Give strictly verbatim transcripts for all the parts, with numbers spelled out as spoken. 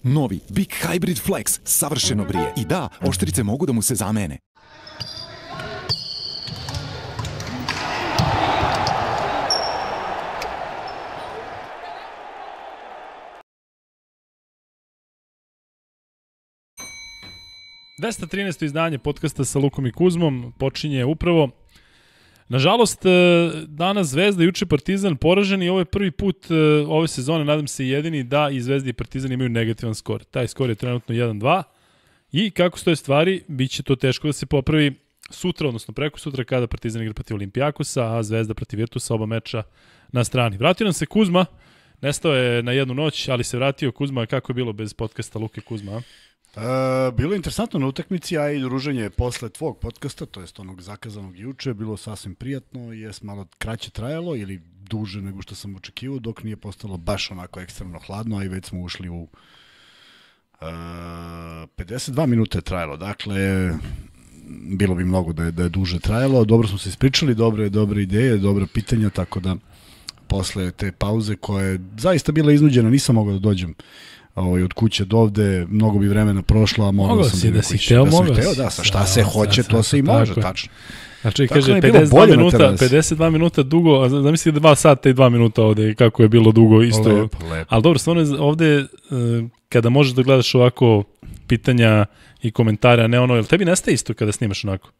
Novi Big Hybrid Flex savršeno brije. I da, oštrice mogu da mu se zamene. dvesta trinaesto izdanje podcasta sa Lukom i Kuzmom počinje upravo. Nažalost, danas Zvezda, juče Partizan poražen i ovo je prvi put ove sezone, nadam se jedini, da i Zvezda i Partizan imaju negativan skor. Taj skor je trenutno jedan dva i kako stoje stvari, bit će to teško da se popravi sutra, odnosno preko sutra kada Partizan igra protiv Olimpijakosa, a Zvezda protiv Virtusa, oba meča na strani. Vratio nam se Kuzma, nestao je na jednu noć, ali se vratio. Kuzma, kako je bilo bez podcasta Luke Kuzma, a? Uh, bilo je interesantno na utakmici, a i druženje posle tvog podcasta, to jest onog zakazanog juče, bilo sasvim prijatno, jes malo kraće trajalo ili duže nego što sam očekivao, dok nije postalo baš onako ekstremno hladno, a i već smo ušli u uh, pedeset dva minuta je trajalo, dakle bilo bi mnogo da je, da je duže trajalo, dobro smo se ispričali, dobre, dobre ideje, dobre pitanja, tako da posle te pauze koja je zaista bila iznuđena, nisam mogao da dođem Ovaj, od kuće do ovde, mnogo bi vremena prošlo, a mogao sam si, da si hteo, da sam mogao hteo, da, sa šta se hoće, to se i može, tačno. Znači, kaže, pedeset dva minuta, pedeset dva minuta dugo, a zamisli dva sata i dva minuta ovde, kako je bilo dugo isto. Lepo, lepo. Ali dobro, stvarno ovde, kada možeš da gledaš ovako pitanja i komentare, a ne ono, jel tebi nestaje isto kada snimaš onako?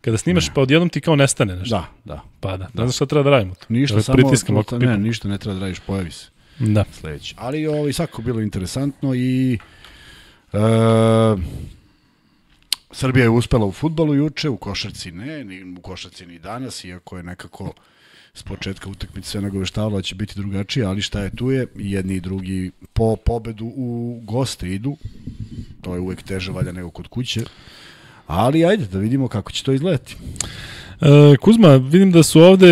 Kada snimaš, ne. Pa odjednom ti kao nestane nešto. Da, da. Pa da, da. Ne znam šta treba da radimo. Ništa, samo, puta, ne, ništa ne treba da radiš, pojavi se. Da. Sledeći. Ali ovo, svako bilo interesantno i e, Srbija je uspela u fudbalu juče, u košarci ne, ni u košarci ni danas, iako je nekako s početka utakmice sve nagoveštavalo da će biti drugačije, ali šta je tu je, jedni i drugi po pobedu u goste idu, to je uvek teže valja nego kod kuće, ali ajde da vidimo kako će to izgledati. E, Kuzma, vidim da su ovde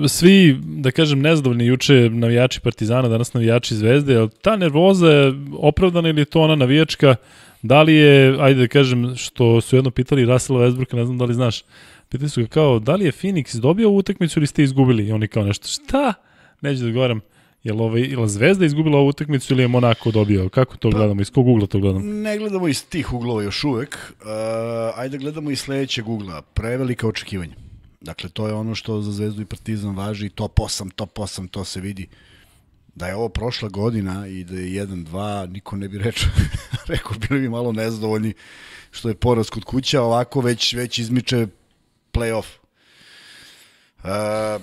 svi, da kažem, nezadovoljni juče navijači Partizana, danas navijači Zvezde, ali ta nervoza je opravdana ili je to ona navijačka? Da li je, ajde da kažem, što su jedno pitali Russella Westbrooka, ne znam da li znaš, pitali su ga kao, da li je Phoenix dobio ovu utakmicu ili ste izgubili? I oni kao nešto, šta? Neću da odgovaram. Je li, ovaj, je li Zvezda izgubila ovu utakmicu ili je Monako dobio? Kako to gledamo? Iz kog ugla to gledamo? Ne gledamo iz tih uglova još uvek. Uh, ajde gledamo iz sledećeg ugla. Prevelika očekivanja. Dakle, to je ono što za Zvezdu i Partizan važi, top osam, top osam, to se vidi. Da je ovo prošla godina i da je jedan dva, niko ne bi rečao, rekao, bili bi malo nezadovoljni što je poraz kod kuća, ovako već, već izmiče play-off. Uh,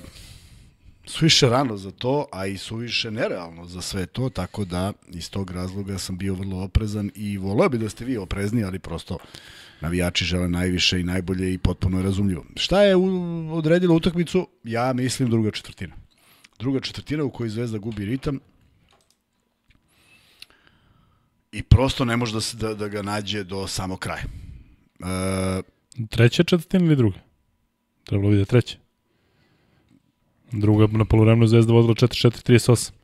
suviše rano za to, a i suviše nerealno za sve to, tako da iz tog razloga sam bio vrlo oprezan i voleo bi da ste vi oprezni, ali prosto navijači žele najviše i najbolje i potpuno je razumljivo. Šta je odredilo utakmicu? Ja mislim druga četvrtina. Druga četvrtina u kojoj Zvezda gubi ritam i prosto ne može da, se, da, da ga nađe do samog kraja. E... Treća četvrtina ili druga? Trebalo vidjeti treća. Druga na poluvremenu Zvezda vodila četiri četiri trideset osam.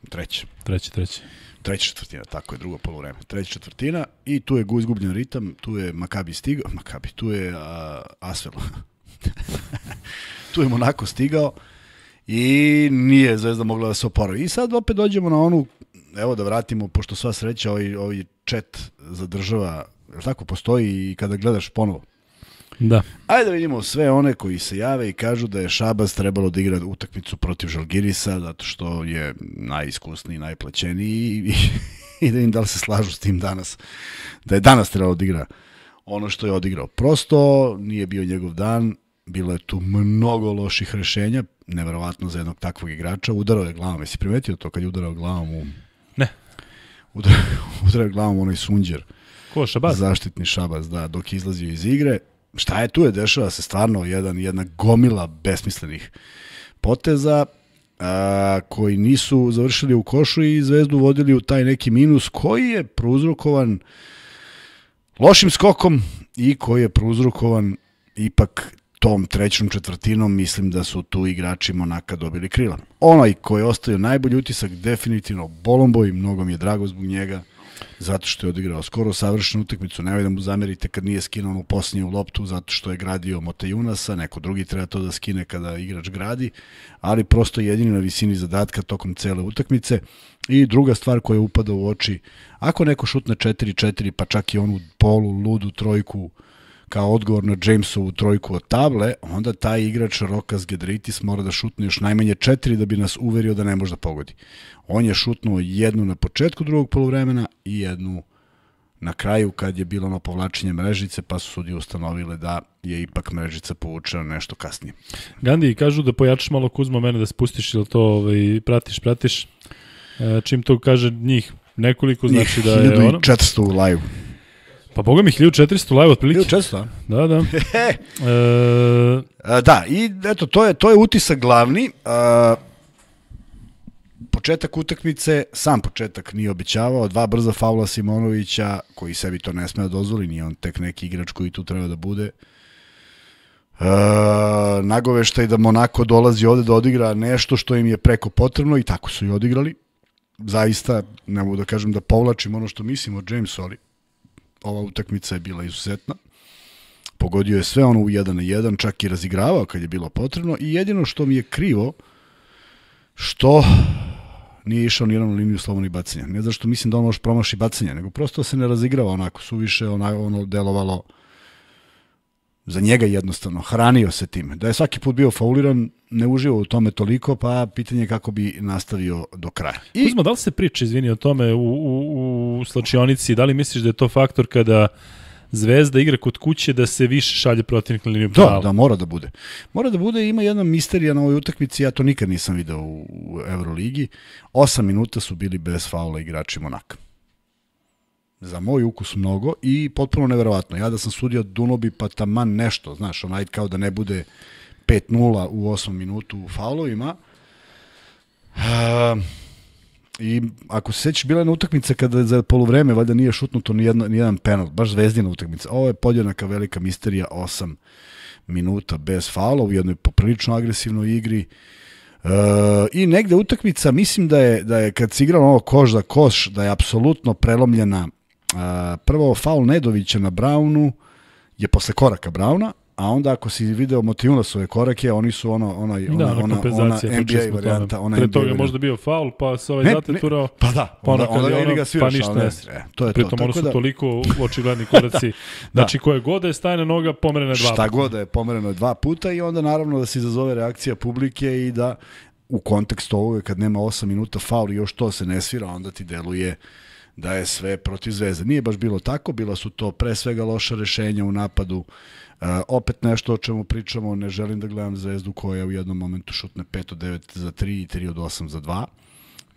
Treća. Treća, treća. Treća četvrtina, tako je, drugo poluvreme. Treća četvrtina i tu je izgubljen ritam, tu je Makabi stigao, Makabi, tu je uh, Asvel. Tu je Monako stigao i nije Zvezda mogla da se oporavi. I sad opet dođemo na onu, evo da vratimo, pošto sva sreća, ovaj, ovaj chat zadržava, je li tako, postoji i kada gledaš ponovo. Da. Ajde da vidimo sve one koji se jave i kažu da je Šabas trebalo da igra utakmicu protiv Žalgirisa zato što je najiskusniji, najplaćeniji i, i da im da li se slažu s tim danas. Da je danas trebalo da igra ono što je odigrao. Prosto nije bio njegov dan, bilo je tu mnogo loših rešenja, neverovatno za jednog takvog igrača. Udarao je glavom, jesi primetio to kad je udarao glavom u... Ne. Udarao, udarao je glavom onaj Sunđer. Ko, Šabas? Zaštitni Šabas, da, dok je izlazio iz igre. Šta je tu je, dešava se stvarno jedan, jedna gomila besmislenih poteza a, koji nisu završili u košu i Zvezdu vodili u taj neki minus koji je prouzrokovan lošim skokom i koji je prouzrokovan ipak tom trećom četvrtinom. Mislim da su tu igrači Monaka dobili krila. Onaj koji je ostavio najbolji utisak definitivno Bolomboj, mnogo mi je drago zbog njega. zato što je odigrao skoro savršenu utakmicu. Nemoj da mu zamerite kad nije skinuo onu posljednju loptu, zato što je gradio Motejunasa, neko drugi treba to da skine kada igrač gradi, ali prosto jedini na visini zadatka tokom cele utakmice. I druga stvar koja upada u oči, ako neko šutne četiri četiri, pa čak i onu polu, ludu trojku, kao odgovor na Jamesovu trojku od table, onda taj igrač Rokas Gedritis mora da šutne još najmanje četiri da bi nas uverio da ne može da pogodi. On je šutnuo jednu na početku drugog poluvremena i jednu na kraju kad je bilo ono povlačenje mrežice, pa su sudije ustanovile da je ipak mrežica povučena nešto kasnije. Gandhi, kažu da pojačaš malo Kuzma mene da spustiš, ili to ovaj, pratiš, pratiš. E, čim to kaže njih nekoliko, znači da je ono... hiljadu četiristo u live. Pa boga mi hiljadu četiristo live otprilike. hiljadu četiristo, da? Da, da. e... A, da, i eto, to je, to je utisak glavni. A, početak utakmice, sam početak nije obećavao, dva brza faula Simonovića, koji sebi to ne sme da dozvoli, nije on tek neki igrač koji tu treba da bude. E, nagoveštaj da Monako dolazi ovde da odigra nešto što im je preko potrebno i tako su i odigrali. Zaista, ne mogu da kažem da povlačim ono što mislim o Jamesu, ali ova utakmica je bila izuzetna. Pogodio je sve ono u jedan na jedan, čak i razigravao kad je bilo potrebno i jedino što mi je krivo, što nije išao nijednom na liniju slobodnih bacanja. Ne zašto mislim da on može promaši bacanja, nego prosto se ne razigrava onako, suviše ono, ono delovalo za njega jednostavno, hranio se time. Da je svaki put bio fauliran, ne uživao u tome toliko, pa pitanje je kako bi nastavio do kraja. I... Kuzma, da li se priča, izvini, o tome u, u, u slačionici, da li misliš da je to faktor kada Zvezda igra kod kuće da se više šalje protivnik na liniju penala? Da, da, mora da bude. Mora da bude, ima jedna misterija na ovoj utakmici, ja to nikad nisam video u, u Euroligi. Osam minuta su bili bez faula igrači Monaka. Za moj ukus mnogo i potpuno neverovatno. Ja da sam sudio Dunobi pa taman nešto, znaš, onaj kao da ne bude pet nula u osmom minutu u faulovima. Uh, I ako se sećaš, bila je na utakmica kada za poluvreme valjda nije šutnuto ni, jedno, ni jedan penal, baš zvezdina utakmica. Ovo je podjednaka velika misterija, osam minuta bez faula u jednoj poprilično agresivnoj igri. Uh, I negde utakmica, mislim da je, da je kad se igralo ovo koš za koš, da je apsolutno prelomljena. Uh, prvo faul Nedovića na Brownu je posle koraka Browna, a onda ako si video Motejunasove korake, oni su ono, ona, ona, da, ona, ona N B A varijanta. Ona Pre toga je možda bio faul, pa se ovaj zateturao. Pa da, pa onda, onda, onda ono, ga sviraš. Pa ništa ne. E, to je Pritom to. ono su da, toliko očigledni koraci. da, znači koje god da je stajna noga, pomerena dva puta. Šta puta. god da je pomereno dva puta i onda naravno da se izazove reakcija publike i da u kontekstu ovoga kad nema osam minuta faul i još to se ne svira, onda ti deluje da je sve protiv Zvezde. Nije baš bilo tako, bila su to pre svega loša rešenja u napadu. Uh, opet nešto o čemu pričamo, ne želim da gledam Zvezdu koja u jednom momentu šutne pet od devet za tri i tri od osam za dva.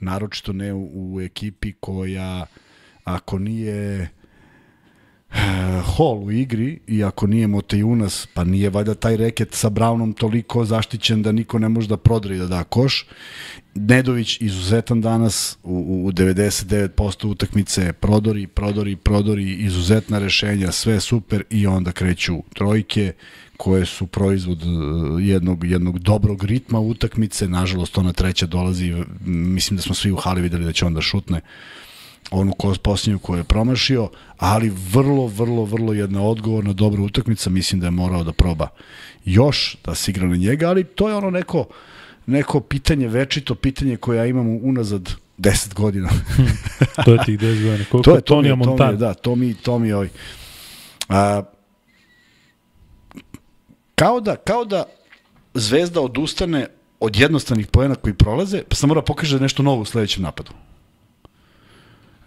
Naročito ne u, u ekipi koja, ako nije uh, Hall u igri i ako nije Motejunas, pa nije valjda taj reket sa Brownom toliko zaštićen da niko ne može da prodre i da da koš. Nedović izuzetan danas u, u devedeset devet posto utakmice, prodori, prodori, prodori, izuzetna rešenja, sve super i onda kreću trojke koje su proizvod jednog, jednog dobrog ritma utakmice. Nažalost, ona treća dolazi, mislim da smo svi u hali videli da će onda šutne onu posljednju koju je promašio, ali vrlo, vrlo, vrlo jedna odgovorna, dobra utakmica. Mislim da je morao da proba još, da se igra na njega, ali to je ono neko neko pitanje, večito pitanje koje ja imam unazad deset godina. To je tih deset godina. Koliko to je Tonija Montana. Da, to mi, to mi ovaj. A, kao, da, kao da Zvezda odustane od jednostavnih poena koji prolaze, pa sam mora pokaže nešto novo u sledećem napadu.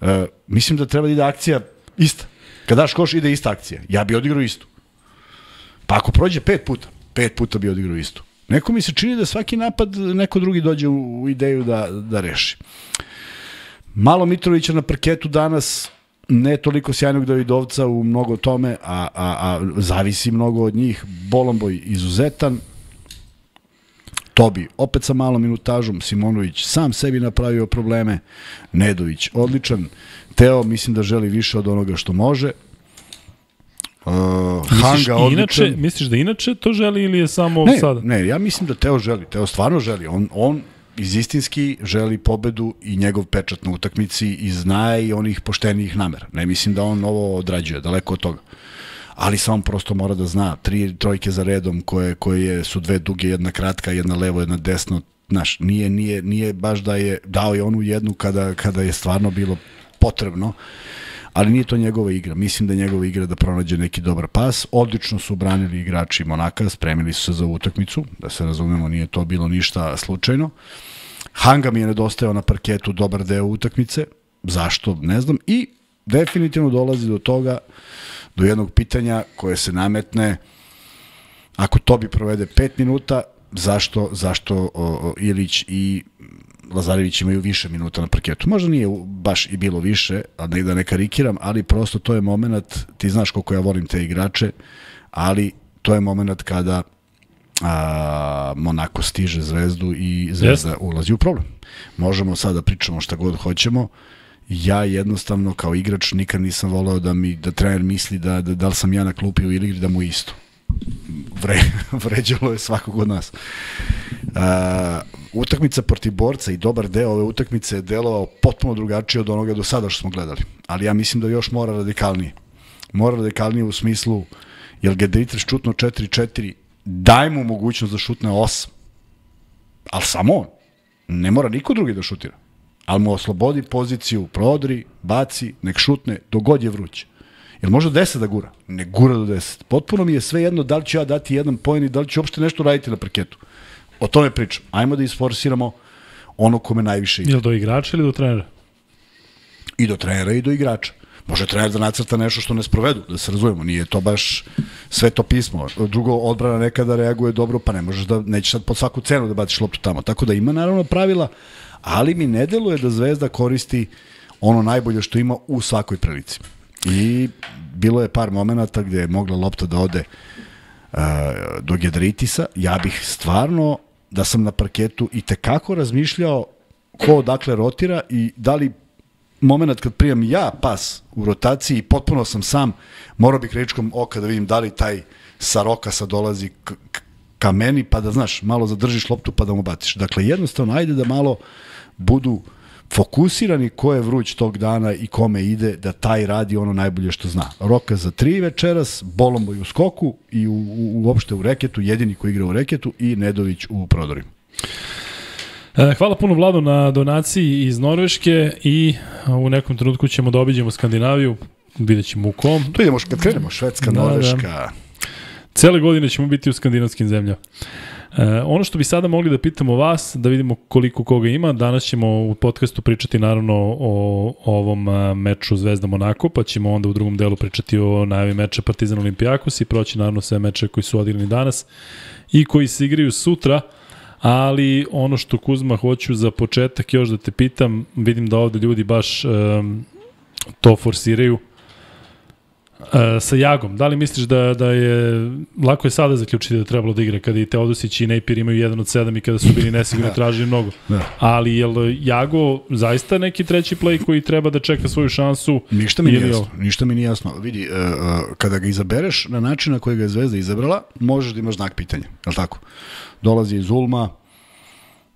A, mislim da treba da ide akcija ista. Kad daš koš, ide ista akcija. Ja bi odigrao istu. Pa ako prođe pet puta, pet puta bi odigrao istu. Neko mi se čini da svaki napad neko drugi dođe u ideju da, da reši. Malo Mitrovića na parketu danas, ne toliko sjajnog Davidovca u mnogo tome, a, a, a zavisi mnogo od njih. Bolomboj izuzetan, Tobi opet sa malom minutažom, Simonović sam sebi napravio probleme, Nedović odličan, Teo mislim da želi više od onoga što može. Uh, Hanga odličan. Inače, misliš da inače to želi ili je samo ne, sada? Ne, ja mislim da Teo želi, Teo stvarno želi. On, on iz istinski želi pobedu i njegov pečat na utakmici i znaje i onih poštenijih namera. Ne mislim da on ovo odrađuje, daleko od toga. Ali samo prosto mora da zna, tri trojke za redom koje, koje su dve duge, jedna kratka, jedna levo, jedna desno, znaš, nije, nije, nije baš da je dao je onu jednu kada, kada je stvarno bilo potrebno, ali nije to njegova igra. Mislim da je njegova igra da pronađe neki dobar pas. Odlično su branili igrači Monaka, spremili su se za utakmicu, da se razumemo, nije to bilo ništa slučajno. Hanga mi je nedostajao na parketu dobar deo utakmice, zašto, ne znam, i definitivno dolazi do toga, do jednog pitanja koje se nametne, ako Tobi provede pet minuta, zašto, zašto o, o, Ilić i Lazarević imaju više minuta na parketu. Možda nije baš i bilo više, a ne da ne karikiram, ali prosto to je moment, ti znaš koliko ja volim te igrače, ali to je moment kada a, Monako stiže Zvezdu i Zvezda yes. ulazi u problem. Možemo sad da pričamo šta god hoćemo, ja jednostavno kao igrač nikad nisam voleo da mi da trener misli da, da, da li sam ja na klupi u igri da mu isto. Vre, vređalo je svakog od nas. Uh, utakmica protiv Borca i dobar deo ove utakmice je delovao potpuno drugačije od onoga do sada što smo gledali. Ali ja mislim da još mora radikalnije. Mora radikalnije u smislu, jer Gedritres šutno četiri četiri, daj mu mogućnost da šutne osam. Ali samo on. Ne mora niko drugi da šutira. Ali mu oslobodi poziciju, prodri, baci, nek šutne, dogod je vruće. Jel može deset da gura? Ne gura do deset. Potpuno mi je sve jedno da li ću ja dati jedan poen i da li ću uopšte nešto raditi na parketu. O tome pričam. Ajmo da isforsiramo ono kome najviše ide. Ili do igrača ili do trenera? I do trenera i do igrača. Može trener da nacrta nešto što ne sprovedu, da se razumemo. Nije to baš sve to pismo. Drugo, odbrana nekada reaguje dobro, pa ne možeš da, nećeš sad pod svaku cenu da baciš loptu tamo. Tako da ima naravno pravila, ali mi ne deluje da Zvezda koristi ono najbolje što ima u svakoj prilici. I bilo je par momenata gde je mogla lopta da ode uh, do Gedritisa. Ja bih stvarno, da sam na parketu i tekako razmišljao ko odakle rotira i da li moment kad primam ja pas u rotaciji i potpuno sam sam, morao bih rečkom oka da vidim da li taj sa Rokasa dolazi k, k, ka meni, pa da znaš, malo zadržiš loptu pa da mu baciš. Dakle, jednostavno, ajde da malo budu fokusirani ko je vruć tog dana i kome ide, da taj radi ono najbolje što zna. Roka za tri večeras, Bolombo u skoku i u, u, uopšte u reketu, jedini koji igra u reketu, i Nedović u prodorima. Hvala puno Vladu na donaciji iz Norveške i u nekom trenutku ćemo da obiđemo Skandinaviju, vidjet ćemo u kom. Tu idemo, kad krenemo, Švedska, da, Norveška. Da. Cele godine ćemo biti u skandinavskim zemljama. E, ono što bi sada mogli da pitamo vas, da vidimo koliko koga ima, danas ćemo u podcastu pričati naravno o, o ovom meču Zvezda Monako, pa ćemo onda u drugom delu pričati o najavi meča Partizan Olimpijakos i proći naravno sve meče koji su odigrani danas i koji se igraju sutra. Ali ono što, Kuzma, hoću za početak još da te pitam, vidim da ovde ljudi baš um, to forsiraju, uh, sa Jagom. Da li misliš da, da je, lako je sada zaključiti da trebalo da igra, kada i Teodosić i Nejpir imaju jedan od sedam i kada su bili nesigurni, tražili mnogo. Da. Ali je li Jago zaista neki treći play koji treba da čeka svoju šansu? Ništa mi nije jasno. Ništa mi nije jasno. Vidi, uh, uh, kada ga izabereš na način na koji ga je Zvezda izabrala, možeš da imaš znak pitanja, je li tako? Dolazi iz Ulma,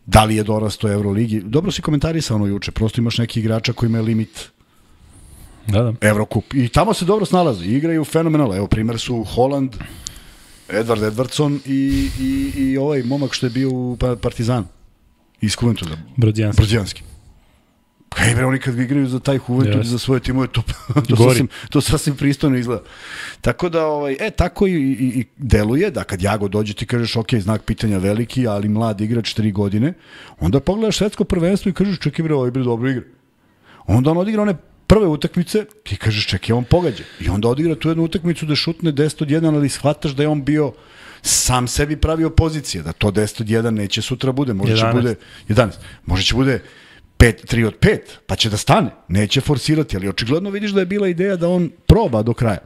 da li je dorasto Euroligi. Dobro si komentarisao ono juče, prosto imaš neki igrača koji imaju limit da, da. Evrokup. I tamo se dobro snalazi, igraju fenomenalno. Evo, primjer su Holland, Edward Edwardson i, i, i ovaj momak što je bio u Partizanu. Iz Kuventuda. Brođanski. Brođanski. Kaj bre, oni kad igraju za taj Juventud yes. i za svoje timove, to, to, sasvim, to sasvim pristojno izgleda. Tako da, ovaj, e, tako i, i, i deluje da kad Jago dođe ti kažeš, ok, znak pitanja veliki, ali mlad igrač, tri godine, onda pogledaš svetsko prvenstvo i kažeš, čekaj bre, ovaj bre dobro igra. Onda on odigra one prve utakmice, ti kažeš, čekaj, on pogađa. I onda odigra tu jednu utakmicu da šutne deset od jedan, ali shvataš da je on bio sam sebi pravio pozicije, da to deset od jedan neće sutra bude, možda će bude jedanaest. Možda će bude pet, tri od pet, pa će da stane. Neće forsirati, ali očigledno vidiš da je bila ideja da on proba do kraja.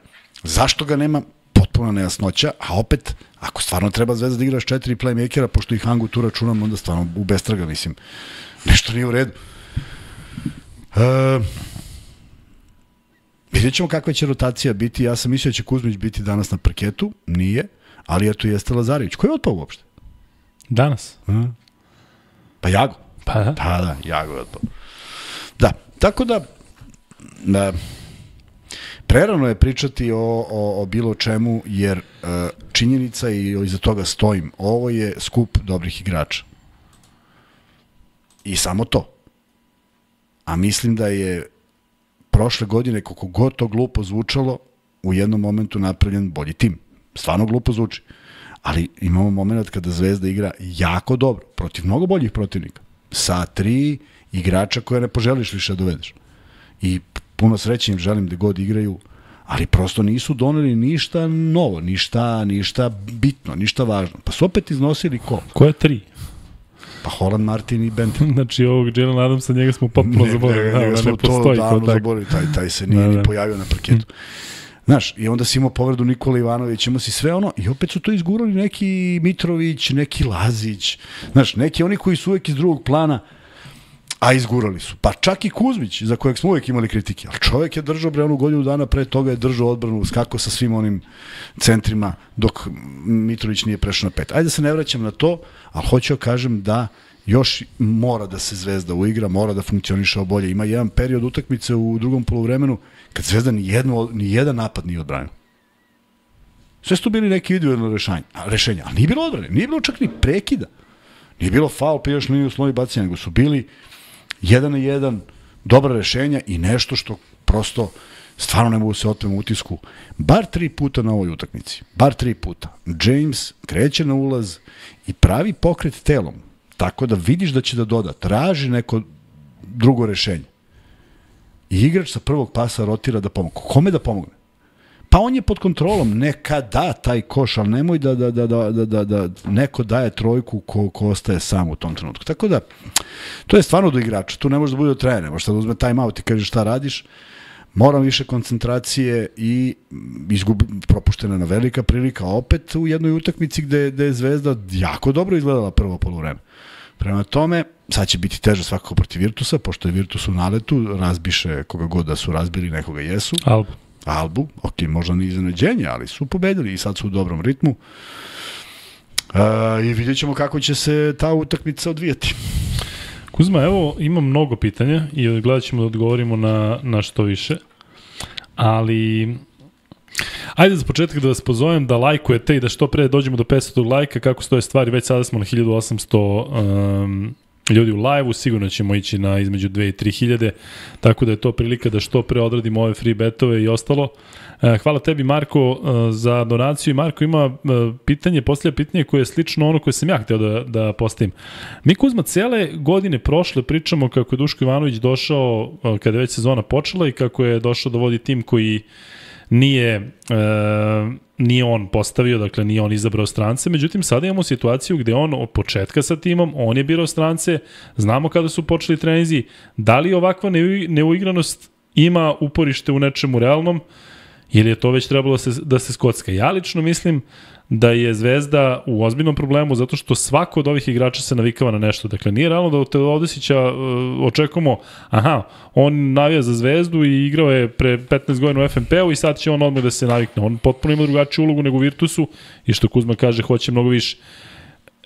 Zašto ga nema? Potpuno nejasnoća, a opet, ako stvarno treba Zvezda da igraš četiri playmakera, pošto ih Hangu tu računam, onda stvarno u bestraga, mislim, nešto nije u redu. E, vidjet ćemo kakva će rotacija biti. Ja sam mislio da će Kuzmić biti danas na parketu, nije, ali eto jeste Lazarević. Ko je otpao uopšte? Danas. Aha. Pa Jago. Pa da? Da, da, Jago otpao. Da, tako da, da prerano je pričati o, o, o bilo čemu, jer uh, činjenica i iza toga stojim. Ovo je skup dobrih igrača. I samo to. A mislim da je prošle godine, koliko god to glupo zvučalo, u jednom momentu napravljen bolji tim. Stvarno glupo zvuči. Ali imamo moment kada Zvezda igra jako dobro, protiv mnogo boljih protivnika. Sa tri igrača koje ne poželiš više da dovedeš. I puno sreće im želim da god igraju, ali prosto nisu doneli ništa novo, ništa, ništa bitno, ništa važno. Pa su opet iznosili ko? Ko je tri? Pa Holland, Martin i Benton. Znači ovog Jalen Adamsa, njega smo potpuno zaboravili. Ne, njega smo to davno zaboravili, taj, taj se nije ni pojavio na parketu. Znaš, i onda si imao povredu Nikola Ivanović, imao si sve ono, i opet su to izgurali neki Mitrović, neki Lazić, znaš, neki oni koji su uvek iz drugog plana, a izgurali su. Pa čak i Kuzmić, za kojeg smo uvek imali kritike, ali čovjek je držao bre onu godinu dana pre toga, je držao odbranu, skako sa svim onim centrima, dok Mitrović nije prešao na pet. Ajde da se ne vraćam na to, ali hoću da kažem da još mora da se Zvezda uigra, mora da funkcioniše bolje. Ima jedan period utakmice u drugom poluvremenu kad Zvezda ni, jedno, ni jedan napad nije odbranio. Sve su bili neki individualne rešenja, rešenja, ali nije bilo odbrane, nije bilo čak ni prekida. Nije bilo faul, prijaš liniju sloni bacanja, nego su bili jedan na jedan, dobra rešenja i nešto što prosto stvarno ne mogu se otmem utisku. Bar tri puta na ovoj utakmici, bar tri puta. James kreće na ulaz i pravi pokret telom, tako da vidiš da će da doda, traži neko drugo rešenje. I igrač sa prvog pasa rotira da pomogne. Kome da pomogne? Pa on je pod kontrolom, neka da taj koš, ali nemoj da, da, da, da, da, da, da neko daje trojku ko, ko ostaje sam u tom trenutku. Tako da, to je stvarno do igrača, tu ne može da bude od trenera, možeš da uzme time out i kaže šta radiš, moram više koncentracije i izgubi, propuštena na velika prilika, opet u jednoj utakmici gde, gde je Zvezda jako dobro izgledala prvo poluvreme. Prema tome, sad će biti teže svakako protiv Virtusa, pošto je Virtus u naletu, razbiše koga god da su razbili, nekoga jesu. Albu. Albu, ok, možda ni iznenađenje, ali su pobedili i sad su u dobrom ritmu. Uh, I vidjet ćemo kako će se ta utakmica odvijati. Kuzma, evo, imam mnogo pitanja i gledat ćemo da odgovorimo na, na što više, ali ajde za početak da vas pozovem da lajkujete i da što pre dođemo do petsto lajka, kako stoje stvari, već sada smo na hiljadu osamsto um, ljudi u live-u, sigurno ćemo ići na između dve i tri hiljade, tako da je to prilika da što pre odradimo ove free betove i ostalo. Hvala tebi, Marko, za donaciju. I Marko ima pitanje, poslije pitanje koje je slično ono koje sam ja htio da, da postavim. Mi, Kuzma, cele godine prošle pričamo kako je Duško Ivanović došao kada je već sezona počela i kako je došao da vodi tim koji nije, e, nije on postavio, dakle nije on izabrao strance, međutim sada imamo situaciju gde on od početka sa timom, on je birao strance, znamo kada su počeli trenizi, da li ovakva neuigranost ima uporište u nečemu realnom ili je to već trebalo da se, da se skocka. Ja lično mislim da je Zvezda u ozbiljnom problemu zato što svako od ovih igrača se navikava na nešto. Dakle, nije realno da od Teodosića uh, očekujemo, aha, on navija za Zvezdu i igrao je pre petnaest godina u F N P-u i sad će on odmah da se navikne. On potpuno ima drugačiju ulogu nego u Virtusu i što Kuzma kaže, hoće mnogo više.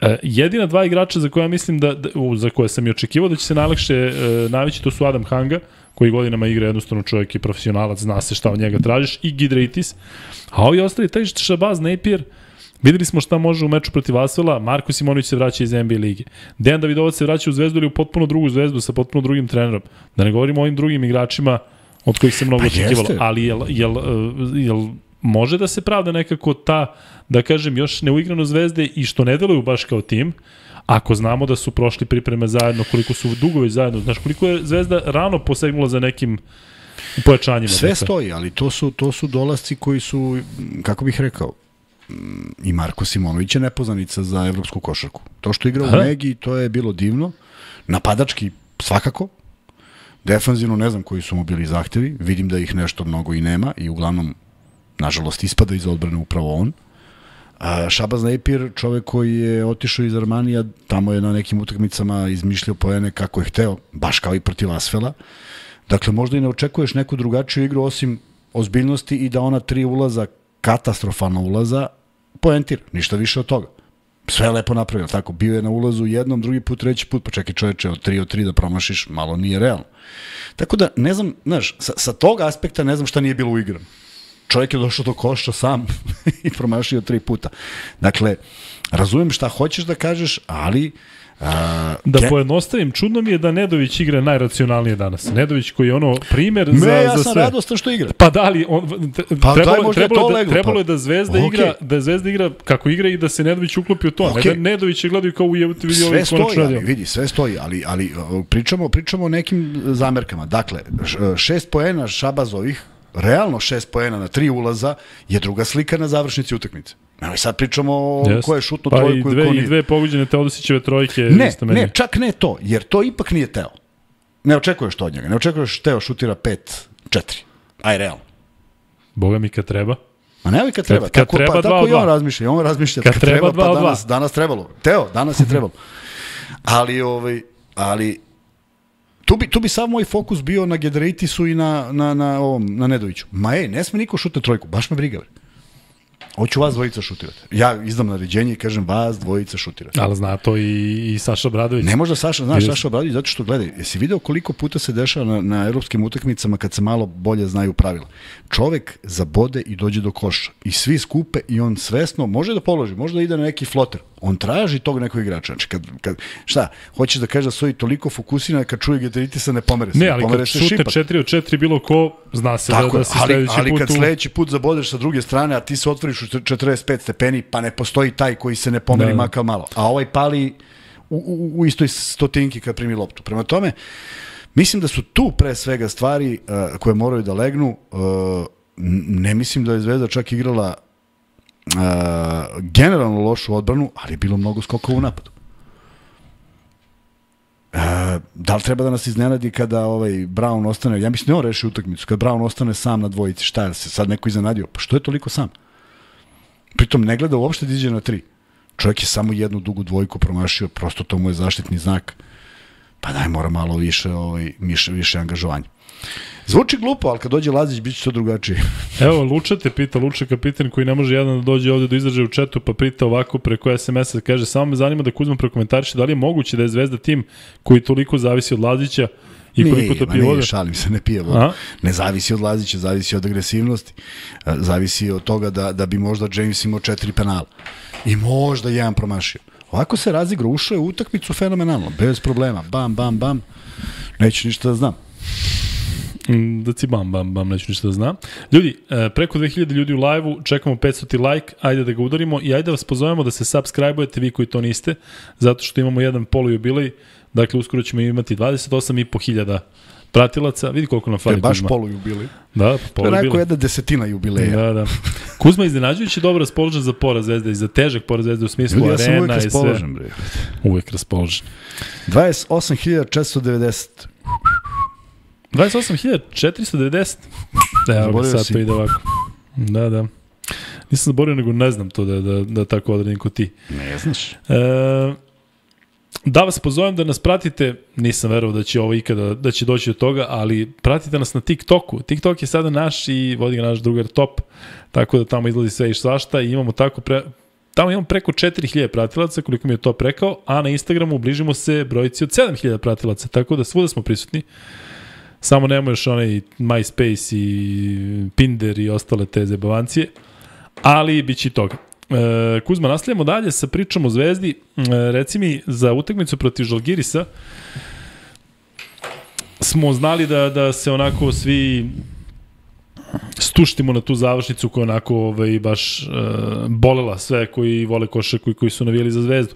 Uh, jedina dva igrača za koje ja mislim da, da za koje sam i očekivao da će se najlakše uh, navići, to su Adam Hanga, koji godinama igra jednostavno čovjek i profesionalac, zna se šta od njega tražiš, i Gidraitis. A ovi ostali, taj Šabaz, Napier, videli smo šta može u meču protiv Asvela, Marko Simonović se vraća iz N B A lige. Dejan Davidovac se vraća u Zvezdu ili u potpuno drugu Zvezdu sa potpuno drugim trenerom. Da ne govorimo o ovim drugim igračima od kojih se mnogo pa očekivalo. Ali jel, jel, jel može da se pravda nekako ta, da kažem, još neuigrano Zvezde i što ne deluju baš kao tim, ako znamo da su prošli pripreme zajedno, koliko su dugovi zajedno, znaš koliko je Zvezda rano posegnula za nekim pojačanjima. Sve dakle. Stoji, ali to su, to su dolasci koji su, kako bih rekao, i Marko Simonović je nepoznanica za evropsku košarku. To što igra u Megi, to je bilo divno. Napadački svakako. Defanzivno ne znam koji su mu bili zahtevi. Vidim da ih nešto mnogo i nema i uglavnom, nažalost, ispada iz odbrane upravo on. A Šabaz Napier, čovek koji je otišao iz Armanija, tamo je na nekim utakmicama izmišljao poene kako je hteo, baš kao i protiv Asvela. Dakle, možda i ne očekuješ neku drugačiju igru osim ozbiljnosti i da ona tri ulaza, katastrofalna ulaza, poentira, ništa više od toga. Sve je lepo napravio, tako, bio je na ulazu jednom, drugi put, treći put, pa čekaj čoveče, od tri od tri da promašiš, malo nije realno. Tako da, ne znam, znaš, sa, sa tog aspekta ne znam šta nije bilo uigrano. Čovjek je došao do koša sam i promašio tri puta. Dakle, razumijem šta hoćeš da kažeš, ali... A, da ke... pojednostavim, čudno mi je da Nedović igra najracionalnije danas. Nedović koji je ono primer Me, za, ja za sam sve. radostan što igra. Pa da li, on, pa trebalo, daj, trebalo, to da, leglo, trebalo pa. je da Zvezda okay. igra, da Zvezda igra kako igra i da se Nedović uklopi u to. Okay. Ne da Nedović je gledaju kao u jebute vidi ovaj konačno. Sve stoji, ali, vidi, sve stoji, ali, ali pričamo, pričamo o nekim zamerkama. Dakle, šest poena Šabazovih, realno šest poena na tri ulaza je druga slika na završnici utakmice. Evo sad pričamo o yes. ko je šutno pa trojku i dve, i ko nije. I dve pogođene Teodosićeve trojke. Ne, isto meni. ne, čak ne to, jer to ipak nije Teo. Ne očekuješ to od njega, ne očekuješ Teo šutira pet četiri. Aj, realno. Boga mi kad treba. Ma ne, kad treba. Kad, kad tako, treba pa, dva, tako i on dva. razmišlja. On razmišlja kad, kad treba, treba, dva, pa danas, dva. danas trebalo. Teo, danas je trebalo. Ali, ovaj, ali tu bi, tu bi sav moj fokus bio na Gedraitisu i na, na, na, ovom, na Nedoviću. Ma ej, ne sme niko šutne trojku, baš me briga. Hoću vas dvojica šutirati. Ja izdam naređenje i kažem vas dvojica šutirati. Ali zna to i, i Saša Obradović. Ne možda Saša, znaš Saša Obradović, zato što gledaj, jesi video koliko puta se dešava na, na evropskim utakmicama kad se malo bolje znaju pravila. Čovek zabode i dođe do koša. I svi skupe i on svesno može da položi, može da ide na neki floter. On traži tog nekog igrača. Znači, kad, kad, šta, hoćeš da kažeš da stoji toliko fokusiran kad čuje Gedraitisa ne pomere se. Ne, ali pomere kad se šute šipak. četiri od četiri bilo ko, zna se tako, da, da si ali, sledeći ali put... kad u... sledeći put zabodeš sa druge strane, a ti se otvoriš u četrdeset pet stepeni, pa ne postoji taj koji se ne pomeri da, makar malo. A ovaj pali u, u, u istoj stotinki kad primi loptu. Prema tome, mislim da su tu pre svega stvari uh, koje moraju da legnu. Uh, ne mislim da je Zvezda čak igrala uh, generalno lošu odbranu, ali je bilo mnogo skokova u napadu. Uh, da li treba da nas iznenadi kada ovaj Brown ostane, ja mislim da on reši utakmicu, kada Brown ostane sam na dvojici, šta je se sad neko iznenadio? Pa što je toliko sam? Pritom ne gleda uopšte da iđe na tri. Čovjek je samo jednu dugu dvojku promašio, prosto to mu je zaštitni znak. Pa daj, mora malo više, ovaj, više, više angažovanja. Zvuči glupo, ali kad dođe Lazić, bit će to drugačije. Evo, Luča te pita, Luča kapitan koji ne može jedan da dođe ovde do izražaja u četu, pa prita ovako preko es em es-a, kaže, samo me zanima da Kuzma prokomentariše da li je moguće da je Zvezda tim koji toliko zavisi od Lazića i koliko to pije voda? Nije, šalim se, ne pije voda. Ne zavisi od Lazića, zavisi od agresivnosti. Zavisi od toga da, da bi možda James imao četiri penala. I možda jedan promašio. Ovako se razigra, ušao je u utakmicu fenomenalno, bez problema. Bam, bam, bam. Neću ništa da znam. Da ci bam, bam, bam, neću ništa da znam. Ljudi, preko dve hiljade ljudi u live-u, čekamo petsto like, ajde da ga udarimo i ajde da vas pozovemo da se subscribe-ujete vi koji to niste, zato što imamo jedan polujubilej, dakle uskoro ćemo imati dvadeset osam i po hiljada pratilaca, vidi koliko nam fali Kuzma. To je baš polujubilej. Da, polujubilej. To je jedna desetina jubileja. Da, da. Kuzma iznenađujući dobro raspoložen za poraz Zvezde i za težak poraz Zvezde u smislu Ljudi, arena ja i sve. uvek raspoložen, bre. Uvek raspoložen. dvadeset osam hiljada četiristo devedeset. dvadeset osam hiljada četiristo devedeset? Da, evo ga, sad to ide ovako. Da, da. Nisam zaborio, nego ne znam to da, da, da tako odredim ko ti. Ne znaš. E, da vas pozovem da nas pratite, nisam verovao da će ovo ikada, da će doći do toga, ali pratite nas na TikToku. TikTok je sada naš i vodi ga naš drugar Top, tako da tamo izlazi sve i svašta i imamo tako pre, tamo imamo preko četiri hiljade pratilaca, koliko mi je to rekao, a na Instagramu bližimo se brojici od sedam hiljada pratilaca, tako da svuda smo prisutni. Samo nemamo još onaj MySpace i Pinder i ostale te zebavancije, ali bit će i toga. E, Kuzma, nastavljamo dalje sa pričom o Zvezdi. E, reci mi, za utakmicu protiv Žalgirisa smo znali da, da se onako svi stuštimo na tu završnicu koja onako ovaj, baš e, bolela sve koji vole košarku i koji su navijali za Zvezdu.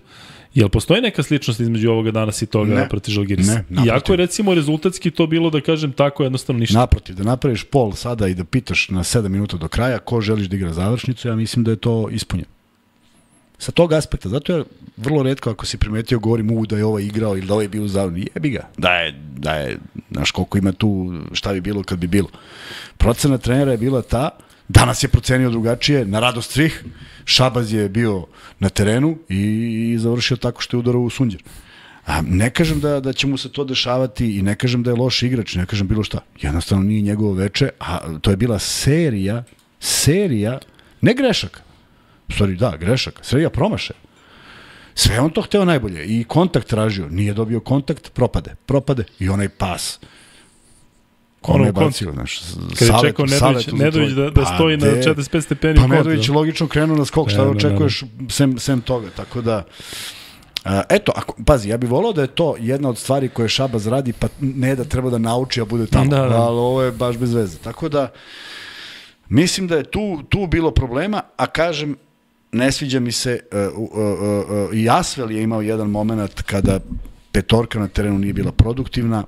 Jel postoji neka sličnost između ovoga danas i toga ne, protiv Žalgirisa? Ne, naprotiv. Iako je recimo rezultatski to bilo, da kažem tako, jednostavno ništa. Naprotiv, da napraviš pol sada i da pitaš na sedam minuta do kraja ko želiš da igra završnicu, ja mislim da je to ispunjeno. Sa tog aspekta, zato je vrlo retko ako si primetio, govorim u da je ovaj igrao ili da ovaj bio u završnicu. Jebi ga, da je, da je, znaš koliko ima tu, šta bi bilo kad bi bilo. Procena trenera je bila ta, danas je procenio drugačije, na radost svih. Šabaz je bio na terenu i, i završio tako što je udarao u sunđer. A ne kažem da, da će mu se to dešavati i ne kažem da je loš igrač, ne kažem bilo šta. Jednostavno nije njegovo veče, a to je bila serija, serija, ne grešaka. U stvari, da, grešaka, serija promašaja. Sve on to hteo najbolje i kontakt tražio, nije dobio kontakt, propade, propade i onaj pas. Kome je bacio, znaš, kad je čekao Nedović, Nedović da, da stoji pa na četrdeset pet stepeni. Pa Nedović logično krenuo na skok, šta da očekuješ sem, sem toga, tako da Uh, eto, ako, pazi, ja bih volao da je to jedna od stvari koje Šabaz radi, pa ne da treba da nauči, a bude tamo, da, da. Ali ovo je baš bez veze. Tako da, mislim da je tu, tu bilo problema, a kažem, ne sviđa mi se, uh, uh, uh, uh, i Asvel je imao jedan moment kada petorka na terenu nije bila produktivna,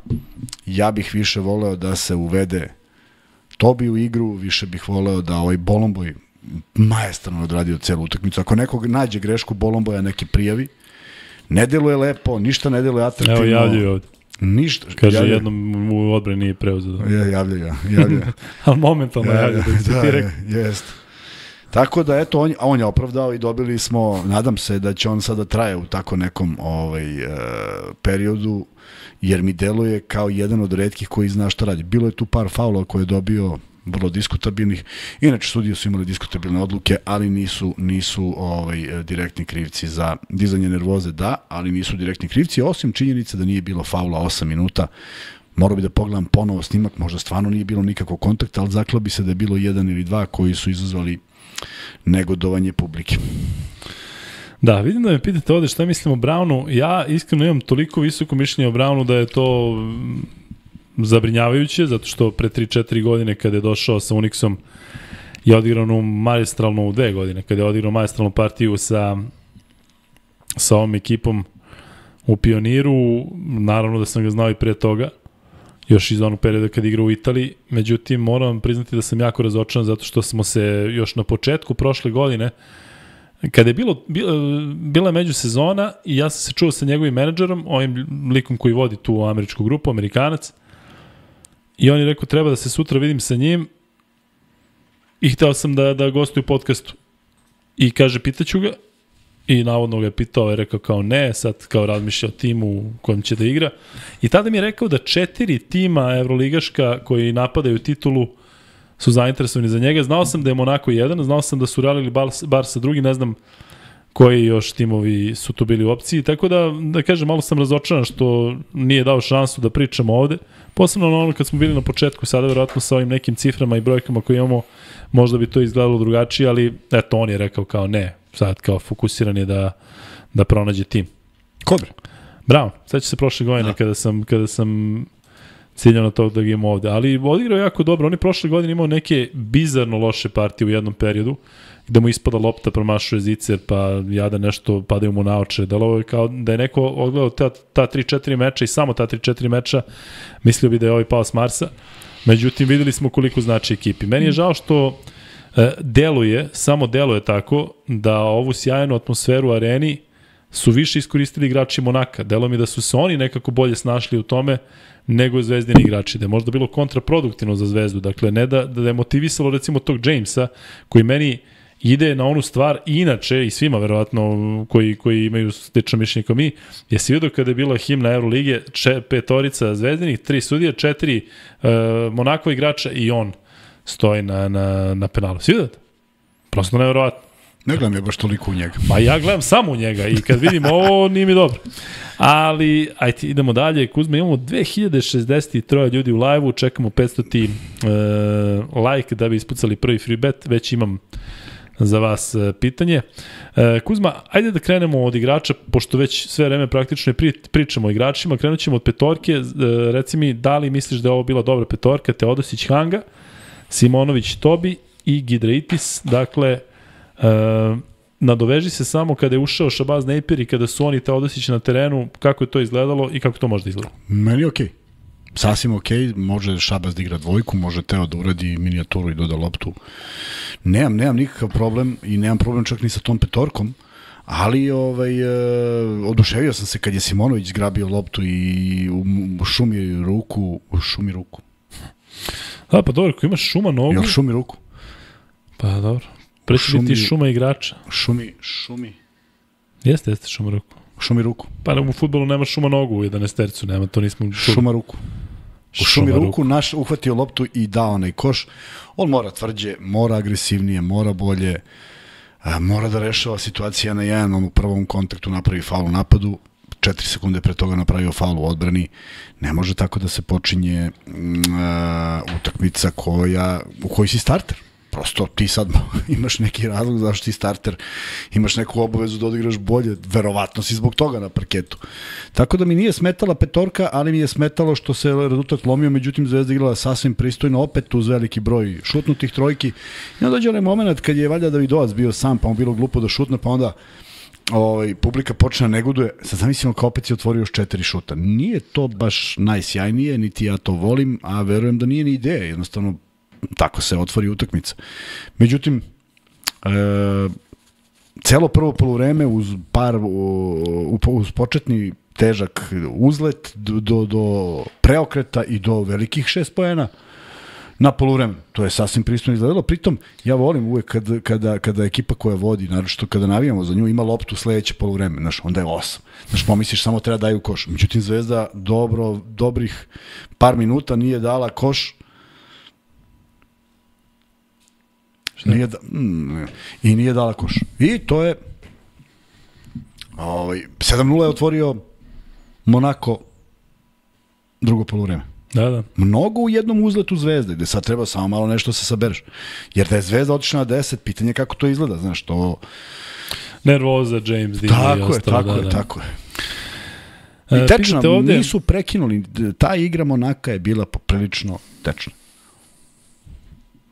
ja bih više voleo da se uvede Tobi u igru, više bih voleo da ovaj Bolomboj majestrano odradio celu utakmicu. Ako nekog nađe grešku Bolomboja, neki prijavi. Ne deluje lepo, ništa ne deluje atraktivno. Evo javljaju ovde. Ništa. Kaže, javljaju. Jednom u odbrani nije preuzeo. Ja, javljaju, javljaju. Ali momentalno ja, javljaju. Da, da, je, jest. Tako da, eto, on, on je opravdao i dobili smo, nadam se da će on sada traje u tako nekom ovaj, uh, periodu, jer mi deluje kao jedan od retkih koji zna šta radi. Bilo je tu par faulova koje je dobio vrlo diskutabilnih. Inače, sudije su imali diskutabilne odluke, ali nisu, nisu ovaj, direktni krivci za dizanje nervoze, da, ali nisu direktni krivci, osim činjenice da nije bilo faula osam minuta. Morao bi da pogledam ponovo snimak, možda stvarno nije bilo nikakvog kontakta, ali zaklao bi se da je bilo jedan ili dva koji su izazvali negodovanje publike. Da, vidim da me pitate ovde šta mislim o Brownu. Ja iskreno imam toliko visoko mišljenje o Brownu da je to zabrinjavajuće, zato što pre tri četiri godine kada je došao sa Unixom je odigrao onu maestralnu, dve godine, kada je odigrao maestralnu partiju sa, sa ovom ekipom u Pioniru, naravno da sam ga znao i pre toga, još iz onog perioda kada igrao u Italiji, međutim moram priznati da sam jako razočaran zato što smo se još na početku prošle godine, kada je bilo, bila je međusezona i ja sam se čuo sa njegovim menadžerom, ovim likom koji vodi tu američku grupu, Amerikanac, i on je rekao treba da se sutra vidim sa njim i hteo sam da, da gostuju u podcastu. I kaže, pitaću ga, i navodno ga je pitao, je rekao kao ne, sad kao razmišlja o timu u kojem će da igra. I tada mi je rekao da četiri tima evroligaška koji napadaju titulu su zainteresovani za njega. Znao sam da je Monako jedan, znao sam da su Real Barsa drugi, ne znam koji još timovi su tu bili u opciji, tako da, da kažem, malo sam razočaran što nije dao šansu da pričamo ovde, posebno na ono kad smo bili na početku, sada verovatno sa ovim nekim ciframa i brojkama koje imamo, možda bi to izgledalo drugačije, ali eto, on je rekao kao ne, sad kao fokusiran je da, da pronađe tim. Kobre? Bravo, sad će se prošle godine da. kada sam, kada sam ciljao na to da ga imamo ovde, ali odigrao jako dobro, on je prošle godine imao neke bizarno loše partije u jednom periodu, gde mu ispada lopta, promašuje zicer, pa jada nešto padaju mu na oče. Da li ovo je kao da je neko odgledao ta, ta tri četiri meča i samo ta tri četiri meča, mislio bi da je ovaj pao s Marsa. Međutim, videli smo koliko znači ekipi. Meni je žao što e, deluje, samo deluje tako, da ovu sjajnu atmosferu u areni su više iskoristili igrači Monaka. Delo mi da su se oni nekako bolje snašli u tome nego zvezdini igrači. Da je možda bilo kontraproduktivno za Zvezdu. Dakle, ne da, da je motivisalo recimo tog Jamesa, koji meni ide na onu stvar, i inače, i svima verovatno koji, koji imaju slično mišljenje kao mi, jesi vidio kada je bila himna Euroligije, če, petorica zvezdinih, tri sudije, četiri uh, Monakova igrača i on stoji na, na, na penalu. Si vidio to? Prosto neverovatno. Ne gledam je baš toliko u njega. Pa ja gledam samo u njega i kad vidim ovo, nije mi dobro. Ali, ajde, idemo dalje. Kuzma, imamo dve hiljade šezdeset tri ljudi u live-u, čekamo petsto uh, like da bi ispucali prvi free bet, već imam za vas pitanje. Kuzma, ajde da krenemo od igrača, pošto već sve vreme praktično pričamo o igračima, krenut ćemo od petorke. Reci mi, da li misliš da je ovo bila dobra petorka? Teodosić, Hanga, Simonović, Tobi i Gidraitis. Dakle, nadoveži se samo kada je ušao Shabazz Napier i kada su oni Teodosić na terenu, kako je to izgledalo i kako to može da izgleda? Meni je okej. Okay. Sasvim ok, može Shabazz da igra dvojku, može Teo da uradi minijaturu i doda loptu. Nemam, nemam nikakav problem i nemam problem čak ni sa tom petorkom, ali ovaj, uh, oduševio sam se kad je Simonović zgrabio loptu i u, u šumi ruku, u šumi ruku. Da, pa dobro, ako imaš šuma nogu... Jel šumi ruku? Pa dobro, preći biti šuma igrača. Šumi, šumi. Jeste, jeste šuma ruku. Šumi ruku. Pa u fudbalu nema šuma nogu u jedanaestercu, nema, to nismo čuli. Šuma ruku. U šumi ruku, ruku naš uhvatio loptu i dao onaj koš. On mora tvrđe, mora agresivnije, mora bolje. a, mora da rešava situacija na jedan, on u prvom kontaktu napravi faul u napadu, četiri sekunde pre toga napravio faul u odbrani. Ne može tako da se počinje uh, utakmica koja, u kojoj si starter. Prosto ti sad imaš neki razlog zašto si starter, imaš neku obavezu da odigraš bolje, verovatno si zbog toga na parketu. Tako da mi nije smetala petorka, ali mi je smetalo što se rezultat lomio, međutim Zvezda igrala sasvim pristojno, opet uz veliki broj šutnutih trojki. I onda dođe onaj moment kad je valjda Davidovac bio sam, pa mu bilo glupo da šutne, pa onda ovaj, publika počne da neguduje. Sad zamislimo kao opet si otvorio još četiri šuta. Nije to baš najsjajnije, niti ja to volim, a verujem da nije ni ideja, jednostavno tako se otvori utakmica. Međutim, e, celo prvo poluvreme uz par u, uz početni težak uzlet do, do, do preokreta i do velikih šest poena na poluvreme. To je sasvim pristojno izgledalo. Pritom, ja volim uvek kada, kada, kada ekipa koja vodi, naročito kada navijamo za nju, ima loptu sledeće poluvreme. Znaš, onda je osam. Znaš, pomisliš samo treba daju koš. Međutim, Zvezda dobro, dobrih par minuta nije dala koš. Nije da, mm, i nije dala koš. I to je ovaj, sedam nula je otvorio Monako drugo poluvreme. Da, da. Mnogo u jednom uzletu Zvezde, gde sad treba samo malo nešto se sabereš. Jer da je Zvezda otišla na deset, pitanje kako to izgleda, znaš, to... Nervoza, James Dean tako i je, ostalo. tako da, je, da. tako je. I tečna, ovde... nisu prekinuli, ta igra Monaka je bila poprilično tečna.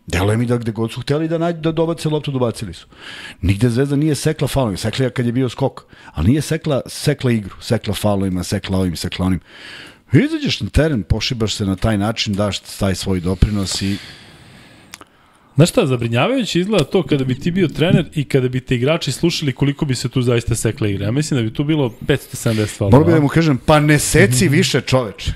Deluje mi da gde god su hteli da nađu da dobace loptu, dobacili su. Nigde Zvezda nije sekla faulovima, sekla je kad je bio skok, ali nije sekla, sekla igru, sekla faulovima, sekla ovim, sekla onim. Izađeš na teren, pošibaš se na taj način, daš taj svoj doprinos i... Znaš šta, zabrinjavajuće izgleda to kada bi ti bio trener i kada bi te igrači slušali koliko bi se tu zaista sekla igra. Ja mislim da bi tu bilo petsto sedamdeset faulova. Moram da mu kažem, pa ne seci više, čoveč.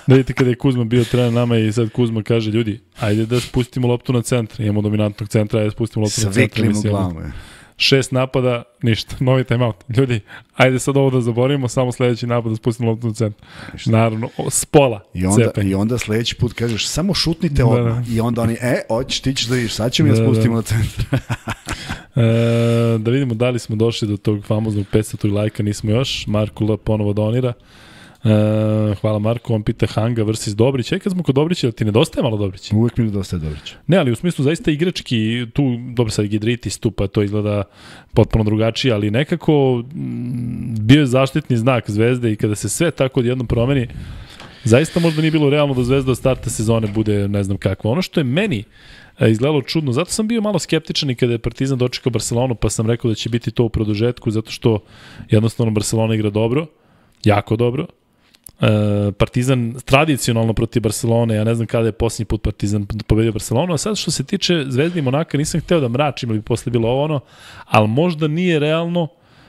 Da vidite kada je Kuzma bio trener nama i sad Kuzma kaže, ljudi, ajde da spustimo loptu na centar. Imamo dominantnog centra, ajde da spustimo loptu na centar. Svikli mu glavu. Šest napada, ništa, novi timeout. Ljudi, ajde sad ovo da zaboravimo, samo sledeći napad da spustimo loptu na centar. Naravno, s pola. I onda, i onda sledeći put kažeš, samo šutnite odmah. Da, da. I onda oni, e, hoćeš, ti ćeš da vidiš, sad ćemo da, ja spustimo da. na centar. e, da vidimo da li smo došli do tog famoznog petsto lajka, nismo još. Marko L. ponovo donira. E, hvala Marko, on pita Hanga versus Dobrić. E, kad smo kod Dobrića, ti nedostaje malo Dobrić? Uvijek mi nedostaje Dobrić. Ne, ali u smislu zaista igrački, tu, dobro sad Gidritis tu, pa to izgleda potpuno drugačije, ali nekako m, bio je zaštitni znak Zvezde i kada se sve tako odjednom promeni, zaista možda nije bilo realno da Zvezda od starta sezone bude ne znam kakva. Ono što je meni e, izgledalo čudno, zato sam bio malo skeptičan i kada je Partizan dočekao Barcelonu, pa sam rekao da će biti to u produžetku, zato što jednostavno Barcelona igra dobro, jako dobro. Uh, Partizan tradicionalno protiv Barcelone, ja ne znam kada je posljednji put Partizan pobedio Barcelonu, a sad što se tiče Zvezde i Monaka, nisam hteo da mračim ili bi posle bilo ovo ono, ali možda nije realno.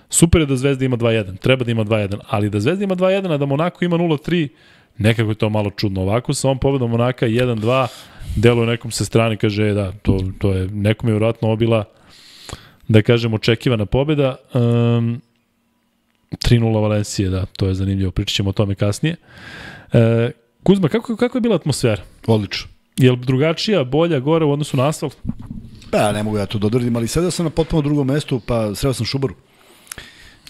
Super je da Zvezda ima dva jedan, treba da ima dva jedan, ali da Zvezda ima dva jedan, a da Monako ima nula tri, nekako je to malo čudno. Ovako sa ovom pobedom Monaka jedan dva, deluje nekom sa strane, kaže da, to, to je nekom je vjerojatno obila, da kažem, očekivana pobeda. Um, tri nula Valencije, da, to je zanimljivo, pričat ćemo o tome kasnije. E, Kuzma, kako, kako je bila atmosfera? Odlično. Je li drugačija, bolja, gore u odnosu na asfalt? Pa, ne mogu ja to dodvrdim, ali sedeo sam na potpuno drugom mestu, pa sreo sam Šubaru.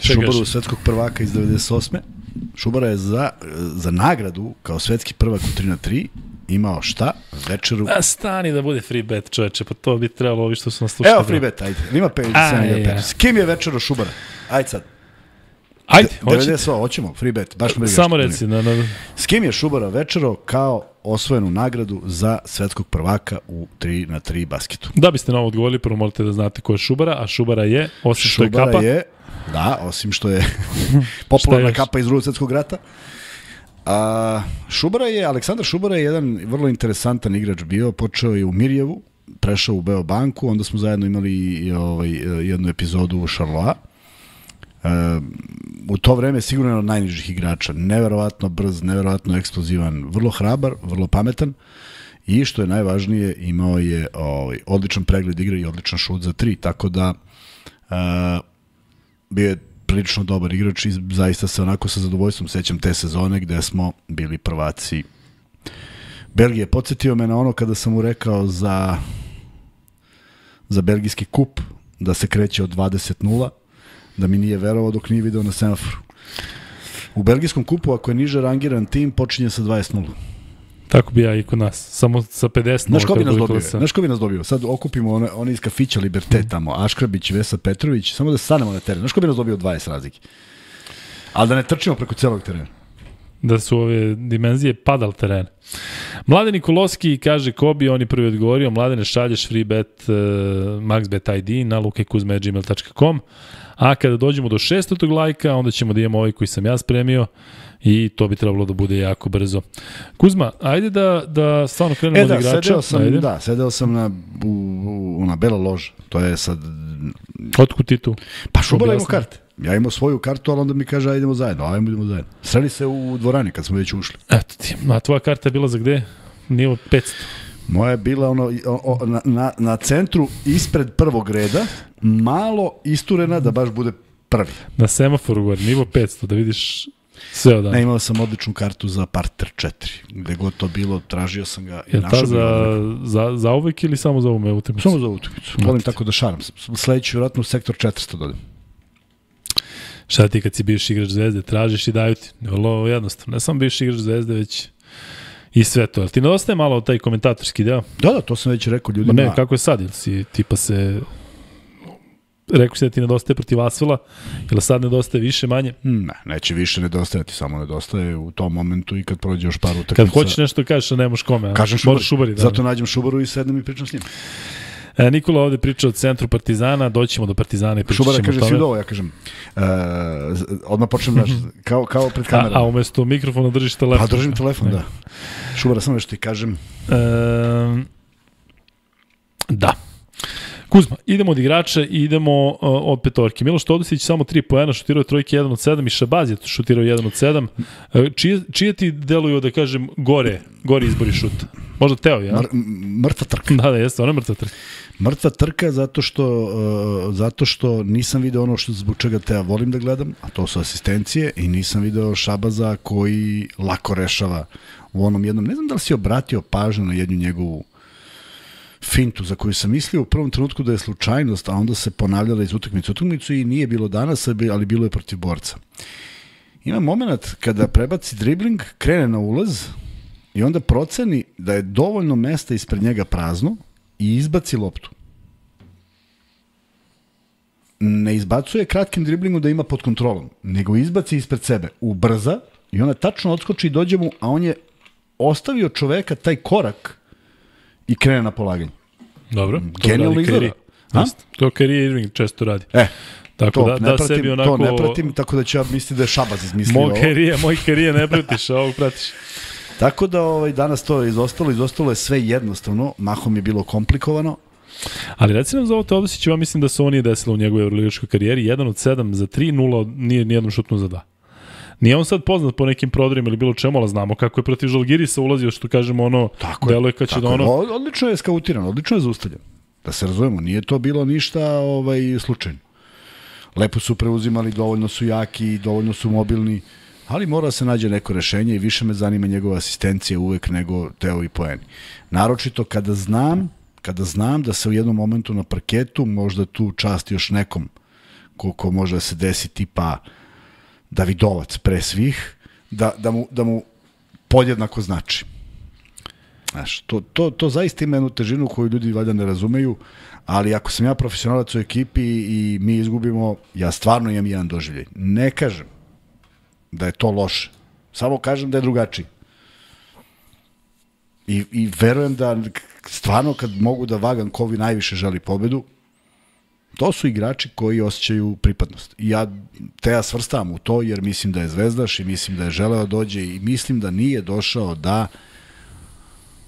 Šubaru, svetskog prvaka iz devedeset osme. Šubara je za, za nagradu, kao svetski prvak u tri na tri, imao šta? Večeru... A stani da bude free bet, čoveče, pa to bi trebalo ovi što su nas slušali. Evo free bet, ajde. Ima pet, ja. S kim je večero Šubara? Ajde sad. Ajde, devedeset hoćemo, free bet, baš me brigaš. Samo reci. Na, na... S kim je Šubara večero kao osvojenu nagradu za svetskog prvaka u tri na tri basketu? Da biste na ovo odgovorili, prvo morate da znate ko je Šubara, a Šubara je, osim što je kapa... Šubara je, da, osim što je popularna kapa iz drugog svetskog rata. A, Šubara je, Aleksandar Šubara je jedan vrlo interesantan igrač bio, počeo je u Mirjevu, prešao u Beobanku, onda smo zajedno imali i, ovaj, jednu epizodu u Šarloa. Uh, u to vreme sigurno je od najnižih igrača, neverovatno brz, neverovatno eksplozivan, vrlo hrabar, vrlo pametan i što je najvažnije, imao je ovaj, odličan pregled igre i odličan šut za tri, tako da uh, bio je prilično dobar igrač i zaista se onako sa zadovoljstvom sećam te sezone gde smo bili prvaci Belgije. Podsjetio me na ono kada sam mu rekao za za belgijski kup da se kreće od dvadeset nula, da mi nije verovao dok nije video na semaforu. U belgijskom kupu, ako je niže rangiran tim, počinje sa dvadeset nula. Tako bi ja i kod nas, samo sa pedeset nula. Znaš ko bi nas dobio? Znaš ko bi nas dobio? Sad okupimo one, one iz kafića Liberté tamo, Aškrabić, Vesa Petrović, samo da stanemo na teren. Znaš ko bi nas dobio dvadeset razlike? Ali da ne trčimo preko celog terena. Da su ove dimenzije padal teren. Mladen Nikolovski kaže Kobi, on je prvi odgovorio, Mladene šalješ free bet uh, maxbet I D na lukekuzme at gmail dot com, a kada dođemo do šestog lajka, onda ćemo da imamo ovaj koji sam ja spremio i to bi trebalo da bude jako brzo. Kuzma, ajde da, da stvarno krenemo e, od da, igrača. Sedeo sam, ajde. da, sedeo sam na, u, u, na bela loža. To je sad... Otkud ti tu? Pa Šubara imao karte. Ja imao svoju kartu, ali onda mi kaže, ajde idemo zajedno, ajde idemo zajedno. Sreli se u dvorani kad smo već ušli. Eto ti, a tvoja karta je bila za gde? Nivo petsto. Moja je bila ono, o, o, na, na, na centru ispred prvog reda, malo isturena da baš bude prvi. Na semaforu gore, nivo petsto, da vidiš sve od dana. Ne, imao sam odličnu kartu za parter četiri. Gde god to bilo, tražio sam ga i je našao ta za, za, za uvek ili samo za ovu utakmicu? Samo za utakmicu. Volim tako da šaram. Sledeću vjerojatno u sektor četiristo dodam. Šta ti kad si bivši igrač Zvezde, tražiš i daju ti. Vrlo jednostavno. Ne samo bivši igrač Zvezde, već i sve to. Ali ti nedostaje malo taj komentatorski deo? Da, da, to sam već rekao ljudima. Ma ne, kako je sad? Ili si tipa se... Rekao si da ti nedostaje protiv Asvela, ili sad nedostaje više, manje? Ne, neće više nedostajati, samo nedostaje u tom momentu i kad prođe još par utakmica. Kad hoćeš nešto kažeš, a nemaš kome. Kažem Šubari. Šubari, Da, zato nađem Šubaru i sednem i pričam s njim. E, Nikola ovde priča o centru Partizana, doćemo do Partizana i pričat ćemo o tome. Šubara kaže svi ovo, ja kažem, uh, odmah počnem, znaš, kao, kao pred kamerom. A, a umesto mikrofona držiš telefon. A držim telefon, ne. Da. Šubara, samo nešto ti kažem. E, da. Kuzma, idemo od igrača i idemo uh, od petorke. Miloš Todosić samo tri poena, šutirao trojke jedan od sedam i Šabaz je šutirao jedan od sedam. Uh, čije, čije ti deluju, da kažem, gore, gore izbori šuta? Možda Teo, ja? Mr, mrtva trka. Da, da, jeste, ona je mrtva trka. Mrtva trka zato što, uh, zato što nisam video ono što zbog čega Teo volim da gledam, a to su asistencije, i nisam video Šabaza koji lako rešava u onom jednom. Ne znam da li si obratio pažnju na jednu njegovu fintu za koju sam mislio u prvom trenutku da je slučajnost, a onda se ponavljala iz utakmice utakmicu i nije bilo danas, ali bilo je protiv borca. Ima moment kada prebaci dribling, krene na ulaz i onda proceni da je dovoljno mesta ispred njega prazno i izbaci loptu. Ne izbacuje kratkim driblingom da ima pod kontrolom, nego izbaci ispred sebe, ubrza i onda tačno odskoči i dođe mu, a on je ostavio čoveka taj korak i krene na polaganje. Dobro, to genijalno radi izgleda. Kyrie. To Kyrie Irving često radi. E, tako to, da, ne da pratim, sebi onako... to ne pratim, tako da ću ja misliti da je Šabaz izmislio moj ovo. Kyrie, moj Kyrie ne pratiš, a ovog pratiš. Tako da ovaj, danas to je izostalo, izostalo je sve jednostavno, mahom je bilo komplikovano. Ali reci nam za ovo Teodosić, ja mislim da se ovo nije desilo u njegovoj evroligaškoj karijeri, jedan od sedam za tri, nula nije nijednom šutnu za dva. Nije on sad poznat po nekim prodorima ili bilo čemu, ali znamo kako je protiv Žalgirisa ulazio, što kažemo ono, tako deluje kad će da ono... Je. Odlično je skautiran, odlično je zaustavljen. Da se razumemo, nije to bilo ništa ovaj, slučajno. Lepo su preuzimali, dovoljno su jaki, dovoljno su mobilni, ali mora se nađe neko rešenje i više me zanima njegova asistencija uvek nego Teo i poeni. Naročito kada znam, kada znam da se u jednom momentu na parketu možda tu čast još nekom ko, ko može da se desi tipa Davidovac pre svih, da, da, mu, da mu podjednako znači. Znaš, to, to, to zaista ima jednu težinu koju ljudi valjda ne razumeju, ali ako sam ja profesionalac u ekipi i mi izgubimo, ja stvarno imam jedan doživljaj. Ne kažem da je to loše, samo kažem da je drugačiji. I, i verujem da stvarno kad mogu da vagam ko vi najviše želi pobedu, to su igrači koji osjećaju pripadnost. I ja te ja svrstavam u to jer mislim da je zvezdaš i mislim da je želeo dođe i mislim da nije došao da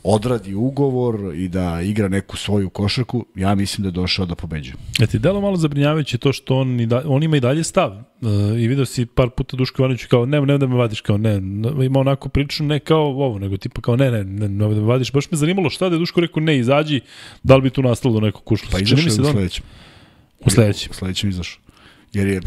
odradi ugovor i da igra neku svoju košarku. Ja mislim da je došao da pobeđuje. E ti delo malo zabrinjavajuće to što on, i da, on ima i dalje stav. E, I vidio si par puta Duško Ivanoviću kao ne, ne da me vadiš, kao ne. Ima onako priču ne kao ovo, nego tipa kao ne, ne, ne, ne da me vadiš. Baš me zanimalo šta da je Duško rekao ne, izađi, da li bi tu nastalo do nekog kušla. Pa izašao je u sledećem. U sledećem. U sledećem izašao. Jer je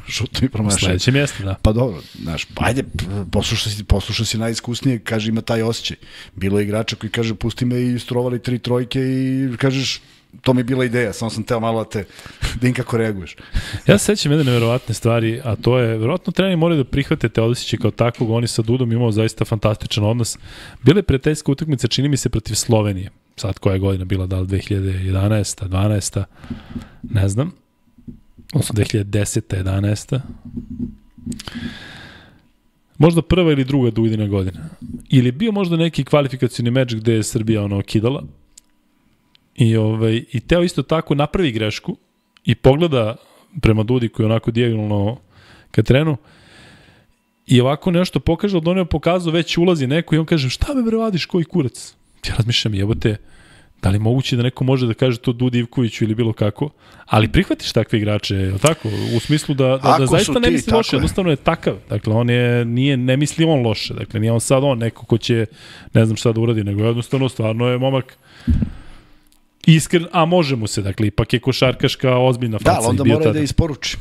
šutno i promašao. U sledećem mjestu, da. Pa dobro, znaš, ajde, poslušaj si, poslušaj si najiskusnije, kaže ima taj osjećaj. Bilo je igrača koji kaže pusti me i strovali tri trojke i kažeš to mi je bila ideja, samo sam teo malo da te, da im kako reaguješ. Ja se sećam jedne neverovatne stvari, a to je, verovatno treneri moraju da prihvate Teodosića kao takvog, oni sa Dudom imao zaista fantastičan odnos. Bila je prijateljska utakmica, čini mi se, protiv Slovenije. Sad koja je godina bila, da li dve hiljade jedanaesta, dvanaesta, ne znam. Odnosno dve hiljade deseta, jedanaesta. Možda prva ili druga Dudina godina. Ili je bio možda neki kvalifikacijni meč gde je Srbija ono kidala. I, ovaj, i Teo isto tako napravi grešku i pogleda prema Dudi koji je onako dijagonalno ka trenu i ovako nešto pokaže, od onog pokazao već ulazi neko i on kaže šta me bre vadiš, koji kurac? Ja razmišljam, jebote, da li moguće da neko može da kaže to Dudi Ivkoviću ili bilo kako, ali prihvatiš takve igrače, je li tako? U smislu da, da, da zaista ne misli loše, jednostavno je takav. Dakle, on je, nije, ne misli on loše, dakle, nije on sad on neko ko će, ne znam šta da uradi, nego jednostavno stvarno je momak iskren, a može mu se, dakle, ipak je košarkaška ozbiljna faca. Da, ali onda mora da isporuči.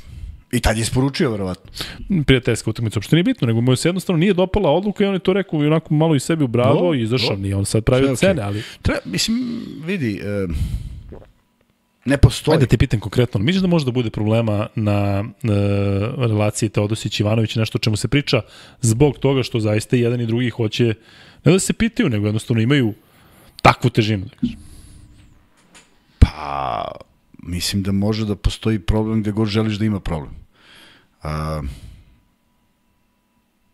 I tad je isporučio, verovatno. Prijateljska utakmica, uopšte nije bitno, nego mu se jednostavno nije dopala odluka i on je to rekao i onako malo i sebi u bravo no, i izašao, nije on sad pravio cene, ali... Treba, mislim, vidi, e, ne postoji. Ajde da te pitam konkretno, misliš da može da bude problema na e, relaciji Teodosić-Ivanović, nešto o čemu se priča, zbog toga što zaista jedan i drugi hoće, ne da se pitaju, nego jednostavno imaju takvu težinu, da kažem. Pa, mislim da može da postoji problem gde god želiš da ima problem. A,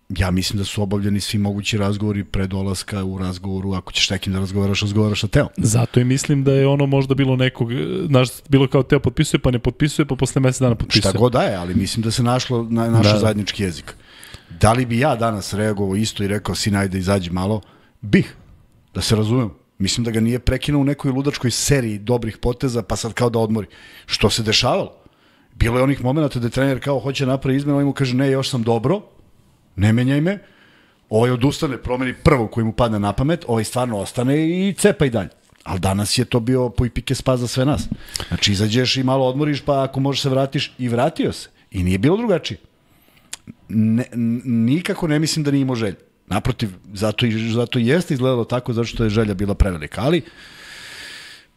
ja mislim da su obavljeni svi mogući razgovori pre dolaska u razgovoru, ako ćeš nekim da razgovaraš, razgovaraš sa Teom. Zato i mislim da je ono možda bilo nekog, znaš, bilo kao Teo potpisuje, pa ne potpisuje, pa posle mesec dana potpisuje. Šta god da je, ali mislim da se našlo na naš da. zajednički jezik. Da li bi ja danas reagovao isto i rekao, sin, ajde izađi malo? Bih, da se razumem. Mislim da ga nije prekinuo u nekoj ludačkoj seriji dobrih poteza, pa sad kao da odmori. Što se dešavalo? Bilo je onih momenta da trener kao hoće napravi izmenu, ovaj mu kaže ne, još sam dobro, ne menjaj me, ovaj odustane, promeni prvo koji mu padne na pamet, ovaj stvarno ostane i cepa i dalje. Ali danas je to bio poj pike spas za sve nas. Znači izađeš i malo odmoriš, pa ako možeš se vratiš, i vratio se. I nije bilo drugačije. Ne, nikako ne mislim da nije imao želj. Naprotiv, zato i zato jeste izgledalo tako, zato što je želja bila prevelika, ali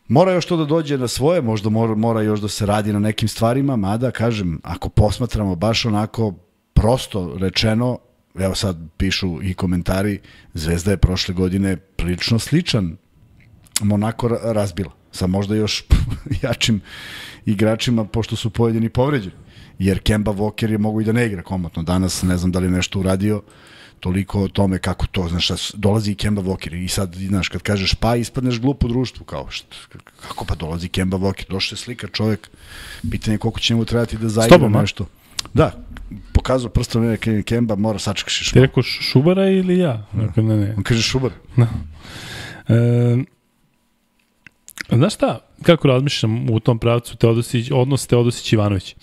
mora još to da dođe na svoje, možda mora, mora još da se radi na nekim stvarima, mada, kažem, ako posmatramo baš onako prosto rečeno, evo sad pišu i komentari, Zvezda je prošle godine prilično sličan Monako razbila, sa možda još jačim igračima, pošto su pojedini povređeni, jer Kemba Walker je mogu i da ne igra komotno danas, ne znam da li nešto uradio, toliko o tome kako to, znaš, dolazi i Kemba Walker i sad, znaš, kad kažeš pa, ispadneš glup u društvu, kao, šta, kako pa dolazi Kemba Walker, došao je slika čovjek, pitanje koliko će mu trebati da zaigra nešto. Da, pokazao prstom neke Kemba, mora sačekaš i Šubara. Ti rekao Šubara ili ja? Da. Ne, ne. On kaže Šubara. Da. E, znaš šta, kako razmišljam u tom pravcu Teodosić, odnos Teodosić-Ivanović?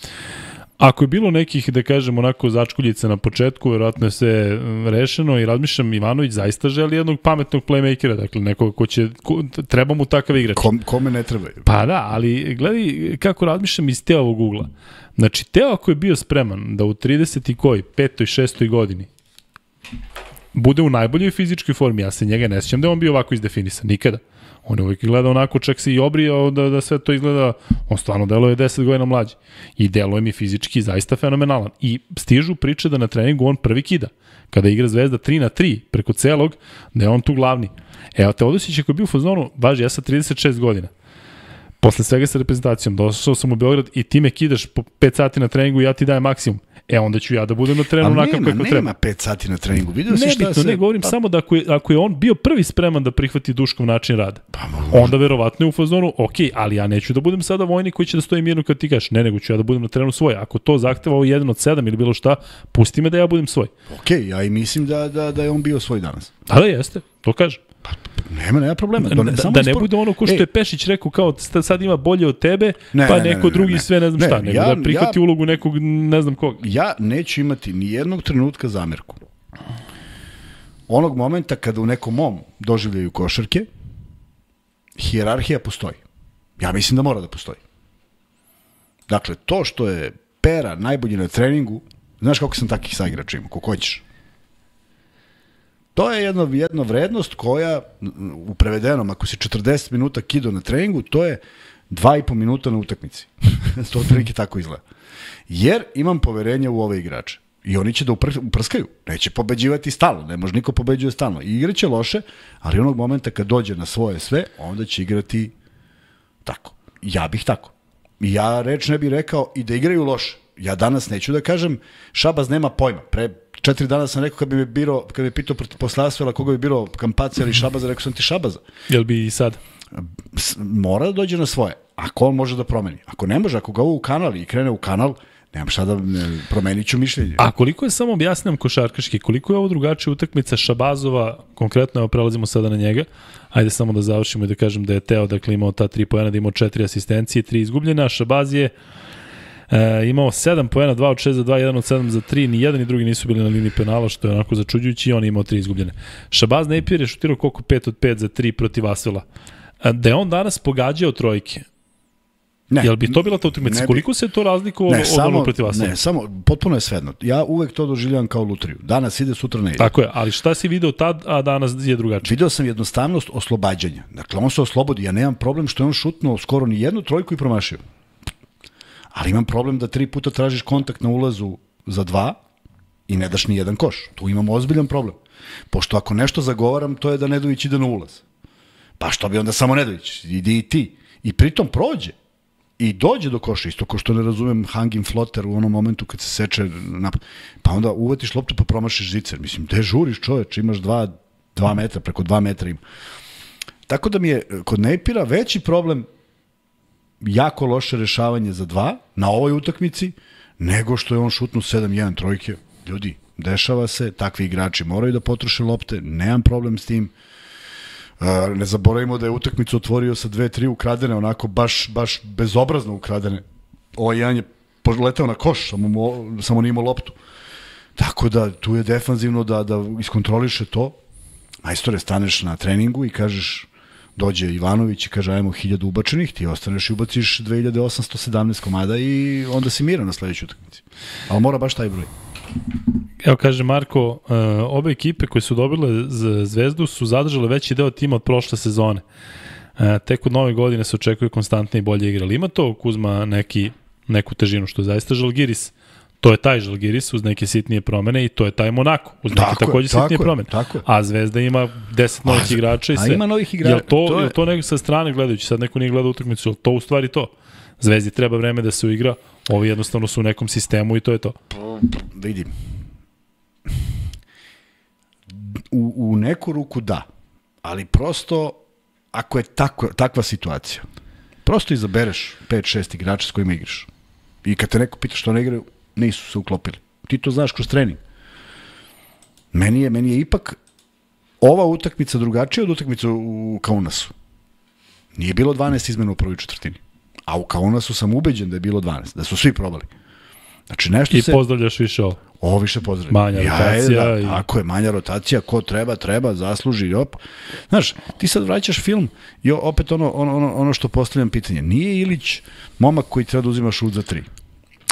Ako je bilo nekih, da kažem, onako začkuljica na početku, verovatno je sve rešeno i razmišljam, Ivanović zaista želi jednog pametnog playmakera, dakle nekoga ko će, ko, treba mu takav igrač. Kom, kome ne treba? Pa da, ali gledaj kako razmišljam iz Teovog ugla. Znači, Teo ako je bio spreman da u trideset i koji, petoj, šestoj godini bude u najboljoj fizičkoj formi, ja se njega ne sjećam da je on bio ovako izdefinisan, nikada. On je uvijek gleda onako, čak se i obrijao da, da sve to izgleda, on stvarno deluje deset godina mlađi. I deluje mi fizički zaista fenomenalan. I stižu priče da na treningu on prvi kida. Kada igra Zvezda tri na tri preko celog, da je on tu glavni. Evo, Teodosić ako je bio u fazonu, važi, ja sam trideset šest godina. Posle svega sa reprezentacijom, došao sam u Beograd i ti me kidaš po pet sati na treningu i ja ti dajem maksimum. E, onda ću ja da budem na trenu onakav kako treba. Ali nema pet sati na treningu. Vidio si šta bitno, se... ne, govorim pa... samo da ako je, ako je on bio prvi spreman da prihvati Duškov način rada, pa, onda verovatno je u fazonu, ok, ali ja neću da budem sada vojnik koji će da stoji mirno kad ti kažeš, ne, nego ću ja da budem na trenu svoj. Ako to zahteva ovo jedan od sedam ili bilo šta, pusti me da ja budem svoj. Ok, ja i mislim da, da, da je on bio svoj danas. Da, da jeste, to kažem. Nema, nema problema. Da, ne, da, da ne bude ono ko što Ej. je Pešić rekao kao sad ima bolje od tebe, ne, pa ne, neko ne, ne, drugi ne, sve ne znam ne, šta, nego ja, da prihvati ja, ulogu nekog ne znam koga. Ja neću imati ni jednog trenutka zamerku. Onog momenta kada u nekom mom doživljaju košarke, hijerarhija postoji. Ja mislim da mora da postoji. Dakle, to što je Pera najbolji na treningu, znaš kako sam takih saigrača ima, kako hoćeš. To je jedna, jedna vrednost koja, u prevedenom, ako si četrdeset minuta kido na treningu, to je Dva i po minuta na utakmici. To otprilike tako izgleda. Jer imam poverenja u ove igrače. I oni će da upr uprskaju. Neće pobeđivati stalno. Ne može niko pobeđuje stalno. I igraće loše, ali onog momenta kad dođe na svoje sve, onda će igrati tako. Ja bih tako. I ja reč ne bih rekao i da igraju loše. Ja danas neću da kažem Šabaz nema pojma. Pre četiri dana sam rekao kad bi me biro, kad bi pitao posle Asvela koga bi biro Kampacija ili Šabaza, rekao sam ti Šabaza. Jel bi i sad? Mora da dođe na svoje. Ako on može da promeni. Ako ne može, ako ga ovo u kanal i krene u kanal, nemam šta da ne, promenit ću mišljenje. A koliko je, samo objasnjam košarkaški, koliko je ovo drugačija utakmica Šabazova, konkretno, evo prelazimo sada na njega, ajde samo da završimo i da kažem da je Teo, dakle, imao ta tri poena, da imao četiri asistencije, tri izgubljena, a Šabaz je e, imao sedam poena, dva od šest za dva, jedan od sedam za tri, ni jedan ni drugi nisu bili na liniji penala, što je onako začuđujući, i on je imao tri izgubljene. Šabaz Napier je šutirao koliko pet od pet za tri protiv Asvela. Da je on danas pogađao trojke, ne, jel bi to bila ta utakmica? Koliko se to razlikovalo od onog protiv Asvela? Ne, samo, potpuno je svejedno. Ja uvek to doživljavam kao lutriju. Danas ide, sutra ne ide. Tako je, ali šta si video tad, a danas je drugačije? Video sam jednostavnost oslobađanja. Dakle, on se oslobodi. Ja nemam problem što je on šutnuo skoro ni jednu trojku i promašio. Ali imam problem da tri puta tražiš kontakt na ulazu za dva i ne daš ni jedan koš. Tu imamo ozbiljan problem. Pošto ako nešto zagovaram, to je da Nedović ide na ulaz. Pa što bi onda samo Nedović? Idi i ti. I pritom prođe. I dođe do koša, isto ko što ne razumem hanging floater u onom momentu kad se seče napad. Pa onda uvatiš loptu pa promašiš žicer. Mislim, gde žuriš čoveč, imaš dva, dva metra, preko dva metra ima. Tako da mi je kod Napira veći problem jako loše rešavanje za dva na ovoj utakmici, nego što je on šutnuo sedam jedan trojke. Ljudi, dešava se, takvi igrači moraju da potroše lopte, nemam problem s tim. Ne zaboravimo da je utakmicu otvorio sa dve tri ukradene, onako baš, baš bezobrazno ukradene. Ovaj jedan je letao na koš, samo, mo, samo nije imao loptu. Tako da tu je defanzivno da, da iskontroliše to. Majstore, staneš na treningu i kažeš, dođe Ivanović i kaže ajmo hiljadu ubačenih, ti ostaneš i ubaciš dve hiljade osamsto sedamnaest komada i onda si miran na sledećoj utakmici. Ali mora baš taj broj. Evo kaže Marko, uh, obe ekipe koje su dobile Zvezdu su zadržale veći deo tima od prošle sezone. Uh, tek od nove godine se očekuje konstantne i bolje igre. Ali ima to, Kuzma, neki, neku težinu, što je zaista Žalgiris. To je taj Žalgiris uz neke sitnije promene i to je taj Monako uz neke tako takođe tako sitnije je, promene. Tako a Zvezda ima deset novih igrača i sve. A ima novih igrača. Jel to, to, je... to nego sa strane gledajući, sad neko nije gledao utakmicu, jel to u stvari to? Zvezdi treba vreme da se uigra, ovi jednostavno su u nekom sistemu i to je to. Vidim. U, u neku ruku da, ali prosto ako je tako, takva situacija, prosto izabereš pet šest igrača s kojima igraš. I kad te neko pita što ne igraju, nisu se uklopili. Ti to znaš kroz trening. Meni je, meni je ipak ova utakmica drugačija od utakmice u Kaunasu. Nije bilo dvanaest izmena u prvoj četvrtini. A u Kaunasu sam ubeđen da je bilo dvanaest, da su svi probali. Znači nešto I se... pozdravljaš više ovo. Ovo više pozdravljam. Manja rotacija. Ja, da, i... Tako je, manja rotacija, ko treba, treba, zasluži, op. Znaš, ti sad vraćaš film i opet ono, ono, ono što postavljam pitanje. Nije Ilić momak koji treba da uzima šut za tri.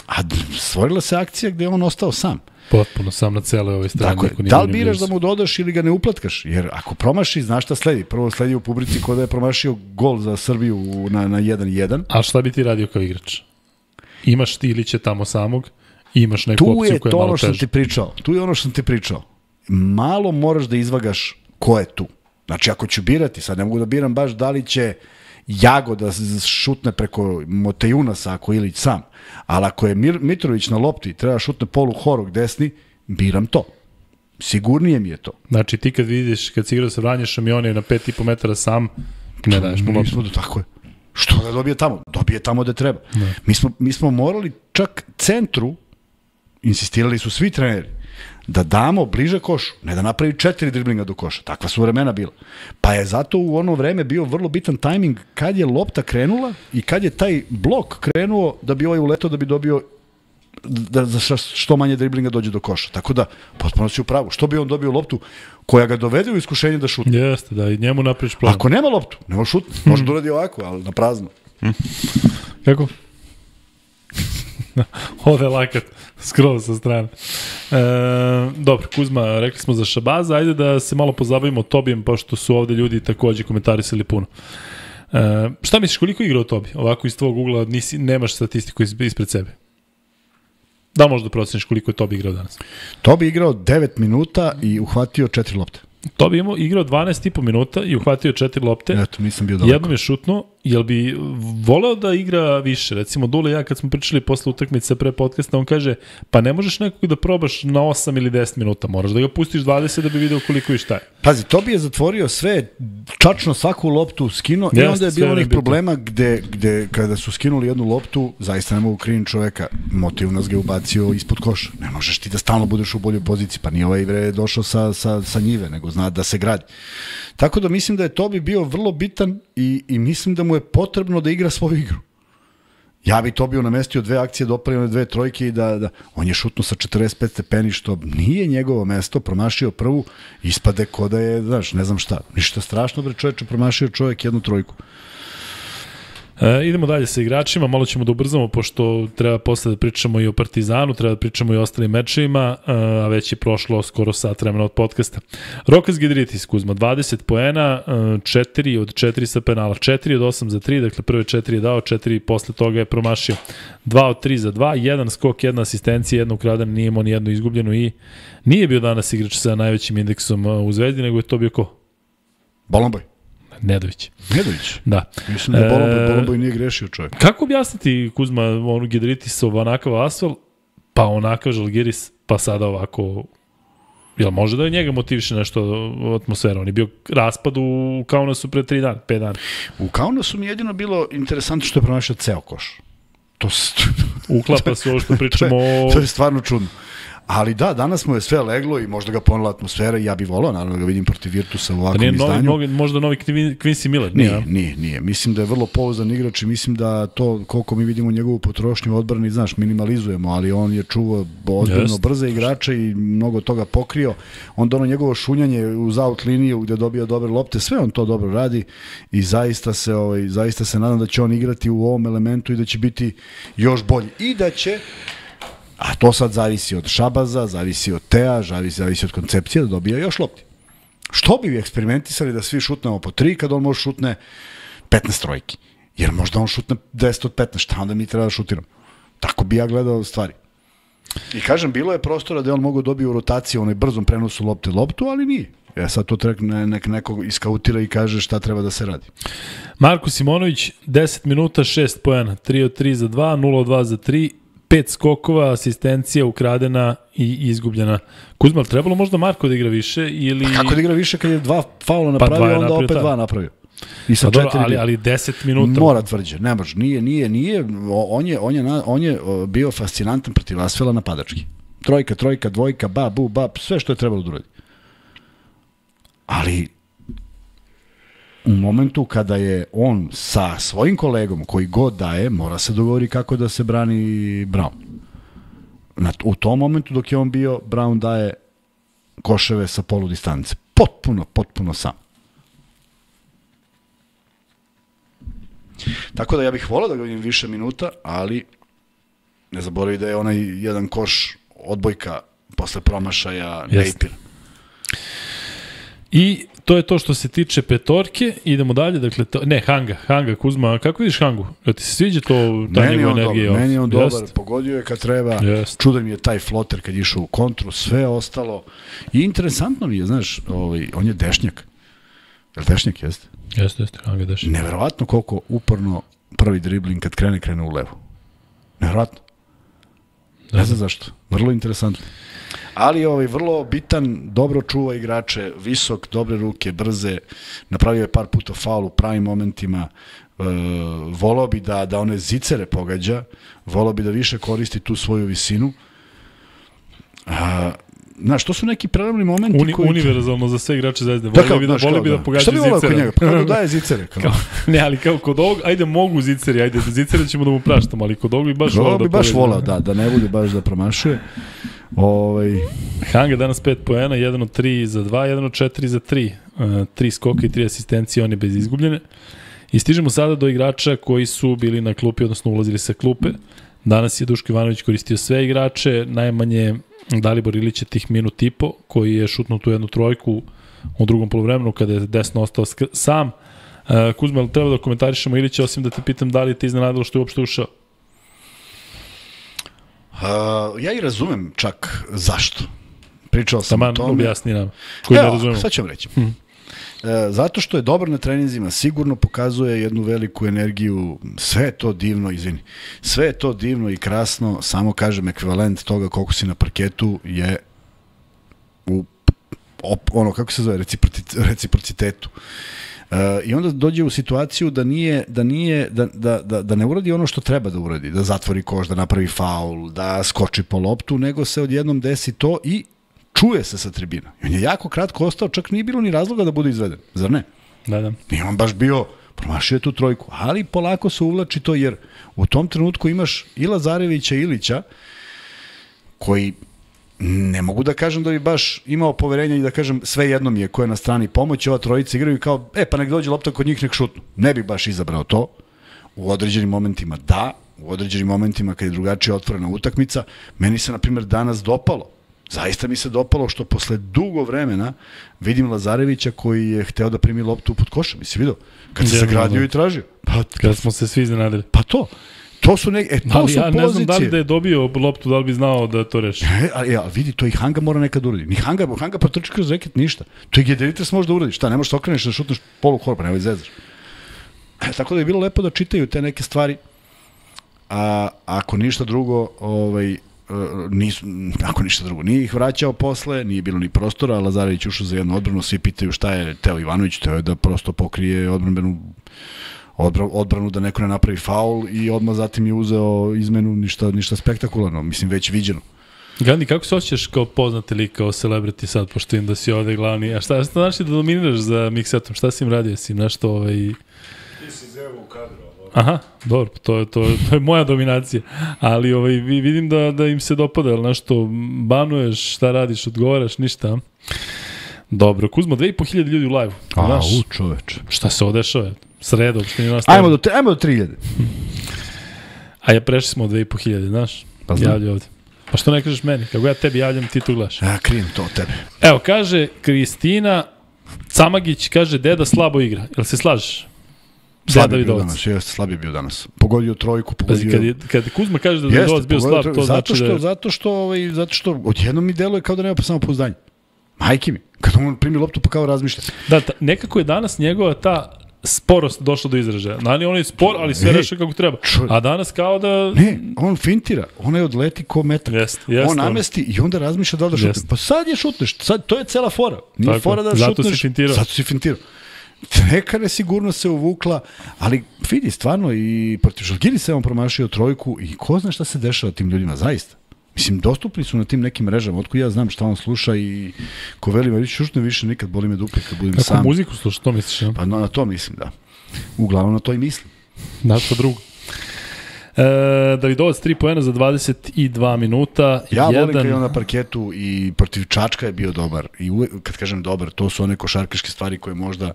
A stvorila se akcija gde je on ostao sam. Potpuno sam na celoj ovoj strani. Tako je, da li biraš da mu dodaš ili ga ne uplatkaš? Jer ako promaši, znaš šta sledi. Prvo sledi u publici ko da je promašio gol za Srbiju na, na jedan jedan. A šta bi ti radio kao igrač? Imaš ti Ilića tamo samog, imaš neku tu opciju koja je malo teža. Tu je to ono što ti pričao. Tu je ono što sam ti pričao. Malo moraš da izvagaš ko je tu. Znači, ako ću birati, sad ne mogu da biram baš da li će Jago da šutne preko Motejunasa ako Ilić sam. Ali ako je Mir, Mitrović na lopti treba šutne polu horog desni, biram to. Sigurnije mi je to. Znači, ti kad vidiš, kad si igrao sa Vranješom i on je na pet i po metara sam, ne daješ mu loptu. Tako je. Što da dobije tamo? Dobije tamo gde treba. Mi smo, mi smo morali čak centru, insistirali su svi treneri, da damo bliže košu, ne da napravi četiri driblinga do koša. Takva su vremena bila. Pa je zato u ono vreme bio vrlo bitan tajming kad je lopta krenula i kad je taj blok krenuo da bi ovaj uletao da bi dobio da za što manje driblinga dođe do koša. Tako da, potpuno si u pravu. Što bi on dobio loptu koja ga dovede u iskušenje da šutne? Jeste, da i njemu napraviš plan. Ako nema loptu, nema šutne. Može da uradi ovako, ali na prazno. Kako? Ode lakat, skroz sa strane. E, dobro, Kuzma, rekli smo za Šabaza, ajde da se malo pozabavimo Tobijem, pošto su ovde ljudi takođe komentarisali puno. E, šta misliš, koliko igra od Tobi? Ovako iz tvojeg ugla nisi, nemaš statistiku ispred sebe. Da možda proceniš koliko je Tobi igrao danas? Tobi igrao devet minuta i uhvatio četiri lopte. Tobi imao igrao dvanaest i po minuta i uhvatio četiri lopte. Eto, nisam bio daleko. Jednom je šutnuo. Jel bi voleo da igra više? Recimo, Dule i ja kad smo pričali posle utakmice pre podcasta, on kaže, pa ne možeš nekog da probaš na osam ili deset minuta, moraš da ga pustiš dvadeset da bi video koliko i šta je. Pazi, Tobi je zatvorio sve, čačno svaku loptu skinuo i onda je bilo onih problema gde, gde kada su skinuli jednu loptu, zaista ne mogu krivim čoveka, motiv nas ga je ubacio ispod koša. Ne možeš ti da stalno budeš u boljoj poziciji, pa nije ovaj bre došao sa, sa, sa njive, nego zna da se gradi. Tako da mislim da je Tobi bio vrlo bitan i, i mislim da mu je potrebno da igra svoju igru. Ja bi Tobiju namestio dve akcije, dopravio dve trojke i da, da... On je šutno sa četrdeset pet stepeni, što nije njegovo mesto, promašio prvu, ispade ko da je, znaš, ne znam šta. Ništa strašno, bre čoveče, promašio čovjek jednu trojku. E, idemo dalje sa igračima, malo ćemo da ubrzamo, pošto treba posle da pričamo i o Partizanu, treba da pričamo i o ostalim mečevima, a već je prošlo skoro sat vremena od podcasta. Rokas Gidritis, Kuzma, dvadeset poena, četiri od četiri sa penala, četiri od osam za tri, dakle prve četiri je dao, četiri posle toga je promašio. dva od tri za dva, jedan skok, jedna asistencija, jedna ukradena, nije imao ni jednu izgubljenu i nije bio danas igrač sa najvećim indeksom u Zvezdi, nego je to bio ko? Bolomboj. Nedović. Nedović? Da. Mislim da Bolomboj, e, Bolomboj nije grešio čovjek. Kako objasniti, Kuzma, onu Gidritisov onakav Asfel, pa onakav Žalgiris, pa sada ovako... Jel može da je njega motiviše nešto atmosfera? On je bio raspad u Kaunasu pre tri dana, pet dana. U Kaunasu mi jedino bilo interesantno što je pronašao ceo koš. To s... Uklapa se ovo što pričamo o... To je stvarno čudno. Ali da, danas mu je sve leglo i možda ga ponela atmosfera i ja bih volao, naravno, da ga vidim protiv Virtusa u ovakvom izdanju. Novi, možda novi Quincy Miller? Nije, nije, nije, nije. Mislim da je vrlo pouzdan igrač i mislim da to, koliko mi vidimo njegovu potrošnju odbrani, znaš, minimalizujemo, ali on je čuvao ozbiljno brze igrače i mnogo toga pokrio. Onda ono njegovo šunjanje uz out liniju gde dobija dobre lopte, sve on to dobro radi i zaista se, ovaj, zaista se nadam da će on igrati u ovom elementu i da će biti još bolji. I da će... A to sad zavisi od Šabaza, zavisi od Tea, zavisi, zavisi od koncepcije da dobija još lopti. Što bi vi eksperimentisali da svi šutnemo po tri kad on može šutne petnaest trojki? Jer možda on šutne deset od petnaest, šta onda mi treba da šutiramo? Tako bi ja gledao stvari. I kažem, bilo je prostora da on mogu dobiti u rotaciji, onaj brzom prenosu lopte loptu, ali nije. Ja sad to treba nek, neko iskautira i kaže šta treba da se radi. Marko Simonović, deset minuta, šest poena, tri od tri za dva, nula od dva za tri, pet skokova, asistencija ukradena i izgubljena. Kuzma, trebalo možda Marko da igra više ili... Pa kako da igra više kad je dva faula napravio, pa onda napravio, opet ta. dva napravio. I sa dobro, ali, ali deset minuta... Mora tvrđe, ne može, nije, nije, nije. On je, on je, on je bio fascinantan protiv Asfela napadački. Trojka, trojka, dvojka, ba, bu, ba, sve što je trebalo da uradi. Ali... U momentu kada je on sa svojim kolegom, koji god daje, mora se dogovori kako da se brani Brown. Na, u tom momentu dok je on bio, Brown daje koševe sa polu distance. Potpuno, potpuno sam. Tako da ja bih volao da ga vidim više minuta, ali ne zaboravi da je onaj jedan koš odbojka posle promašaja Napier. I to je to što se tiče petorke. Idemo dalje, dakle, to, ne, Hanga, Hanga, Kuzma, kako vidiš Hangu? Ja ti se sviđa to, ta njegova energija? Meni je on dobar, dobar, pogodio je kad treba, Jest. Čudan mi je taj floter kad je išao u kontru, sve ostalo. I interesantno mi je, znaš, ovaj, on je dešnjak. Je li dešnjak, jeste? Jeste, jeste, Hanga je dešnjak. Neverovatno koliko uporno prvi dribling kad krene, krene u levo. Neverovatno. Ne znam zašto. Vrlo interesantno. Ali ovaj vrlo bitan, dobro čuva igrače, visok, dobre ruke, brze, napravio je par puta faul u pravim momentima, e, volao bi da, da one zicere pogađa, volao bi da više koristi tu svoju visinu. A, znaš, to su neki prelomni momenti Uni, koji... Univerzalno za sve igrače Zvezde. Voli bi da, voli bi da, da pogađa zicere. Šta bi volao kod njega? Pa kako daje zicere? Kao, ne, ali kao kod ovog, ajde mogu ziceri, ajde zicere ćemo da mu praštamo, ali kod ovog bi baš volao da bi baš volao, da, da ne bude baš da promašuje. Ovaj... Hanga danas pet poena, jedan od tri za dva, jedan od četiri za tri. Uh, tri skoka i tri asistencije, on je bez izgubljene. I stižemo sada do igrača koji su bili na klupi, odnosno ulazili sa klupe. Danas je Duško Ivanović koristio sve igrače, najmanje Dalibor Ilić je tih minut i po, koji je šutnuo tu jednu trojku u drugom polovremenu kada je desno ostao sam. Uh, Kuzma, ali treba da komentarišemo Ilića, osim da te pitam da li te iznenadilo što je uopšte ušao? Uh, ja i razumem čak zašto. Pričao sam Taman, o tome. objasni nam, koji Evo, ne razumemo. sad ću vam reći. Hmm. E, zato što je dobar na treninzima, sigurno pokazuje jednu veliku energiju, sve je to divno, izvini, sve je to divno i krasno, samo kažem, ekvivalent toga koliko si na parketu je u op, ono, kako se zove, reciprocitetu. E, I onda dođe u situaciju da nije, da nije, da, da, da, da ne uradi ono što treba da uradi, da zatvori koš, da napravi faul, da skoči po loptu, nego se odjednom desi to i čuje se sa tribina. I on je jako kratko ostao, čak nije bilo ni razloga da bude izveden, zar ne? Da, da. I on baš bio, promašio je tu trojku, ali polako se uvlači to, jer u tom trenutku imaš i Lazarevića i Ilića, koji ne mogu da kažem da bi baš imao poverenja i da kažem sve jedno mi je ko je na strani pomoći, ova trojica igraju kao, e pa nek dođe lopta kod njih, nek šutnu. Ne bih baš izabrao to. U određenim momentima da, u određenim momentima kad je drugačije otvorena utakmica, meni se na primjer danas dopalo. Zaista mi se dopalo što posle dugo vremena vidim Lazarevića koji je hteo da primi loptu pod košem. Jesi vidio? Kad se zagradio i tražio. Pa, Kad smo se svi iznenadili. Pa to. To su neke, e, to ali su ja pozicije. ne znam da li da je dobio loptu, da li bi znao da to reši. E, ali, ali vidi, to i Hanga mora nekad uraditi. Ni Hanga, Hanga protrči kroz reket, ništa. To i Gederitres može da uradi. Šta, ne možeš da okreneš da šutneš polu korpa, nemoj zezaš. E, tako da je bilo lepo da čitaju te neke stvari. A ako ništa drugo, ovaj, nisu, ako ništa drugo, nije ih vraćao posle, nije bilo ni prostora, Lazarević ušao za jednu odbranu, svi pitaju šta je Teo Ivanović, teo je da prosto pokrije odbranbenu odbranu da neko ne napravi faul i odmah zatim je uzeo izmenu, ništa, ništa spektakularno, mislim već viđeno. Gandhi, kako se osjećaš kao poznati lik, kao celebrity sad, pošto im da si ovde glavni, a šta, šta znaš da dominiraš za Miksetom, šta si im radio, si im nešto ovaj... Ti si zevo u kadru. Aha, dobro, to je, to, to je moja dominacija, ali ovaj, vidim da, da im se dopada, ali nešto banuješ, šta radiš, odgovaraš, ništa. Dobro, Kuzmo, dve i po hiljade ljudi u live-u. A, u čoveče. Šta se odešava? Sredo, uopšte nije nastavljeno. Ajmo do, te, ajmo do tri hiljade. A ja prešli smo od dve i po hiljade, znaš? Pa znam. Javlja ovde. Pa što ne kažeš meni? Kako ja tebi javljam, ti to gledaš. Ja krijem to od tebe. Evo, kaže Kristina Camagić, kaže, deda slabo igra. Jel se slažeš? Slab je bio danas, jeste, slab je bio danas. Pogodio trojku, pogodio... Kad, je, kad Kuzma kaže da je Davidovac bio slab, to zato znači što, da je... Zato što, ovaj, zato što odjednom mi deluje kao da nema pa samo pouzdanje. Majke mi, kad on primi loptu pa kao razmišlja. Da, ta, nekako je danas njegova ta sporost došla do izražaja. Nani, on je spor, ali sve reše kako treba. Čo... A danas kao da... Ne, on fintira, on je odleti ko metak. Jest, jest, on namesti on... i onda razmišlja da li da šutne. Pa sad je šutneš, sad, to je cela fora. Nije tako, fora da zato šutneš. Zato si fintirao. Zato si fintirao. Neka nesigurnost se uvukla, ali vidi, stvarno i protiv Žalgiris se on promašio trojku i ko zna šta se dešava tim ljudima, zaista. Mislim, dostupni su na tim nekim mrežama, otko ja znam šta on sluša i ko veli me, šušne više nikad, boli me dupe kad budem Kako sam. Kako muziku sluša, to misliš? Ja? Pa no, na to mislim, da. Uglavnom na to i mislim. Na što drugo. E, Davidovac tri poena za dvadeset dva minuta. Ja volim jedan... kad je on na parketu i protiv Čačka je bio dobar. I uvek, kad kažem dobar, to su one košarkaške stvari koje možda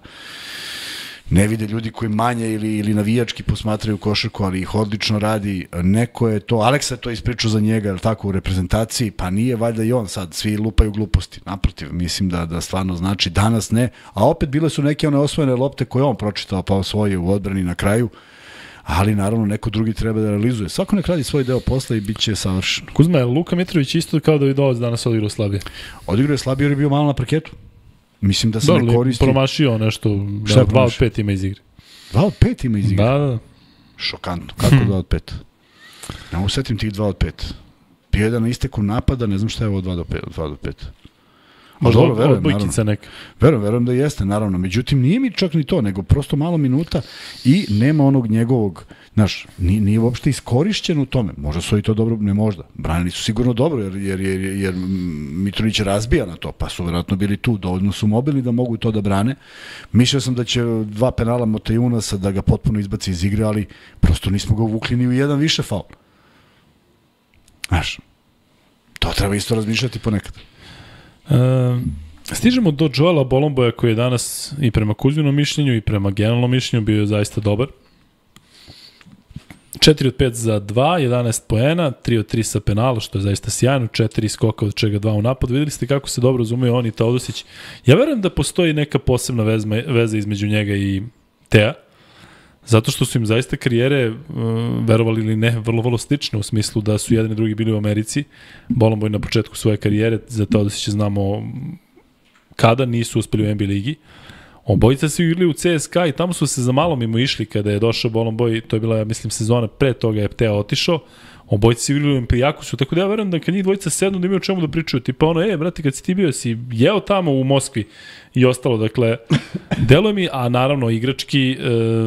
ne vide ljudi koji manje ili, ili navijački posmatraju košarku, ali ih odlično radi. Neko je to, Aleksa je to ispričao za njega, je li tako, u reprezentaciji, pa nije valjda i on sad, svi lupaju gluposti. Naprotiv, mislim da, da stvarno znači danas ne, a opet bile su neke one osvojene lopte koje on pročitao pa osvojio u odbrani na kraju, ali naravno neko drugi treba da realizuje. Svako nek radi svoj deo posla i bit će savršen. Kuzma, je Luka Mitrović isto kao Davidovac danas odigrao slabije? Odigrao je slabije jer je bio malo na parketu. Mislim da se Dobre, ne koristi... promašio nešto, da, dva od pet ima iz igre. Dva od pet ima iz igre? Da, da. Šokantno. Kako dva od pet? Ne mogu setim tih dva od pet. Bio jedan na isteku napada, ne znam šta je ovo dva do pet. Dva do pet. Možda dobro, verujem, odbojkica neka. Verujem, verujem da jeste, naravno. Međutim, nije mi čak ni to, nego prosto malo minuta i nema onog njegovog, znaš, nije, nije uopšte iskorišćen u tome. Možda su i to dobro, ne možda. Branili su sigurno dobro, jer, jer, jer, jer Mitrović razbija na to, pa su vjerojatno bili tu, dovoljno su mobilni da mogu to da brane. Mišljao sam da će dva penala Motajunasa da ga potpuno izbaci iz igre, ali prosto nismo ga uvukli ni u jedan više faul. Znaš, to treba isto razmišljati ponekad. Uh, stižemo do Joela Bolomboja koji je danas i prema Kuzminom mišljenju i prema generalnom mišljenju bio zaista dobar. četiri od pet za dva, jedanaest poena, tri od tri sa penala, što je zaista sjajno, četiri skoka od čega dva u napad. Videli ste kako se dobro razumeju on i Teodosić. Ja verujem da postoji neka posebna vezma, veza između njega i Tea, zato što su im zaista karijere, uh, verovali ili ne, vrlo, vrlo slične u smislu da su jedan i drugi bili u Americi. Bolomboy na početku svoje karijere, za to da se će znamo kada nisu uspeli u N B A ligi. Obojica su igrali u C S K A i tamo su se za malo mimo išli kada je došao Bolomboy, to je bila, ja mislim, sezona pre toga je Tea otišao. Obojica su igrali u Olimpijakusu, tako da ja verujem da kad njih dvojica sednu da imaju o čemu da pričaju, tipa ono, e, brate, kad si ti bio, si jeo tamo u Moskvi i ostalo, dakle, deluje mi, a naravno igrački, e,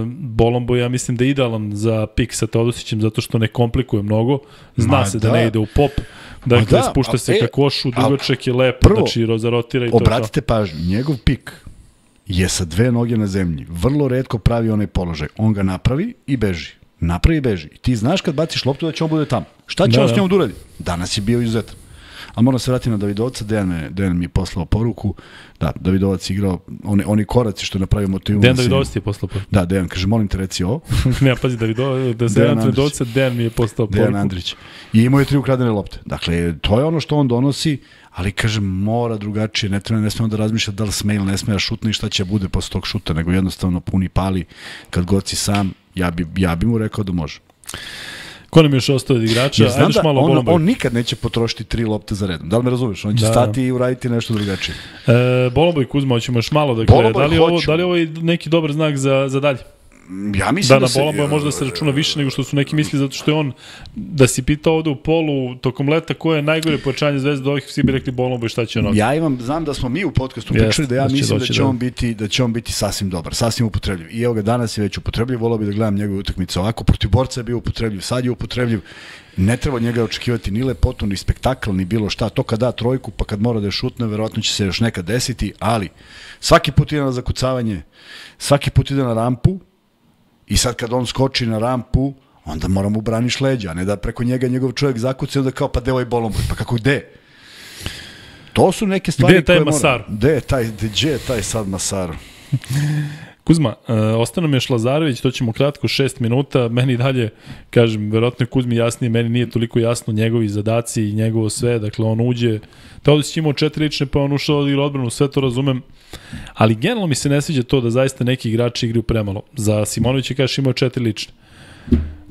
Bolomboy, ja mislim da je idealan za pik sa Teodosićem, zato što ne komplikuje mnogo, zna Ma, se da. da ne ide u pop, dakle, da, spušta se e, ka košu, dugačak je lep, prvo, znači rozarotira i to. Obratite pažnju, njegov pik je sa dve noge na zemlji, vrlo retko pravi onaj položaj, on ga napravi i beži. Napravi i beži. I ti znaš kad baciš loptu da će on bude tamo. Šta će da, on s njom da uradi? Danas je bio izuzetan. Ali moram se vratiti na Davidovca, Dejan, me, Dejan mi je poslao poruku, da, Davidovac igrao, oni, oni koraci što je napravio motivu. Dejan Davidovac ti je poslao poruku. Da, Dejan, kaže, molim te reci ovo. ne, pazi, Davidovac, da se Dejan Davidovca, Dejan mi je poslao poruku. Dejan Andrić. I imao je tri ukradene lopte. Dakle, to je ono što on donosi, ali kažem, mora drugačije, ne treba, ne smemo da razmišlja da li sme ili ne sme da šutne i šta će bude posle tog šuta, nego jednostavno puni pali kad god si sam, ja bi, ja bi mu rekao da može. Ko nam je još ostao od igrača? Znam da malo on, on nikad neće potrošiti tri lopte za redom. Da li me razumeš? On će da. stati i uraditi nešto drugačije. E, Bolomboy, Kuzma, hoćemo još malo. Dakle, da, li ovo, da li ovo je neki dobar znak za, za dalje? Ja mislim da, da se... Da, na Bolomboja možda se računa više nego što su neki misli, zato što je on, da si pitao ovde u polu, tokom leta, koje je najgore pojačanje Zvezde, ovih svi bi rekli Bolomboy, šta će on? Ja imam, znam da smo mi u podcastu pričali da ja da mislim da će, da. On biti, da će on biti sasvim dobar, sasvim upotrebljiv. I evo ga, danas je već upotrebljiv, volao bi da gledam njegove utakmice ovako, protiv borca je bio upotrebljiv, sad je upotrebljiv. Ne treba od njega očekivati ni lepotu, ni spektakl, ni bilo šta. To kad da trojku, pa kad mora da je šutne, verovatno će se još nekad desiti, ali svaki put ide na zakucavanje, svaki put ide na rampu. I sad kad on skoči na rampu, onda mora mu braniš leđa, a ne da preko njega njegov čovjek zakuca i onda kao, pa deo je Bolomboy, pa kako gde? To su neke stvari koje mora. Gde je taj Masar? Gde je taj, gde je taj sad Masar? Kuzma, uh, ostane mi još Lazarević, to ćemo kratko, šest minuta, meni dalje, kažem, verovatno je Kuzmi jasnije, meni nije toliko jasno njegovi zadaci i njegovo sve, dakle on uđe, Teodosić imao četiri lične, pa on ušao od igra odbranu, sve to razumem, ali generalno mi se ne sviđa to da zaista neki igrači igraju premalo. Za Simonovića kažeš imao četiri lične,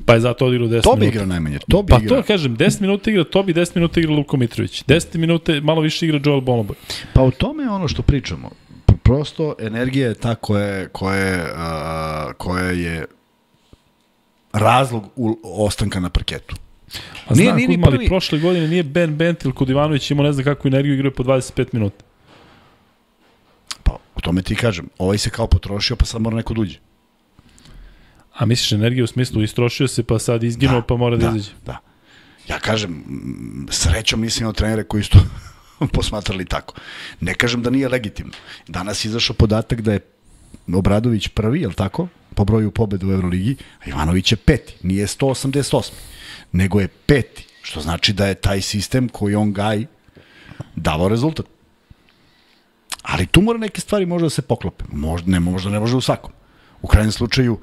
pa je zato odigrao deset minuta. To bi igrao najmanje, to bi Pa igrao. to kažem, deset minuta igra Tobi, deset minuta igra Luko Mitrović, deset minuta malo više igra Joel Bolomboy. Pa o tome je ono što pričamo. Prosto energija je ta koja, koja, uh, koja je razlog u, ostanka na parketu. A nije, znam, nije Kuzma, prvi... ali prošle godine nije Ben Bentil kod Ivanović imao ne znam kakvu energiju, igrao po dvadeset pet minuta. Pa, u tome ti kažem, ovaj se kao potrošio, pa sad mora neko duđe. A misliš energiju u smislu, istrošio se, pa sad izginuo, da, pa mora da, da izađe? Da, ja kažem, srećom nisam imao trenere koji su posmatrali tako. Ne kažem da nije legitimno. Danas je izašao podatak da je Obradović prvi, je li tako? Po broju pobjeda u Euroligi, a Ivanović je peti. Nije sto osamdeset osam, nego je peti. Što znači da je taj sistem koji on gaji davao rezultat. Ali tu mora neke stvari možda da se poklope. Možda ne, možda ne može u svakom. U krajnjem slučaju,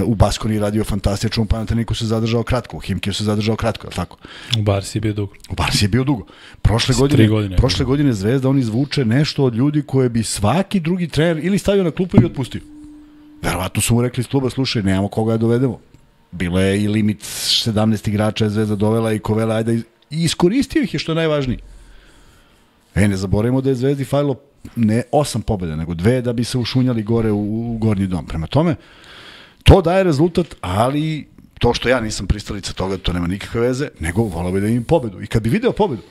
u Baskoni radio fantastično, u Panathinaikos se zadržao kratko, u Himkiju se zadržao kratko, je li tako? U Barsi je bio dugo. U Barsi je bio dugo. Prošle godine, godine, prošle godine Zvezda on izvuče nešto od ljudi koje bi svaki drugi trener ili stavio na klupu ili otpustio. Verovatno su mu rekli iz kluba, slušaj, nemamo koga da dovedemo. Bilo je i limit sedamnaest igrača je Zvezda dovela i Kovela, ajde, i iskoristio ih je što je najvažnije. E, ne zaboravimo da je Zvezdi falilo ne osam pobjeda, nego dve da bi se ušunjali gore u, u gornji dom. Prema tome, to daje rezultat, ali to što ja nisam pristalica toga, to nema nikakve veze, nego volao bi da imam pobedu. I kad bi video pobedu,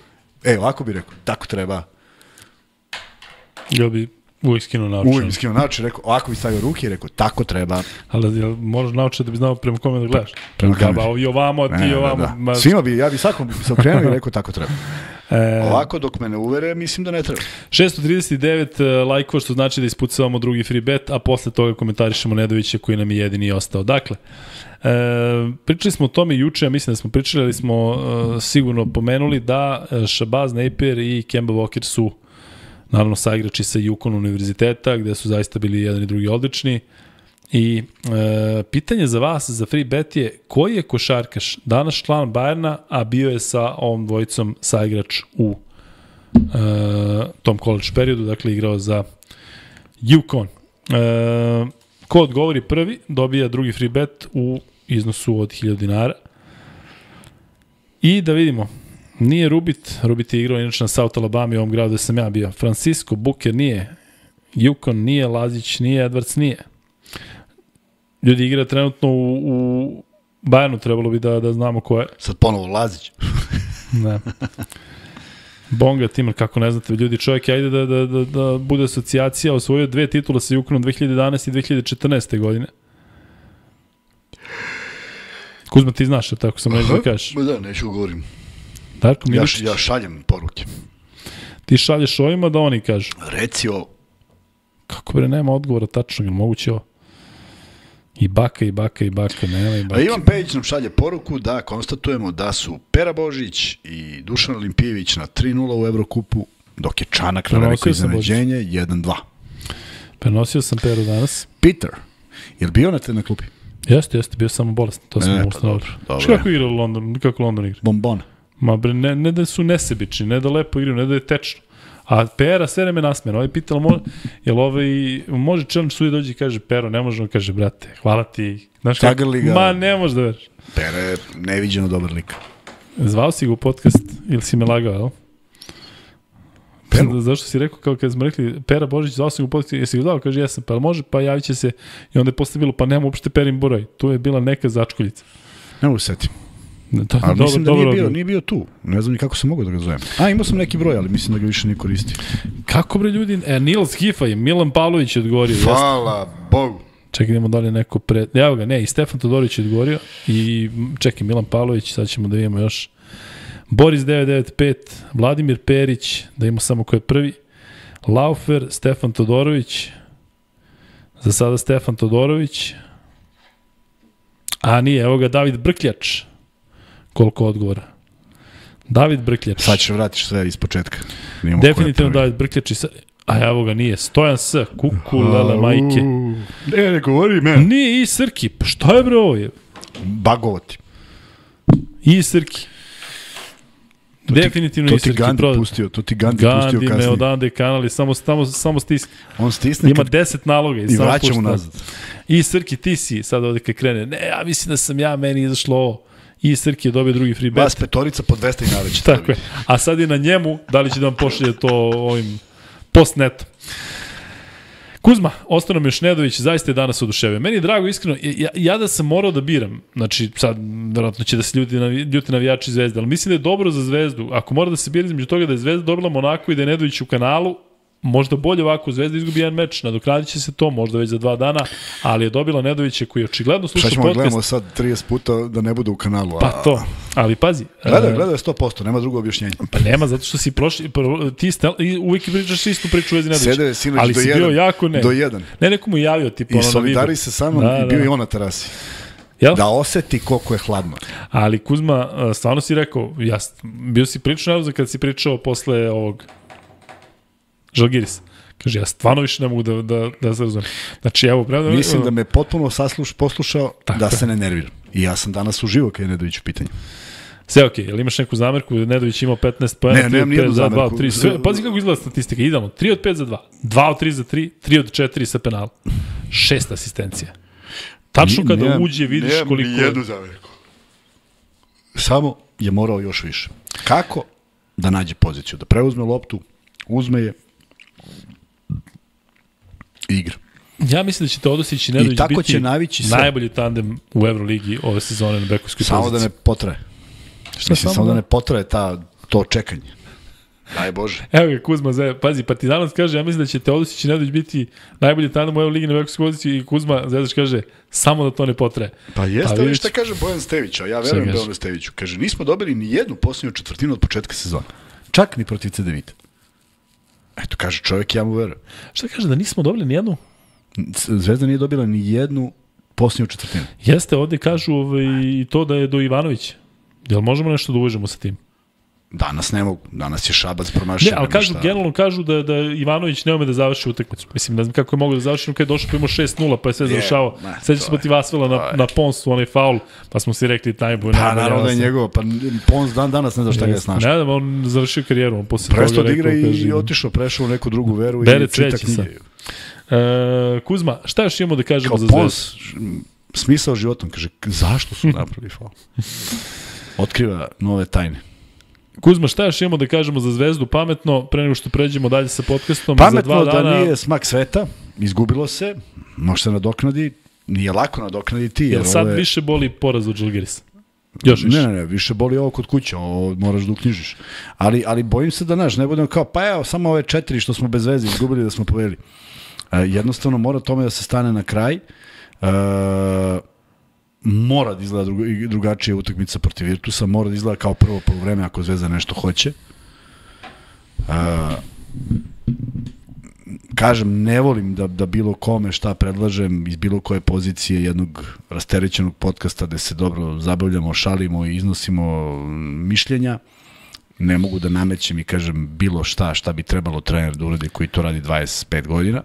e, ovako bi rekao, tako treba. Ja bi uvijek skinuo naučan. Uvijek skinuo naučan, rekao, ovako bi stavio ruke i rekao, tako treba. Ali jel moraš naučiti da bi znao prema kome da gledaš? Prema kome? Da, ovi ovamo, ti ne, ovamo. Da, da. Svima bi, ja bi svakom bi se okrenuo i rekao, tako treba. E, ovako dok me ne uvere, mislim da ne treba. šesto trideset devet lajkova, što znači da ispucavamo drugi free bet, a posle toga komentarišemo Nedovića koji nam je jedini ostao. Dakle, e, pričali smo o tome juče, ja mislim da smo pričali, ali smo e, sigurno pomenuli da Shabazz Napier i Kemba Walker su naravno saigrači sa Yukon univerziteta, gde su zaista bili jedan i drugi odlični. I e, pitanje za vas, za free bet je, koji je košarkaš danas član Bayerna, a bio je sa ovom dvojicom saigrač u e, tom college periodu, dakle igrao za Yukon. E, Ko odgovori prvi, dobija drugi free bet u iznosu od hiljadu dinara. I da vidimo, nije Rubit, Rubit je igrao inače na South Alabama, u ovom gradu gde sam ja bio. Francisco, Booker nije, Yukon nije, Lazić nije, Edwards nije. Ljudi igra trenutno u, u Bayernu, trebalo bi da, da znamo ko je. Sad ponovo Lazić. Ne. Bonga Timar, kako ne znate, ljudi, čovjek, ajde da, da, da, da bude asocijacija, osvojio dve titula sa Yukonom dve hiljade jedanaeste i dve hiljade četrnaeste. godine. Kuzma, ti znaš, tako sam neću da kažeš. Ma da, neću govorim. Darko Ja, Miličić, ja šaljem poruke. ti šalješ ovima da oni kažu. Reci ovo. Kako bre, nema odgovora tačnog, ili moguće ovo? I baka, i baka, i baka, nema i A baka. Ivan Pejić nam šalje poruku da konstatujemo da su Pera Božić i Dušan Olimpijević na tri nula u Evrokupu, dok je Čanak na veliko Prenosio sam iznenađenje jedan dva. Prenosio sam Peru danas. Peter, je li bio na te na klupi? Jeste, jeste, bio samo bolestan, to sam E, mu pa ustanovio. dobro, dobro. Što kako igra u Londonu, kako London igra? Bombona. Ma bre, ne, ne da su nesebični, ne da lepo igraju, ne da je tečno. A Pera sve vreme nasmena. Ovaj pitala, mo, jel ovaj, može challenge sudi dođe i kaže, Pero, ne može, on kaže, brate, hvala ti. Znaš kako? Tagrli ga. Ma, ne može da veriš. Pera je neviđeno dobar lik. Zvao si ga u podcast ili si me lagao, jel? Peru? Zašto si rekao, kao kad smo rekli, Pera Božić, zvao sam ga u podcast, jesi ga zvao? Kaže, jesam, pa jel može, pa javit će se. I onda je posle bilo, pa nema uopšte Perin broj. Tu je bila neka začkoljica. Ne mogu setim. To, Ali mislim da nije bio, odgovor. nije bio tu. Ne znam ni kako sam mogao da ga zovem. A, imao sam neki broj, ali mislim da ga više ne koristi. Kako bre ljudi, e, Nils Gifa je, Milan Pavlović je odgovorio. jeste? Hvala Bogu. Čekaj, idemo da li je neko pre... Evo ga, ne, i Stefan Todorović je odgovorio. I čekaj, Milan Pavlović, sad ćemo da vidimo još. Boris devet devet pet, Vladimir Perić, da imamo samo ko je prvi. Laufer, Stefan Todorović. Za sada Stefan Todorović. A nije, evo ga David Brkljač. Koliko odgovora? David Brkljač. Sad ćeš vratiš sve iz početka. Nijemo Definitivno David Brkljač. I sa... A evo ga nije. Stojan S. Kukulele majke. Ne, ne govori men. Nije i Srki. Pa šta je bre ovo je? Bagovati. I Srki. Definitivno To i ti Srki. Gandhi Prodat. pustio, to ti Gandhi, pustio Gandhi me kasnije. odande kanali, samo, samo, samo stisne. On stisne Ima kad, deset naloga i, i samo vraća pušta. mu nazad. I Srki, ti si sad ovde kad krene. Ne, ja mislim da sam ja, meni izašlo ovo. I Srki je dobio drugi free bet. Vas petorica po dvesta dinara će Tako je. A sad je na njemu, da li će da vam pošalje to ovim postnetom. Kuzma, ostao nam još Nedović, zaista je danas oduševio. Meni je drago, iskreno, ja, ja da sam morao da biram, znači sad, verovatno će da se ljudi, navi, ljuti navijači Zvezde, ali mislim da je dobro za Zvezdu, ako mora da se bira između toga da je Zvezda dobila Monako i da je Nedović u kanalu, možda bolje ovako, Zvezda izgubi jedan meč, nadoknadit će se to, možda već za dva dana, ali je dobila Nedovića koji je očigledno slušao Šta ćemo podcast. gledamo sad trideset puta da ne bude u kanalu? A... Pa to, ali pazi. Gledaj, e, gledaj sto posto, nema drugo objašnjenje. Pa nema, zato što si prošli, prvo, ti stel, i uvijek pričaš istu priču u vezi Nedovića. Sede je sinoć ali do si jedan. bio jako ne. Do jedan. Ne, neko mu je javio, tipa, I ono na solidari vidu. se sa mnom Da, i bio da. i on na terasi. Jel? Da oseti koliko je hladno. Ali Kuzma, a, stvarno si rekao, ja, bio si prilično nervozan kad si pričao posle ovog Žalgirisa. Kaže, ja stvarno više ne mogu da, da, da se razumem. Znači, evo, prema... Mislim da me potpuno sasluš, poslušao Tako da je. se ne nerviram. I ja sam danas uživo kad je Nedović u pitanju. Sve okej, okay. Jel imaš neku zamerku? Nedović imao petnaest poena, Ne, tri od nemam pet nijednu za dva, zamerku. tri. Sve, pazi kako izgleda statistika, idemo. tri od pet za dva, dva od tri za tri, tri od četiri sa penala. Šest asistencija. Tačno kada Nemam- uđe vidiš nemam koliko... ni jednu zamerku. Samo je morao još više. Kako? Da nađe poziciju, da preuzme loptu, uzme je i igra. Ja mislim da će Teodosić i Nedović I tako biti će navići sve. najbolji tandem u Euroligi ove sezone na bekovskoj Samo poziciji. da ne potraje. Šta Mislim, samo da ne potraje ta, to čekanje. Daj Bože. Evo ga Kuzma, Zve, pazi, Partizanac kaže, ja mislim da će Teodosić i Nedović biti najbolji tandem u Euroligi na bekovskoj poziciji i Kuzma Zvezdaš kaže, samo da to ne potraje. Pa jeste, Pa ali vidiš- šta kaže Bojan Stević, a ja verujem kaže? da on Steviću. Kaže, nismo dobili ni jednu posljednju četvrtinu od početka sezona. Čak ni protiv C D Vita. Eto, kaže čovjek, ja mu verujem. Šta kaže, da nismo dobili nijednu? Zvezda nije dobila ni jednu posljednju četvrtinu. Jeste, ovde kažu ovaj, i to da je do Ivanovića. Jel možemo nešto da uvežemo sa tim? Danas ne mogu. Danas je Šabac promašio. Ne, ali kažu, generalno kažu da, da Ivanović ne ume da završi utakmicu. Mislim, ne znam kako je mogo da završi, kad je došao pa imao šest nula, pa je sve Je, završavao. ne, Seća to se je- protiv Asvela na, to je- na Ponsu, onaj faul, pa smo si rekli najbolje. Pa najbolje, naravno da je osam. njegovo. Pa Pons dan danas ne zna šta ga je snašao. Ne znam, on završio karijeru, on posle Presto toga da igra rekao, i kaže, otišao, prešao u neku drugu veru Bere i čita cveće knjige. sad. E, Kuzma, šta još imamo da kažemo Kao za Zvezdu? Pons, smisao životom, kaže, zašto su napravili faul? Otkriva nove tajne. Kuzma, šta još imamo da kažemo za Zvezdu pametno, pre nego što pređemo dalje sa podcastom? Pametno za dva dana... da nije smak sveta, izgubilo se, može se nadoknadi, nije lako nadoknaditi. Jer Jel sad ove... više boli poraz od Žalgirisa? Još više. Ne, ne, ne, više boli ovo kod kuće, ovo moraš da uknjižiš. Ali, ali bojim se da, naš, ne budemo kao, pa evo, samo ove četiri što smo bez veze izgubili da smo povedali. E, jednostavno mora tome da se stane na kraj. E, mora da izgleda druga, drugačija utakmica protiv Virtusa, mora da izgleda kao prvo poluvreme ako Zvezda nešto hoće. E, kažem, ne volim da, da bilo kome šta predlažem iz bilo koje pozicije jednog rasterećenog podcasta gde se dobro zabavljamo, šalimo i iznosimo mišljenja. Ne mogu da namećem i kažem bilo šta, šta bi trebalo trener da uradi koji to radi dvadeset pet godina,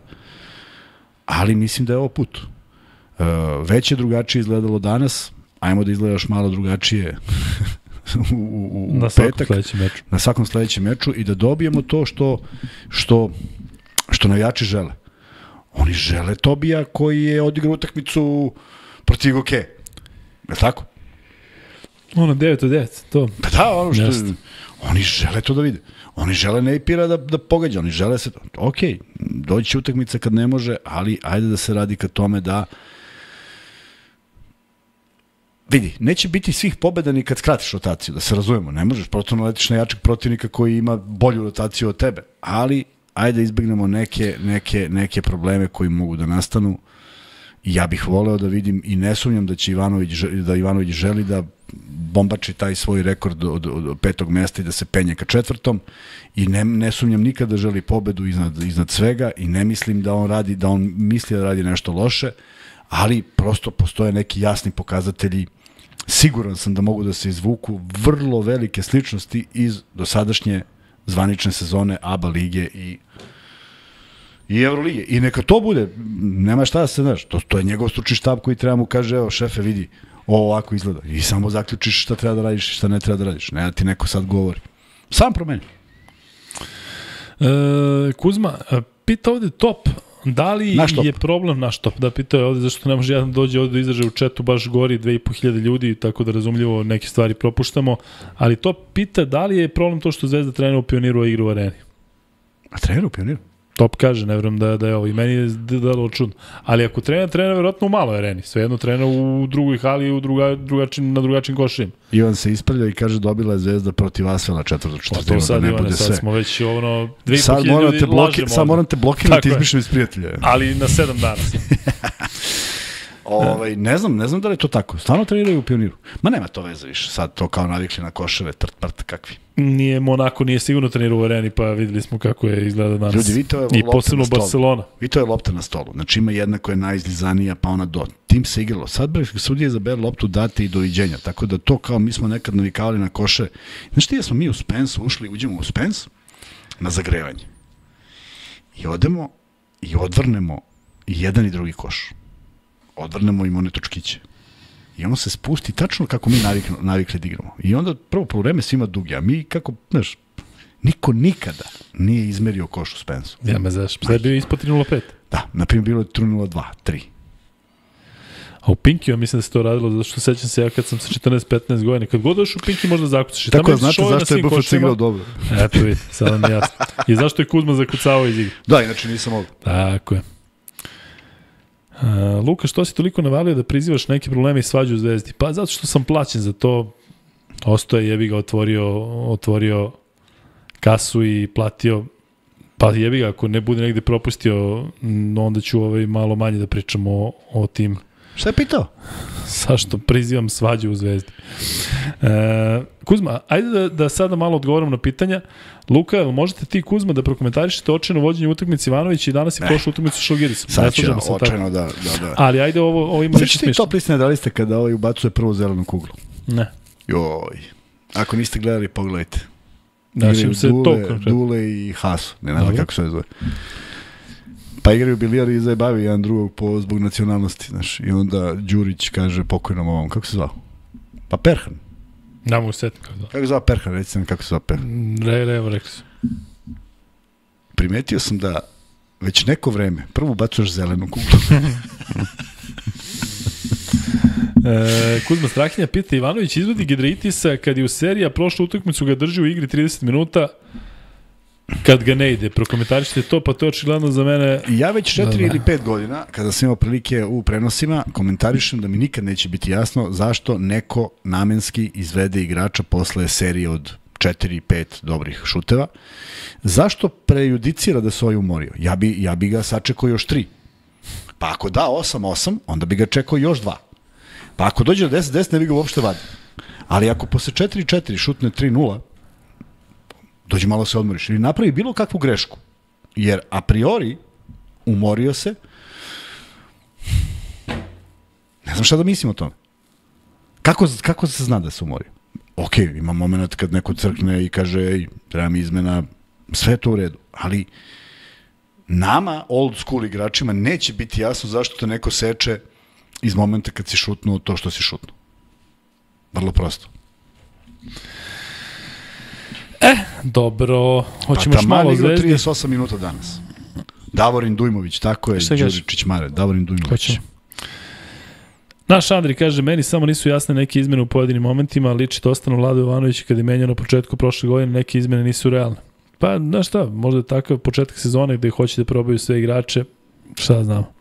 ali mislim da je ovo put. Uh, već je drugačije izgledalo danas, ajmo da izgleda još malo drugačije u, u, u na petak. Sledećem meču. Na svakom sledećem meču i da dobijemo to što, što, što navijači žele. Oni žele Tobija koji je odigrao utakmicu protiv Goke. Je li tako? Ono, devet od devet, to. Pa da, ono što... Jeste. Oni žele to da vide. Oni žele Nejpira da, da pogađa, oni žele se... Ok, doći će utakmica kad ne može, ali ajde da se radi ka tome da... Vidi, neće biti svih pobeda ni kad skratiš rotaciju, da se razumemo. Ne možeš, proto naletiš na jačeg protivnika koji ima bolju rotaciju od tebe. Ali, ajde da izbegnemo neke, neke, neke probleme koji mogu da nastanu. I ja bih voleo da vidim i ne sumnjam da će Ivanović, da Ivanović želi da bombači taj svoj rekord od, od, od petog mesta i da se penje ka četvrtom i ne, ne sumnjam nikada da želi pobedu iznad, iznad svega i ne mislim da on radi, da on misli da radi nešto loše, ali prosto postoje neki jasni pokazatelji. Siguran sam da mogu da se izvuku vrlo velike sličnosti iz dosadašnje zvanične sezone A B A lige i i Evrolige. I neka to bude, nema šta da se znaš, to, to je njegov stručni štab koji treba mu kaže, evo šefe vidi, ovo ovako izgleda. I samo zaključiš šta treba da radiš i šta ne treba da radiš. Ne da ti neko sad govori. Sam promeni. E, Kuzma, pita ovde Top, da li je problem naš Top? Da, pitao je ovde zašto ne može jedan dođe ovde da izraže u četu, baš gori dve i po hiljade ljudi, tako da razumljivo neke stvari propuštamo, ali Top pita da li je problem to što Zvezda trenira u Pioniru, a igra u Areni? A trenira u Pioniru? Top kaže, ne vjerujem da, da je ovo. I meni je dalo čudno. Ali ako trener, trener vjerojatno u maloj areni. Svejedno trener u drugoj hali u druga, drugačin, na drugačijim košima. Ivan se ispravlja i kaže dobila je Zvezda protiv Asvela četvrtu četvrtinu. Pa to sad, da ne Ivane, bude sad sve. smo već ono dve i po sad hiljade ljudi bloki, lažemo. sad moram te blokirati izmišljam iz prijatelja. Ali na sedam dana. Ovaj, ne znam, ne znam da li je to tako. Stvarno treniraju u Pioniru. Ma nema to veze više. Sad to kao navikli na koševe, trt, prt, kakvi. Nije Monako, nije sigurno trenirao u areni, pa videli smo kako je izgleda danas. Ljudi, vi to je i posebno Barcelona. Vi to je lopta na stolu. Znači ima jedna koja je najizlizanija, pa ona do. Tim se igralo. Sad bre, sudije izabere loptu, date i doviđenja. Tako da to kao mi smo nekad navikavali na koše. Znaš ti da smo mi u Spence ušli, uđemo u Spence na zagrevanje. I odemo i odvrnemo i jedan i drugi koš. Odvrnemo im one točkiće. I on se spusti tačno kako mi navikli, navikli da igramo. I onda prvo po vreme svima dugi, a mi kako, znaš, niko nikada nije izmerio koš u Spensu. Ja me znaš, sad je bio ispod tri nula pet. Da, naprimjer bilo je tri nula dva, tri. A u Pinkiju mislim da se to radilo, zato što sećam se ja kad sam sa četrnaest petnaest godina, kad god došao u Pinki možda zakucaš. Tako da znate zašto je B F C igrao dobro. Eto vidi, sada mi jasno. I zašto je Kuzma zakucao iz igra. Da, inače nisam mogu. Tako je. Uh, Luka, što si toliko navalio da prizivaš neke probleme i svađu u Zvezdi? Pa zato što sam plaćen za to. Ostoje, jebi ga otvorio, otvorio kasu i platio. Pa jebi ga, ako ne bude negde propustio, onda ću ovaj malo manje da pričamo o, o tim. Šta je pitao? Zašto prizivam svađu u Zvezdi? E, Kuzma, ajde da, da sada malo odgovorim na pitanja. Luka, možete ti, Kuzma, da prokomentarišete očajno vođenje utakmice Ivanović i danas je prošla utakmica sa Žalgirisom. Sad će očajno da, da, da. Ali ajde, ovo, ovo ima više smišlja. Znači ti top listine da li ste kada ovaj ubacuje prvu zelenu kuglu? Ne. Joj. Ako niste gledali, pogledajte. Znači, se Dule, to Dule i Hasu, ne znam kako se zove. Pa igraju bilijar i zajebavi jedan drugog po, zbog nacionalnosti, znaš. I onda Đurić kaže pokojnom ovom, kako se zvao? Pa Perhan. Ne mogu setim kako zvao. Kako se zvao Perhan, recite mi kako se zvao Perhan. Re, re, evo rekli su. Primetio sam da već neko vreme prvo bacuješ zelenu kuglu. E, Kuzma Strahinja pita, Ivanović izvodi Giedraitisa kad je u seriji, a prošlu utakmicu ga drži u igri trideset minuta, kad ga ne ide. Prokomentarišite to, pa to je očigledno za mene... Ja već četiri da, da. ili pet godina, kada sam imao prilike u prenosima, komentarišem da mi nikad neće biti jasno zašto neko namenski izvede igrača posle serije od četiri pet dobrih šuteva. Zašto prejudicira da se ovaj umorio? Ja bi, ja bi ga sačekao još tri. Pa ako da osam osam, onda bi ga čekao još dva. Pa ako dođe do deset deset, ne bi ga uopšte vadio. Ali ako posle četiri četiri šutne tri nula, dođe malo se odmoriš. Ili napravi bilo kakvu grešku. Jer a priori umorio se. Ne znam šta da mislim o tome. Kako, kako se zna da se umorio? Ok, ima moment kad neko crkne i kaže ej, treba mi izmena, sve je to u redu. Ali nama, old school igračima, neće biti jasno zašto te neko seče iz momenta kad si šutnuo to što si šutnuo. Vrlo prosto. E, dobro. Hoćemo pa još malo igra Zvezdi. trideset osam minuta danas. Davorin Dujmović, tako je, Đuričić Mare, Davorin Dujmović. Hoćemo. Naš Andri kaže, meni samo nisu jasne neke izmene u pojedinim momentima, liči to ostanu Vlado Jovanović kad je menjao na početku prošle godine, neke izmene nisu realne. Pa, znaš šta, možda je takav početak sezone gde hoće da probaju sve igrače, šta znamo.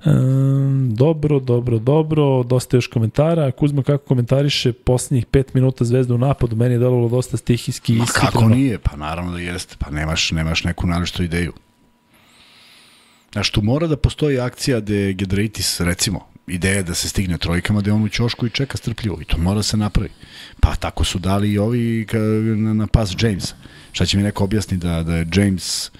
Um, dobro, dobro, dobro, dosta još komentara. Kuzma kako komentariše poslednjih pet minuta Zvezda u napadu, meni je delovalo dosta stihijski i Ma ishitreno. kako nije? Pa naravno da jeste, pa nemaš, nemaš neku naročitu ideju. Znaš, tu mora da postoji akcija gde Giedraitis, recimo, ideja da se stigne trojkama, da je on u ćošku i čeka strpljivo. I to mora se napravi. Pa tako su dali i ovi na, na pas Jamesa. Šta će mi neko objasniti da, da je James,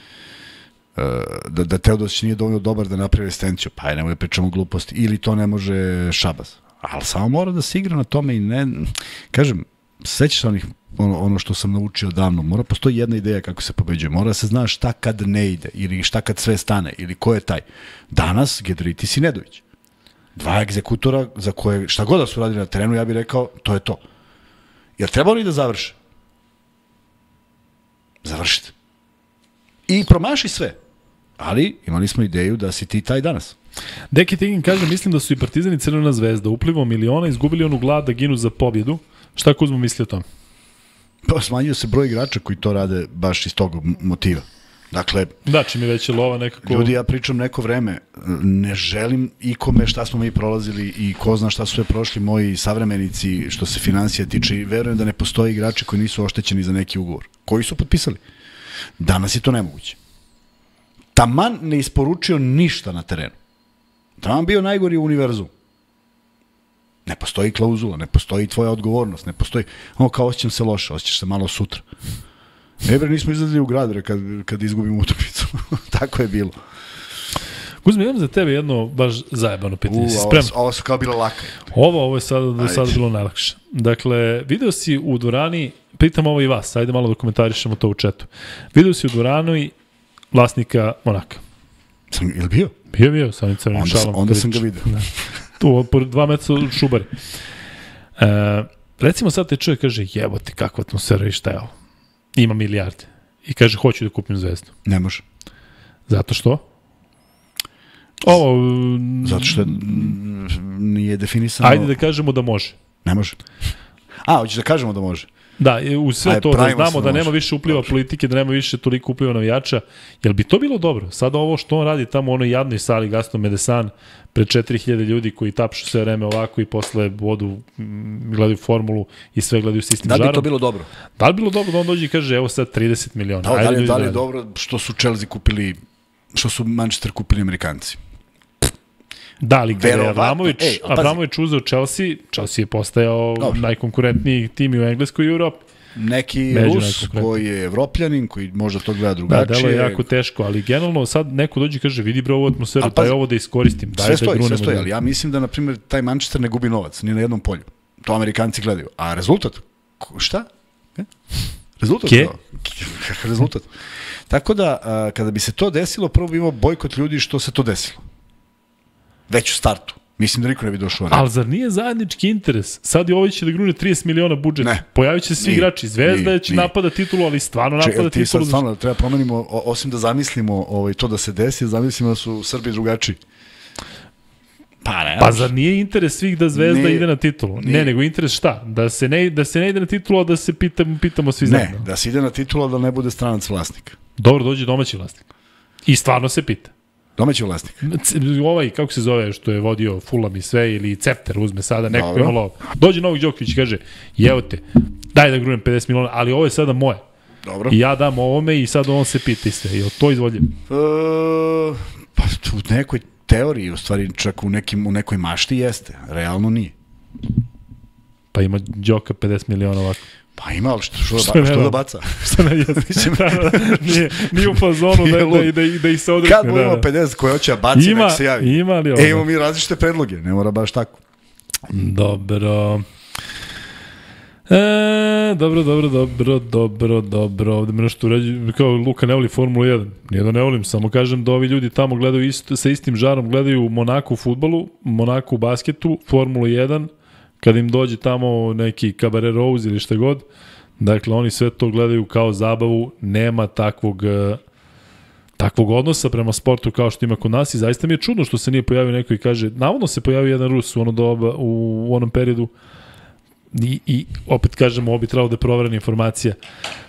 uh, da, da Teodosić nije dovoljno dobar da napravi asistenciju. Pa je, nemoj da pričamo gluposti. Ili to ne može Šabaz. Ali samo mora da se igra na tome i ne... Kažem, sećaš se onih, ono, ono što sam naučio davno. Mora postoji jedna ideja kako se pobeđuje. Mora da se zna šta kad ne ide. Ili šta kad sve stane. Ili ko je taj. Danas Giedraitis i Nedović. Dva egzekutora za koje, šta god da su radili na terenu, ja bih rekao, to je to. Jer treba oni da završe? Završite. I promaši sve. Ali imali smo ideju da si ti taj danas. Deki Tigin kaže, mislim da su i Partizan i Crvena Zvezda uplivom miliona izgubili onu glad da ginu za pobjedu. Šta Kuzmo misli o tom? Pa smanjio se broj igrača koji to rade baš iz tog motiva. Dakle, da, čim je već je lova nekako... Ljudi, ja pričam neko vreme, ne želim ikome šta smo mi prolazili i ko zna šta su sve prošli moji savremenici što se financija tiče i verujem da ne postoji igrači koji nisu oštećeni za neki ugovor. Koji su potpisali? Danas je to nemoguće. Taman ne isporučio ništa na terenu. Taman bio najgori u univerzu. Ne postoji klauzula, ne postoji tvoja odgovornost, ne postoji... Ono kao osjećam se loše, osjećaš se malo sutra. Ne bre, nismo izlazili u grad bre, kad, kad izgubimo utakmicu. Tako je bilo. Kuzma, imam za tebe jedno baš zajebano pitanje. U, ovo, ovo su kao bilo laka. Ovo, ovo je sada do sada bilo najlakše. Dakle, video si u dvorani, pitam ovo i vas, ajde malo da komentarišemo to u četu. Video si u dvorani vlasnika Monaka. Sam, je li bio? Bio, bio, sa onim crvenim onda, šalom. Onda sam ga vidio. Da. Tu, po dva metra od Šubari. E, recimo sad te čovjek kaže, jebote, kakva atmosfera i šta je ovo? Ima milijarde. I kaže, hoću da kupim Zvezdu. Ne može. Zato što? Ovo... Zato što nije definisano... Ajde da kažemo da može. Ne može. A, hoćeš da kažemo da može? Da, u sve Aj, to da znamo da, da nema više upliva Dobre. politike, da nema više toliko upliva navijača. Jel bi to bilo dobro? Sada ovo što on radi tamo u onoj jadnoj sali Gaston Medesan pred četiri hiljade ljudi koji tapšu sve vreme ovako i posle vodu, gledaju formulu i sve gledaju sistem žarom. Da li bi to bilo dobro? Da li bilo dobro da on dođe i kaže evo sad trideset miliona? Da, da li, da li je dobro što su Chelsea kupili, što su Manchester kupili Amerikanci? Da, ali kada je Abramović, ej, Abramović uzeo Chelsea, Chelsea je postajao Dobre. najkonkurentniji tim u Engleskoj i u Europi. Neki Među Rus koji je evropljanin, koji možda to gleda drugačije. Da, delo je jako teško, ali generalno sad neko dođe i kaže vidi bre ovu atmosferu, daj ovo da iskoristim. Daj sve da stoji, sve stoji, da... ali ja mislim da, na primjer, taj Manchester ne gubi novac, ni na jednom polju. To Amerikanci gledaju. A rezultat? Šta? E? Rezultat? Ke? Rezultat. Tako da, a, kada bi se to desilo, prvo bi imao bojkot ljudi što se to desilo. Već u startu. Mislim da niko ne bi došao na Ali zar nije zajednički interes? Sad je ovaj će da grune trideset miliona budžet. Ne. Pojavit će se svi Nije. igrači. Zvezda Nije. će Nije. napada titulu, ali stvarno Če, napada ti sad titulu. stvarno treba promenimo, o, osim da zamislimo ovaj, to da se desi, zamislimo da su Srbi drugačiji. Pa ne. Pa zar nije interes svih da Zvezda Nije. ide na titulu? Nije. Ne, nego interes šta? Da se ne, da se ne ide na titulu, a da se pitamo, pitamo svi Ne, zajedno. da se ide na titula da ne bude stranac vlasnik. Dobro, dođe domaći vlasnik. I stvarno se pita. Domaći vlasnik. C- Ovaj, kako se zove, što je vodio Fulham i sve, ili Cepter uzme sada, neko Dobro. je malo... Dođe Novak Đoković i kaže, evo te, daj da grunem pedeset miliona, ali ovo je sada moje. Dobro. I ja dam ovome i sad on se pita i sve. Je li to izvodljivo? E, pa u nekoj teoriji, u stvari čak u, nekim, u nekoj mašti jeste. Realno nije. Pa ima Đoka pedeset miliona ovako. Pa ima, ali što, što, Što da, ne ba, što da? da baca? Što ne jeste? nije, nije u fazonu da, Nije da, lud. da, da, da ih se odrekne. Kad budemo da, da. pedeset koje hoće da baci, Ima, nek se javi. ima li ovo? E, imamo mi različite predloge, ne mora baš tako. Dobro. E, dobro, dobro, dobro, dobro, dobro. Ovde me nešto urađu, kao Luka ne voli Formulu jedan. Nije da ne volim, samo kažem da ovi ljudi tamo gledaju isto, sa istim žarom, gledaju Monaku u fudbalu, Monaku u basketu, Formulu jedan, kad im dođe tamo neki Cabaret Rose ili šta god. Dakle, oni sve to gledaju kao zabavu, nema takvog... e, takvog odnosa prema sportu kao što ima kod nas i zaista mi je čudno što se nije pojavio neko i kaže, navodno se pojavio jedan Rus u ono doba, u, u onom periodu i, i opet kažemo, ovo bi trebalo da je proverena informacija,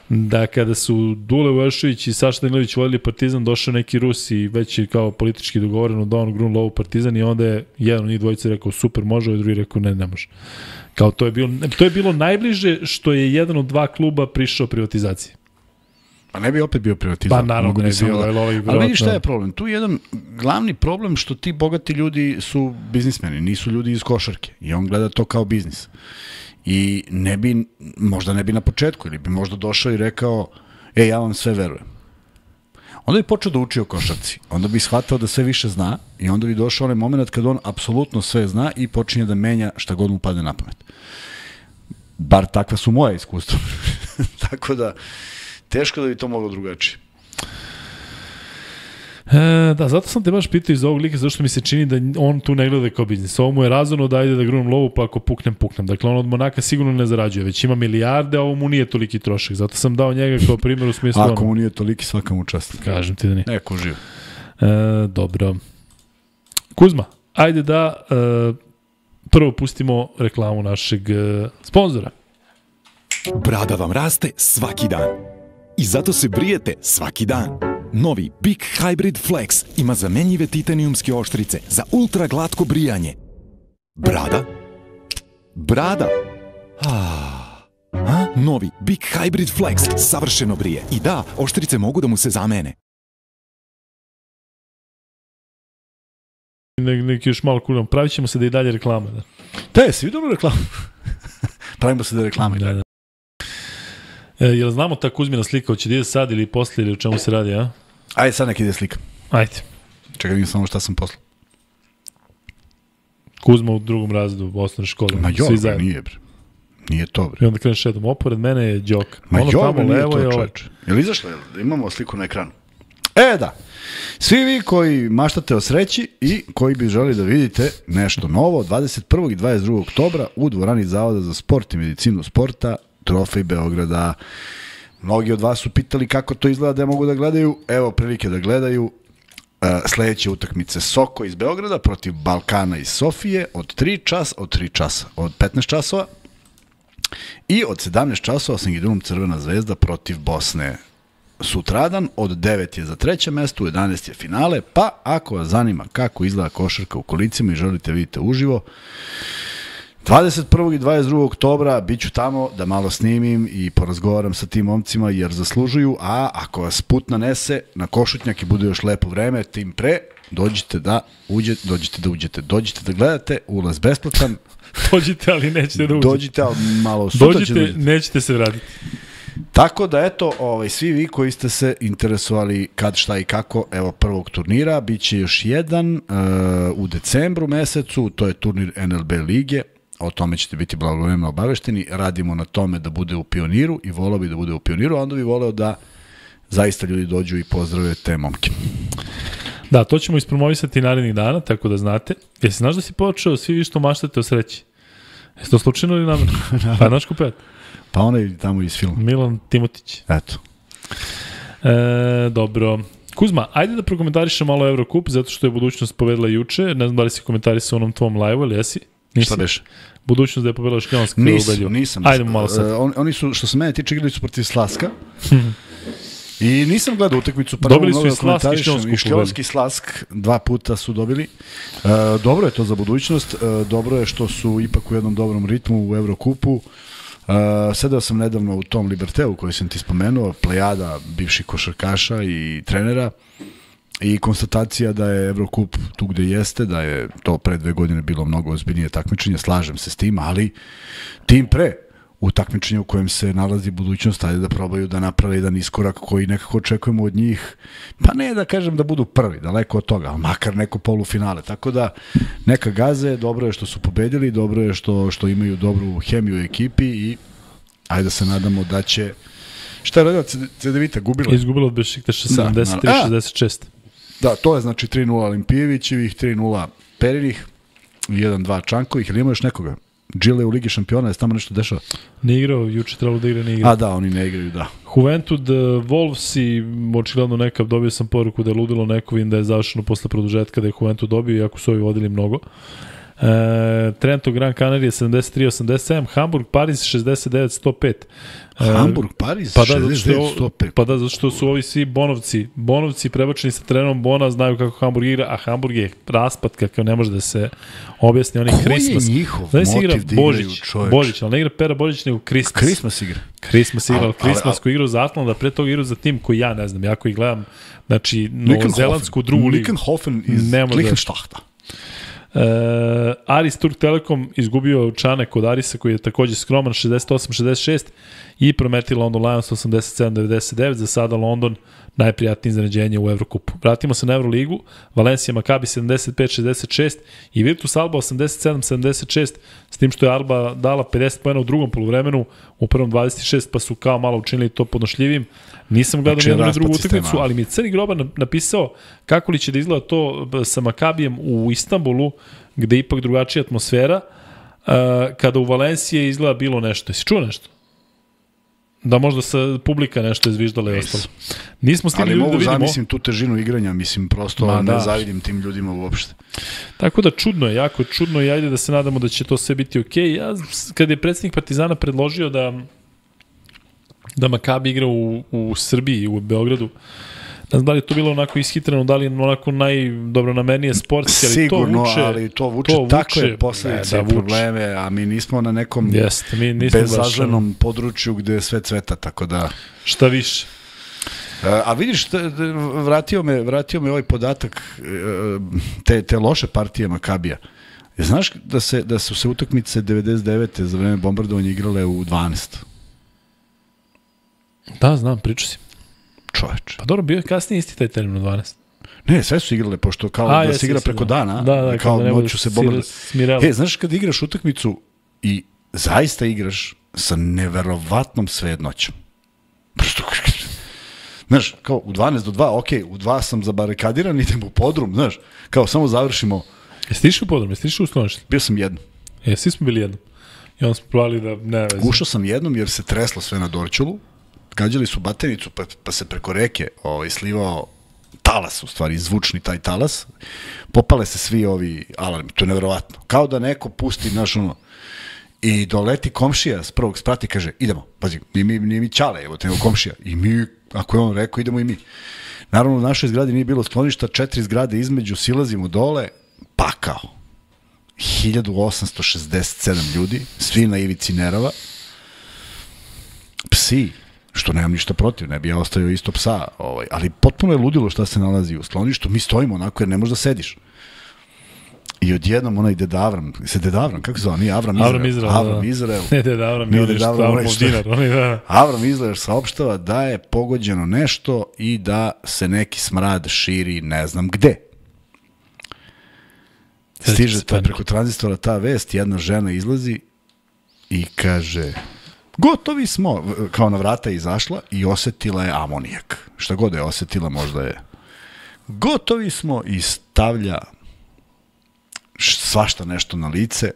da kada su Dule Vojšović i Saša Danilović vodili Partizan, došao neki Rus i već je kao politički dogovoreno da on grun lovu Partizan i onda je jedan od njih dvojice rekao super može, a drugi rekao ne, ne može. Kao to je bilo, to je bilo najbliže što je jedan od dva kluba prišao privatizaciji. Pa ne bi opet bio privatizam. Pa naravno Mogu ne bi bi samo bio, da- ali ovaj Ali vidiš šta verovatno- je problem? Tu je jedan glavni problem što ti bogati ljudi su biznismeni, nisu ljudi iz košarke. I on gleda to kao biznis. I ne bi, možda ne bi na početku, ili bi možda došao i rekao, e, ja vam sve verujem. Onda bi počeo da uči o košarci. Onda bi shvatao da sve više zna i onda bi došao onaj moment kad on apsolutno sve zna i počinje da menja šta god mu padne na pamet. Bar takva su moja iskustva. Tako da, teško da bi to moglo drugačije. E, da, zato sam te baš pitao iz ovog lika, zašto mi se čini da on tu ne gleda kao biznis. Ovo mu je razumno da ide da grunem lovu, pa ako puknem, puknem. Dakle, on od Monaka sigurno ne zarađuje, već ima milijarde, a ovo mu nije toliki trošak. Zato sam dao njega kao primjer u smislu... Ako ono, mu nije toliki, svaka mu čast. kažem ti da nije. Neko živ. E, dobro. Kuzma, ajde da e, prvo pustimo reklamu našeg e, sponzora. Brada vam raste svaki dan. I zato se brijete svaki dan. Novi Big Hybrid Flex ima zamenjive titanijumske oštrice za ultra glatko brijanje. Brada? Brada? Ah. A? Novi Big Hybrid Flex savršeno brije. I da, oštrice mogu da mu se zamene. Ne, neki još malo kuram. Pravit ćemo se da i dalje reklame. Da. Da, jesi vidio reklamu? Pravimo se da reklame. Da, da. E, jel znamo ta Kuzmina slika, hoće da ide sad ili posle ili o čemu se radi, a? Ajde, sad nek ide slika. Ajde. Čekaj, vidim samo šta sam poslao. Kuzma u drugom razredu u osnovnoj školi. Ma jo, svi bre, zajedno. nije, bre. Nije to, bre. I onda kreneš jednom, opored mene je Đoka. Ma ono jo, tamo bre, nije levo to, je ovaj. čoveče. Jel izašlo? Jel? Imamo sliku na ekranu. E, da. Svi vi koji maštate o sreći i koji bi želi da vidite nešto novo, dvadeset prvog i dvadeset drugog oktobra u dvorani Zavoda za sport i medicinu sporta, Trofej Beograda. Mnogi od vas su pitali kako to izgleda da mogu da gledaju. Evo prilike da gledaju. Uh, sledeće utakmice Soko iz Beograda protiv Balkana iz Sofije od tri časa, od tri časa, od petnaest časova i od sedamnaest časova Sangidunum Crvena zvezda protiv Bosne. Sutradan od devet je za treće mesto, u jedanaest je finale, pa ako vas zanima kako izgleda košarka u kolicima i želite vidite uživo, dvadeset prvog i dvadeset drugog oktobra bit ću tamo da malo snimim i porazgovaram sa tim momcima jer zaslužuju, a ako vas put nanese na Košutnjak i bude još lepo vreme, tim pre, dođite da uđete, dođite da uđete, dođite da gledate, ulaz besplatan, Dođite, ali nećete da uđete. dođite, ali malo sutra ćete Dođite, da uđete. nećete se vratiti. Tako da eto, ovaj, svi vi koji ste se interesovali kad, šta i kako, evo prvog turnira, bit će još jedan uh, u decembru mesecu, to je turnir N L B lige, o tome ćete biti blagovremeno obavešteni, radimo na tome da bude u Pioniru i volao bi da bude u Pioniru, a onda bi voleo da zaista ljudi dođu i pozdrave te momke. Da, to ćemo ispromovisati narednih dana, tako da znate. Jesi znaš da si počeo svi vi što maštate o sreći? Jesi to slučajno ili namjerno? Pa znaš ko pet? Pa onaj tamo iz filma. Milan Timotić. Eto. E, dobro. Kuzma, ajde da prokomentarišem malo Eurocup, zato što je budućnost pobedila juče. Ne znam da li si komentarisao onom tvom live-u, ali jesi? Nisi? Šta beše? Budućnost da je pobedila Šljonska u Nisam, Belju. nisam. Ajdemo malo sad. Uh, on, oni su, što se mene tiče, igrali su protiv Slaska. I nisam gledao utakmicu, pa dobili su i Slask i Šljonsku. I Šljonski i Slask dva puta su dobili. Uh, dobro je to za budućnost, uh, dobro je što su ipak u jednom dobrom ritmu u Eurocupu. Uh, sedao sam nedavno u tom Liberteu koji sam ti spomenuo, plejada bivših košarkaša i trenera i konstatacija da je Eurocup tu gde jeste, da je to pre dve godine bilo mnogo ozbiljnije takmičenje, slažem se s tim, ali tim pre u takmičenju u kojem se nalazi budućnost, ajde da probaju da naprave jedan iskorak koji nekako očekujemo od njih, pa ne da kažem da budu prvi, daleko od toga, ali makar neko polufinale, tako da neka gaze, dobro je što su pobedili, dobro je što, što imaju dobru hemiju u ekipi i ajde da se nadamo da će, šta je radila C D Vita, gubila? Izgubila od Bešiktaša sedamdeset tri šezdeset šest. Da, to je znači tri nula Olimpijevićevih, tri nula Perinih, jedan dva Čankovih, ili ima još nekoga? Džile u Ligi šampiona, je tamo nešto dešava? Ne igrao, juče trebalo da igra, ne igra. A da, oni ne igraju, da. Juventud, Wolves i očigledno neka, dobio sam poruku da je ludilo neko, vidim da je završeno posle produžetka da je Juventud dobio, iako su ovi vodili mnogo. E, Trento Gran Canaria sedamdeset tri osamdeset sedam, Hamburg, Paris šezdeset devet sto pet. E, Hamburg, Paris, pa da, šezdeset devet sto pet. Pa da, zato što su ovi svi Bonovci, Bonovci prebačeni sa trenerom Bona, znaju kako Hamburg igra, a Hamburg je raspad kakav ne može da se objasni. Oni Christmas. Ko je njihov Znaš motiv igra da igraju, Božić, čoveč? Božić, ali ne igra Pera Božić, nego Christmas. Christmas igra. Christmas igra, ali Ali- ali- Christmas koji igra za Atlanta, pre toga igra za tim koji ja ne znam, ja koji gledam, znači, novozelandsku drugu ligu. Nickenhofen iz Ne može da- Lichtenstachta. Uh, Aris Turk Telekom izgubio Čane kod Arisa koji je takođe skroman šezdeset osam šezdeset šest i Prometi London Lions osamdeset sedam devedeset devet. Za sada London najprijatnije iznenađenje u Evrokupu. Vratimo se na Euroligu. Valencia Maccabi sedamdeset pet šezdeset šest i Virtus Alba osamdeset sedam sedamdeset šest, s tim što je Alba dala pedeset poena u drugom poluvremenu, u prvom dvadeset šest, pa su kao malo učinili to podnošljivim. Nisam gledao Znači, nijednu ni raspad drugu sistema. utakmicu, ali mi je Crni Grobar napisao kako li će da izgleda to sa Makabijem u Istanbulu, gde je ipak drugačija atmosfera, uh, kada u Valenciji izgleda bilo nešto. Jesi čuo nešto? Da možda sa publika nešto izviždala i ostalo. Nismo stigli Ali ljudi da mogu vidimo. zamislim tu težinu igranja, mislim, prosto Ma, ne da. zavidim tim ljudima uopšte. Tako da čudno je, jako čudno i ajde da se nadamo da će to sve biti okej. Ja, kad je predsjednik Partizana predložio da da Makabi igra u, u Srbiji, u Beogradu, ne znam da li je to bilo onako ishitreno, da li je onako najdobronamernije sportski, ali Sigurno, to vuče, ali to vuče, to takve vuče, posledice ne, i da vuče. probleme, a mi nismo na nekom Jeste, mi nismo baš, bezazlenom području gde je sve cveta, tako da... šta više. E, A vidiš, te- te- vratio me, vratio me ovaj podatak e, te, te loše partije Makabija. E, Znaš da, se, da su se utakmice devedeset devete za vreme bombardovanja igrale u dvanaest? Da, znam, pričao si. Čoveč. Pa dobro, bio je kasnije isti taj termin u dvanaest. Ne, sve su igrale, pošto kao A, da jesi, se igra jesi, preko da. dana, Da, da, kao kada ne bude noću se sir- bombarduje. smirala. E, znaš kad igraš utakmicu i zaista igraš sa neverovatnom svejednoćom. Prosto, znaš, kao u dvanaest do dva, ok, u dva sam zabarikadiran, idem u podrum, znaš, kao samo završimo, Jesi ti išao u podrum, jesi ti išao u sklonište? bio sam jednom. E, svi smo bili jednom. I onda smo provali da ne veze. Ušao sam jednom jer se treslo sve na Dorćolu, gađali su batenicu, pa, pa se preko reke ovaj, slivao talas, u stvari, zvučni taj talas, popale se svi ovi alarmi, to je neverovatno. Kao da neko pusti, naš ono, i doleti komšija s prvog sprata i kaže, idemo, pazi, nije mi, nije mi ćale, evo te, nego komšija. I mi, ako je on rekao, idemo i mi. Naravno, u našoj zgradi nije bilo skloništa, četiri zgrade između, silazimo dole, pakao. hiljadu osamsto šezdeset sedam ljudi, svi na ivici nerava, psi, što nemam ništa protiv, ne bi ja ostavio isto psa, ovaj, ali potpuno je ludilo šta se nalazi u skloništu, mi stojimo onako jer ne možeš da sediš. I odjednom onaj Deda Avram, se Deda Avram, kako se zove, nije Avram Izrael? Avram Izrael, Avram da. Izrael. Ne, Deda Avram, Nije nije Deda Avram, Avram, Avram onaj što- dinar, oni da. Avram Izrael saopštava da je pogođeno nešto i da se neki smrad širi ne znam gde. Stiže ta, preko tranzistora ta vest, jedna žena izlazi i kaže, gotovi smo, kao na vrata je izašla i osetila je amonijak. Šta god je osetila, možda je Gotovi smo i stavlja svašta nešto na lice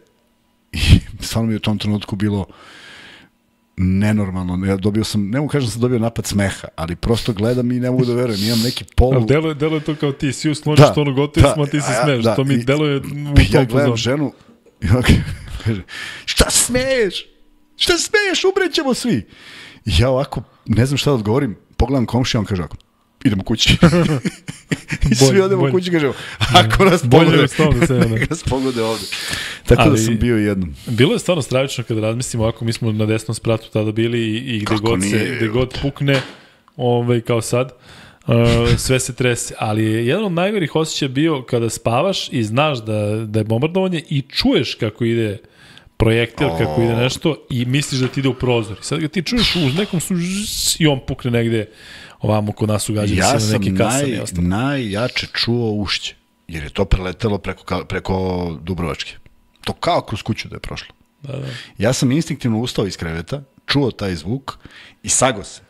i stvarno mi u tom trenutku bilo nenormalno. Ja dobio sam, ne mogu kažem da sam dobio napad smeha, ali prosto gledam i ne mogu da verujem. Imam neki polu... Ali deluje, deluje to kao ti, si usloniš da, ono gotovi da, smo, a ti se smeš. Da, to mi i, deluje u tom ja gledam ženu i ona kaže, šta smeješ? Šta smeješ? Umrećemo svi. I ja ovako, ne znam šta da odgovorim, pogledam komšija, on kaže ovako, idemo kući. I svi bolj, odemo bolj. kući, kažemo, ako nas pogode, neka nas pogode ovde. Tako ali, da sam bio jednom. Bilo je stvarno stravično kada razmislimo, ovako mi smo na desnom spratu tada bili i, i gde, god, se, gde god pukne, ovaj, kao sad, uh, sve se trese. Ali je jedan od najgorih osjećaja bio kada spavaš i znaš da, da je bombardovanje i čuješ kako ide projektil, oh. kako ide nešto i misliš da ti ide u prozor. I sad ga ti čuješ u nekom su i on pukne negde ovamo kod nas ugađali ja se na neki kasan. Ja sam naj, najjače čuo ušće, jer je to preletelo preko, preko Dubrovačke. To kao kroz kuću da je prošlo. Da, da. Ja sam instinktivno ustao iz kreveta, čuo taj zvuk i sago se.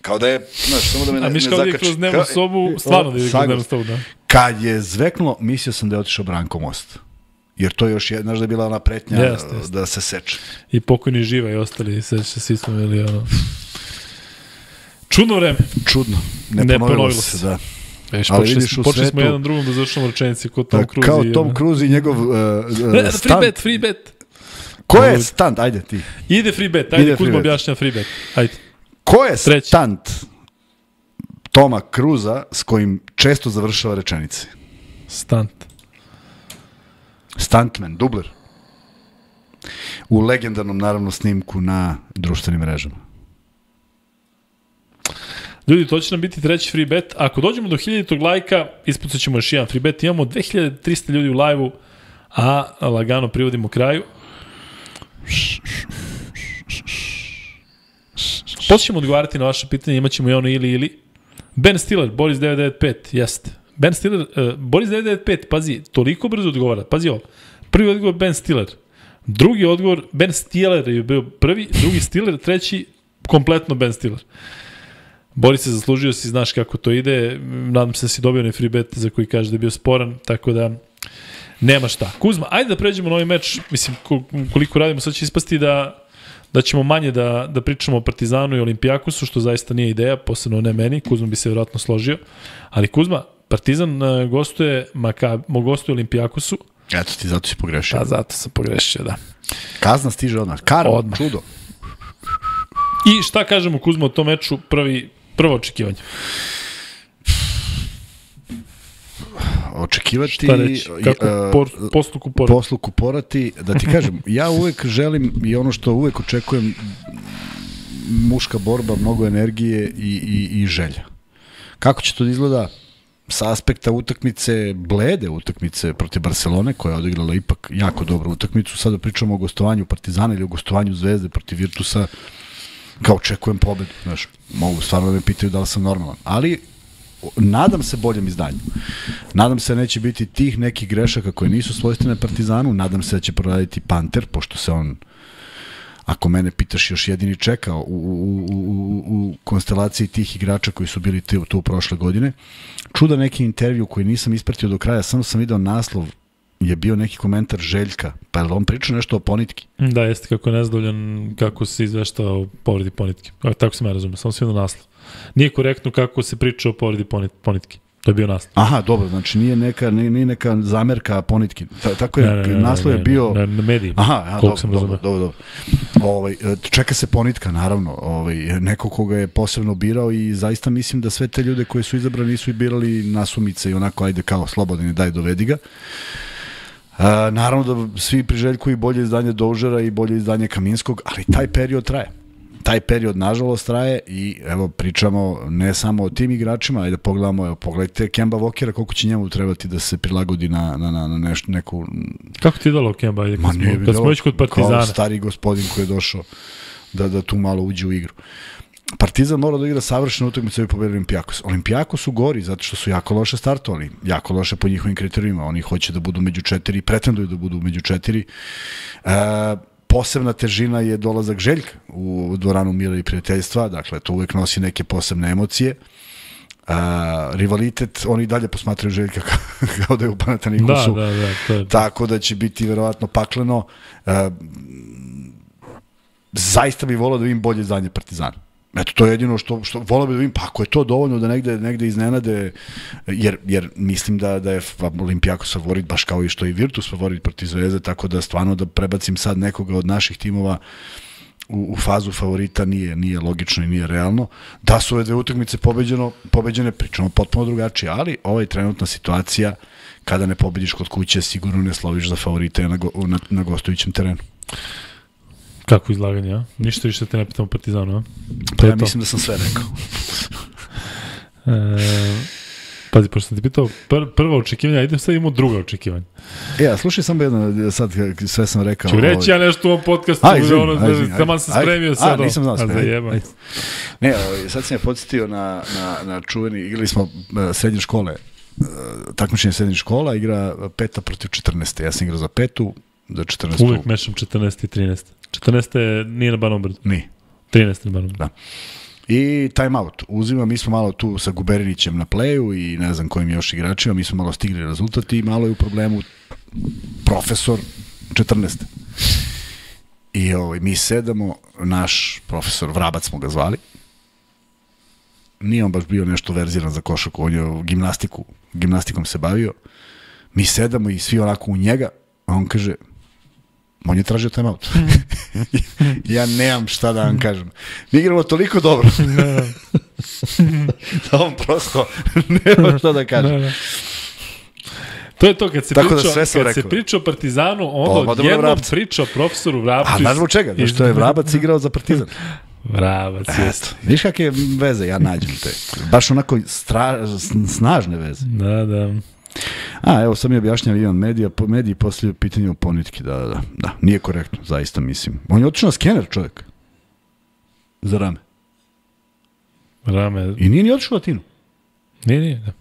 Kao da je, znaš, samo da me ne, ne zakači. A miš kao da je kroz dnevnu sobu, stvarno da je kroz dnevnu sobu, da. Kad je zveknulo, mislio sam da je otišao Branko Most. Jer to još je, znaš da je bila ona pretnja jest, jest. da se seče. I pokojni Živa i ostali, seća se, svi smo imali ono... Čudno vreme. Čudno. Ne, ne ponovilo se, se, da. Veš, ali vidiš u počeli smo jedan drugom da završamo rečenici kod Tom Cruise. Kao Tom Cruise i njegov uh, uh, ne, free bet, free bet. Ko je stunt? Ajde ti. Ide free bet, ajde, Kuzma objašnja free bet. Ajde. Ko je Treći. stunt Toma Cruisa s kojim često završava rečenice? Stunt. Stuntman, dubler. U legendarnom, naravno, snimku na društvenim mrežama. Ljudi, to će nam biti treći free bet. Ako dođemo do hiljaditog lajka, ispucat ćemo još jedan free bet. Imamo dve hiljade trista ljudi u live-u, a lagano privodimo kraju. Počnemo odgovarati na vaše pitanje, imat ćemo i ono ili ili. Ben Stiller, Boris devet devet pet, jeste. Ben Stiller, uh, Boris devet devet pet, pazi, toliko brzo odgovara. Pazi ovo. Prvi odgovor Ben Stiller. Drugi odgovor, Ben Stiller je bio prvi, drugi Stiller, treći kompletno Ben Stiller. Boris se zaslužio, si znaš kako to ide, nadam se da si dobio onaj free bet za koji kaže da je bio sporan, tako da nema šta. Kuzma, ajde da pređemo na ovaj meč, mislim koliko radimo, sad će ispasti da, da ćemo manje da, da pričamo o Partizanu i Olimpijakosu, što zaista nije ideja, posebno ne meni, Kuzma bi se vjerojatno složio, ali Kuzma, Partizan gostuje, Makab, gostuje Olimpijakosu. Eto ti, zato si pogrešio. Da, zato sam pogrešio, da. Kazna stiže odmah, karma, odmah. Čudo. I šta kažemo, Kuzma, o tom meču, prvi prvo očekivanje? Očekivati... Šta reći? Kako por, posluku porati? Posluku porati. Da ti kažem, ja uvek želim i ono što uvek očekujem, muška borba, mnogo energije i, i, i želja. Kako će to da izgleda sa aspekta utakmice, blede utakmice protiv Barcelone, koja je odigrala ipak jako dobru utakmicu. Sada pričamo o gostovanju Partizana ili o gostovanju Zvezde protiv Virtusa. Kao očekujem pobedu, znaš, mogu stvarno da me pitaju da li sam normalan, ali nadam se boljem izdanju. Nadam se da neće biti tih nekih grešaka koje nisu svojstvene Partizanu, nadam se da će proraditi Panter, pošto se on, ako mene pitaš, još jedini čekao u, u, u, u konstelaciji tih igrača koji su bili tu, tu prošle godine. Čuda neki intervju koji nisam ispratio do kraja, samo sam video naslov, je bio neki komentar Željka, pa je on pričao nešto o Ponitki? Da, jeste, kako je nezadovoljan kako se izvešta o povredi Ponitki. Tako sam ja razumio, samo sam vidio naslov. Nije korektno kako se priča o povredi Ponitki. To je bio naslov. Aha, dobro, znači nije neka, nije neka zamerka Ponitki. Ta, tako je, ne, ne, ne, naslov je bio... Na, na medijima, aha, aha, dobro, sam dobro, dobro, dobro. Ovaj, čeka se Ponitka, naravno. Ovaj, neko koga je posebno birao i zaista mislim da sve te ljude koje su izabrani nisu i birali nasumice i onako, ajde kao slobodni, daj dovedi ga. Uh, naravno da svi priželjkuju bolje izdanje Doužera i bolje izdanje Kaminskog, ali taj period traje. Taj period nažalost traje i evo pričamo ne samo o tim igračima, ajde pogledamo, evo pogledajte Kemba Walkera, koliko će njemu trebati da se prilagodi na, na, na, na nešto, neku... Kako ti je dalo Kemba? Ajde, kad, smo, kad smo već kod Partizana. Kao stari gospodin koji je došao da, da tu malo uđe u igru. Partizan mora da igra savršenu utakmicu da bi pobedio Olimpijakos. Olimpijakos su gori zato što su jako loše startovali, jako loše po njihovim kriterijima. Oni hoće da budu među četiri, pretenduju da budu među četiri. E, posebna težina je dolazak Željka u dvoranu mira i prijateljstva, dakle to uvek nosi neke posebne emocije. A, rivalitet, oni dalje posmatraju Željka kao da je u Panathinaikosu. Da, da, da. To je... Tako da će biti verovatno pakleno. A, zaista bih volao da vidim bolje izdanje Partizana. Eto, to je jedino što, što volao bih da vidim, pa ako je to dovoljno da negde, negde iznenade, jer, jer mislim da, da je Olimpijakos favorit, baš kao i što je Virtus favorit protiv Zvezde, tako da stvarno da prebacim sad nekoga od naših timova u, u fazu favorita nije, nije logično i nije realno. Da su ove dve utakmice pobeđeno, pobeđene, pričamo potpuno drugačije, ali ova je trenutna situacija kada ne pobediš kod kuće, sigurno ne sloviš za favorite na, go, na, na gostujućem terenu. Kako izlaganje, a? Ništa više te ne pitamo Partizanu, a? Pa ja mislim da sam sve rekao. e, pazi, pošto sam ti pitao pr prvo očekivanje, a idem sad imamo druga očekivanja. E, a slušaj samo jedno, sad sve sam rekao. Ću reći ovaj... ja nešto u ovom podcastu, aj, izvim, ono, aj, izvim, taman sam spremio sad. A, nisam znao sve. Ne, sad sam je podsjetio na, na, na čuveni, igrali smo uh, srednje škole, uh, takmičenje srednje škola, igra peta protiv četrnaeste. Ja sam igrao za petu, za četrnaestu. Uvijek mešam četrnaeste i trinaeste. četrnaeste nije na Banom Brdu. Nije. trinaeste na Banom Brdu. Da. I time out. Uzima, mi smo malo tu sa Guberinićem na pleju i ne znam kojim još igračima, mi smo malo stigli rezultati i malo je u problemu profesor četrnaeste. I ovaj, mi sedamo, naš profesor Vrabac smo ga zvali, nije on baš bio nešto verziran za košarku, on je gimnastiku, gimnastikom se bavio, mi sedamo i svi onako u njega, a on kaže, on je tražio time out. Ja nemam šta da vam kažem. Mi igramo toliko dobro. Da on prosto nema šta da kaže. To je to, kad se, Tako priča, da kad kad se priča o Partizanu, onda pa, odjednom priča o profesoru Vrabcu. A znaš zbog čega? Zato što je Vrabac igrao za Partizan. Vrabac, jeste. Viš kakve veze ja nađem te. Baš onako stra, snažne veze. Da, da. A, evo, sam mi objašnjava Ivan Medija, po mediji poslije pitanje o ponitki, da, da, da, nije korektno, zaista mislim. On je otišao na skener, čovjek. Za rame. Rame. I nije ni otišao Latinu. Nije, nije, da.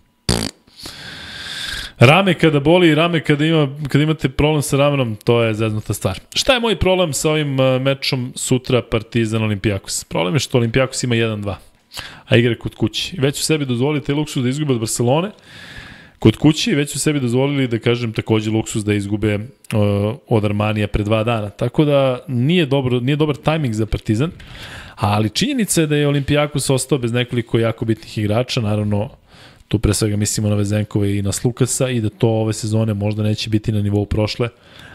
Rame kada boli i rame kada, ima, kada imate problem sa ramenom, to je zeznuta stvar. Šta je moj problem sa ovim uh, mečom sutra Partizan Olimpijakos? Problem je što Olimpijakos ima jedan dva, a igra kod kući. Već u sebi dozvolili taj luksus da izgube od Barcelone, kod kući već su sebi dozvolili da kažem takođe luksus da izgube uh, od Armanija pre dva dana. Tako da nije, dobro, nije dobar tajming za Partizan, ali činjenica je da je Olimpijakos ostao bez nekoliko jako bitnih igrača, naravno tu pre svega mislimo na Vezenkove i na Slukasa i da to ove sezone možda neće biti na nivou prošle,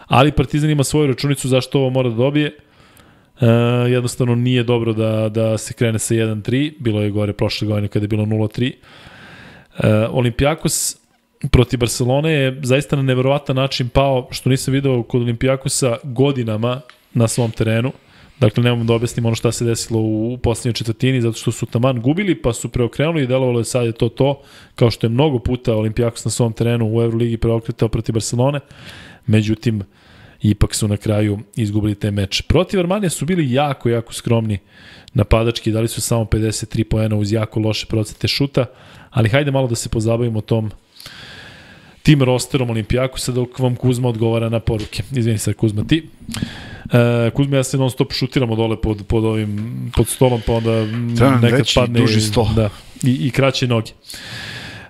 ali Partizan ima svoju računicu zašto ovo mora da dobije. Uh, jednostavno nije dobro da, da se krene sa jedan tri, bilo je gore prošle godine kada je bilo nula tri. Uh, Olimpijakos protiv Barcelone je zaista na neverovatan način pao, što nisam video kod Olimpijakosa godinama na svom terenu. Dakle, nemam da objasnim ono šta se desilo u poslednjoj četvrtini, zato što su taman gubili, pa su preokrenuli i delovalo je sad je to to, kao što je mnogo puta Olimpijakos na svom terenu u Euroligi preokretao protiv Barcelone. Međutim, ipak su na kraju izgubili taj meč. Protiv Armanija su bili jako, jako skromni napadački, dali su samo pedeset tri poena uz jako loše procente šuta, ali hajde malo da se pozabavimo tom tim rosterom Olimpijakosa dok vam Kuzma odgovara na poruke. Izvini sad Kuzma, ti. E, Kuzma, ja se non stop šutiramo dole pod, pod ovim, pod stolom, pa onda Trebam nekad veći, padne duži sto. Da, i, i kraće noge.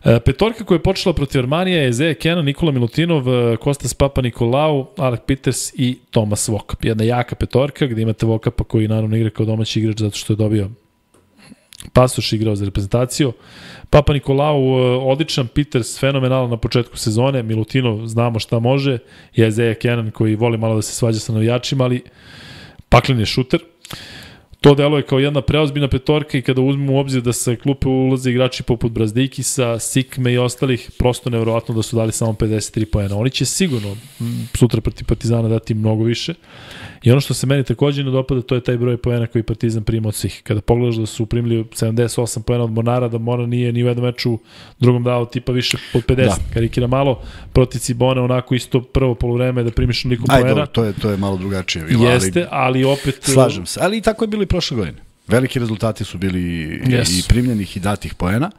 E, petorka koja je počela protiv Armanija je Zeja Kenan, Nikola Milutinov, Kostas Papa Nikolau, Alec Peters i Tomas Vokap. Jedna jaka petorka gde imate Vokapa koji naravno igra kao domaći igrač zato što je dobio pasoš, igrao za reprezentaciju. Papa Nikolau odličan, Peters fenomenalan na početku sezone, Milutinov znamo šta može, je Zeja Kenan koji voli malo da se svađa sa navijačima, ali paklen je šuter. To deluje kao jedna preozbiljna petorka i kada uzmemo u obzir da sa klupe ulaze igrači poput Brazdikisa, Sikme i ostalih, prosto nevjerovatno da su dali samo pedeset tri poena. Oni će sigurno sutra protiv Partizana dati mnogo više. I ono što se meni takođe ne dopada, to je taj broj poena koji Partizan prima od svih. Kada pogledaš da su primili sedamdeset osam poena od Mornara, da Mornar nije ni u jednom meču drugom dao tipa više od pedeset. Da. Karikira malo, protiv Cibone onako isto prvo poluvreme da primiš neliko poena. Ajde, to je, to je malo drugačije. Bilo, Jeste, ali, ali opet... Slažem se, ali i tako je bilo i prošle godine. Veliki rezultati su bili yes. i primljenih i datih poena.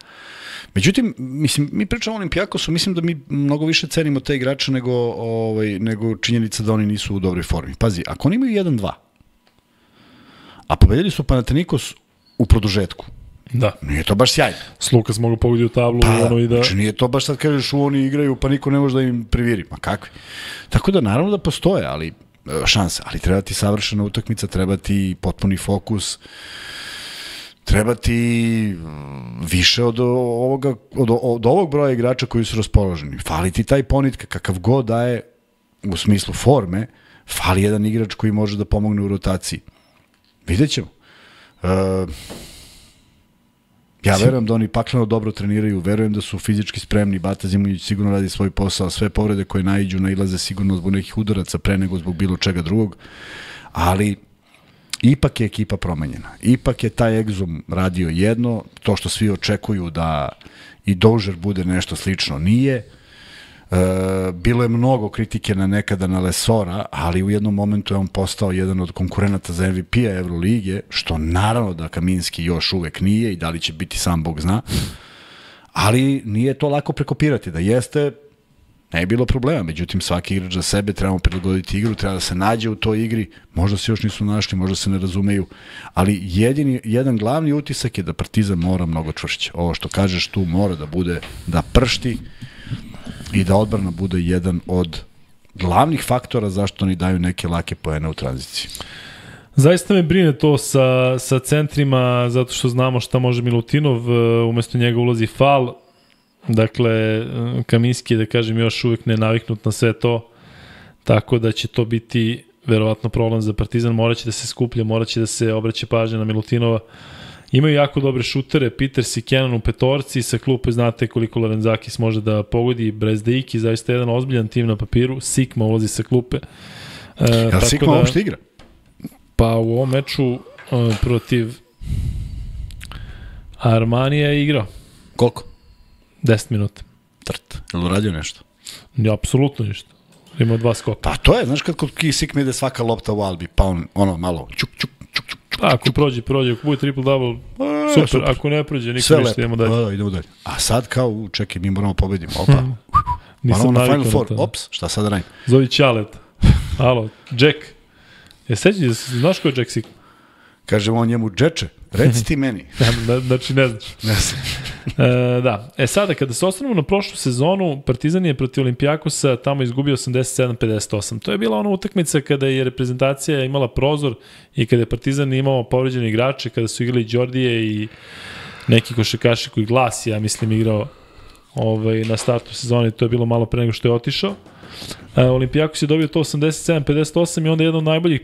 Međutim, mislim, mi pričamo o Olimpijakosu, mislim da mi mnogo više cenimo te igrače nego, ovaj, nego činjenica da oni nisu u dobroj formi. Pazi, ako oni imaju jedan dva, a pobedili su Panathinaikos u produžetku, Da. Nije to baš sjajno. S Lukas mogu pogoditi u tablu. Pa, ono i da... znači nije to baš sad kažeš u oni igraju pa niko ne može da im priviri. Ma kakvi. Tako da naravno da postoje, ali šanse, ali treba ti savršena utakmica, treba ti potpuni fokus, treba ti više od ovoga, od, od ovog broja igrača koji su raspoloženi. Fali ti taj Ponitka, kakav god daje u smislu forme, fali jedan igrač koji može da pomogne u rotaciji. Vidjet ćemo. Uh, ja verujem da oni pakleno dobro treniraju, verujem da su fizički spremni, Bata Zimonjić sigurno radi svoj posao, sve povrede koje naiđu nailaze sigurno zbog nekih udaraca pre nego zbog bilo čega drugog, ali ipak je ekipa promenjena. Ipak je taj Exum radio jedno, to što svi očekuju da i Dozier bude nešto slično nije. E, bilo je mnogo kritike na nekada na Lesora, ali u jednom momentu je on postao jedan od konkurenata za M V P-a Evrolige, što naravno da Kaminski još uvek nije i da li će biti sam Bog zna, ali nije to lako prekopirati. Da jeste, ne je bilo problema, međutim svaki igrač za sebe, trebamo prilagoditi igru, treba da se nađe u toj igri, možda se još nisu našli, možda se ne razumeju, ali jedini, jedan glavni utisak je da Partizan mora mnogo čvršće. Ovo što kažeš tu mora da bude, da pršti i da odbrana bude jedan od glavnih faktora zašto oni daju neke lake poene u tranziciji. Zaista me brine to sa, sa centrima, zato što znamo šta može Milutinov, umesto njega ulazi Fal. Dakle, Kaminski je, da kažem, još uvijek ne naviknut na sve to, tako da će to biti verovatno problem za Partizan, moraće da se skuplja, moraće da se obraća pažnja na Milutinova. Imaju jako dobre šutere, Peters i Kenan u petorci, sa klupe znate koliko Lorenzakis može da pogodi, Brezdeiki, zaista jedan ozbiljan tim na papiru, Sikma ulazi sa klupe. E, Jel Sikma da, uopšte igra? Pa u ovom meču uh, protiv Armanija je igrao. Koliko? deset minuta. Trt. Je li uradio nešto? Ja, apsolutno ništa. Imao dva skoka. Pa to je, znaš kad kod Sikma ide svaka lopta u Albi, pa on ono malo čuk, čuk, čuk, čuk. Pa, ako prođe, prođe, ako bude triple-double, super. super, ako ne prođe, nikom ništa, idemo dalje. Da, da, idemo dalje. A sad kao, čekaj, mi moramo pobedimo, opa. Nisam na Final Four, ops, šta sad radim? Zovi Ćalet. Alo, Jack. Je sećan, znaš ko je Jack Sikma? Kažemo on njemu, Džeče, reci ti meni. Znači ne znaš. Ne znam. e, da, e sada, kada se osnovimo na prošlu sezonu, Partizan je protiv Olimpijakosa tamo izgubio osamdeset sedam pedeset osam. To je bila ona utakmica kada je reprezentacija imala prozor i kada je Partizan imao povređene igrače, kada su igrali Đordije i neki košarkaši koji Glas, ja mislim, igrao ovaj, na startu sezone, to je bilo malo pre nego što je otišao. E, Olimpijakos je dobio to osamdeset sedam pedeset osam i onda jedan od najboljih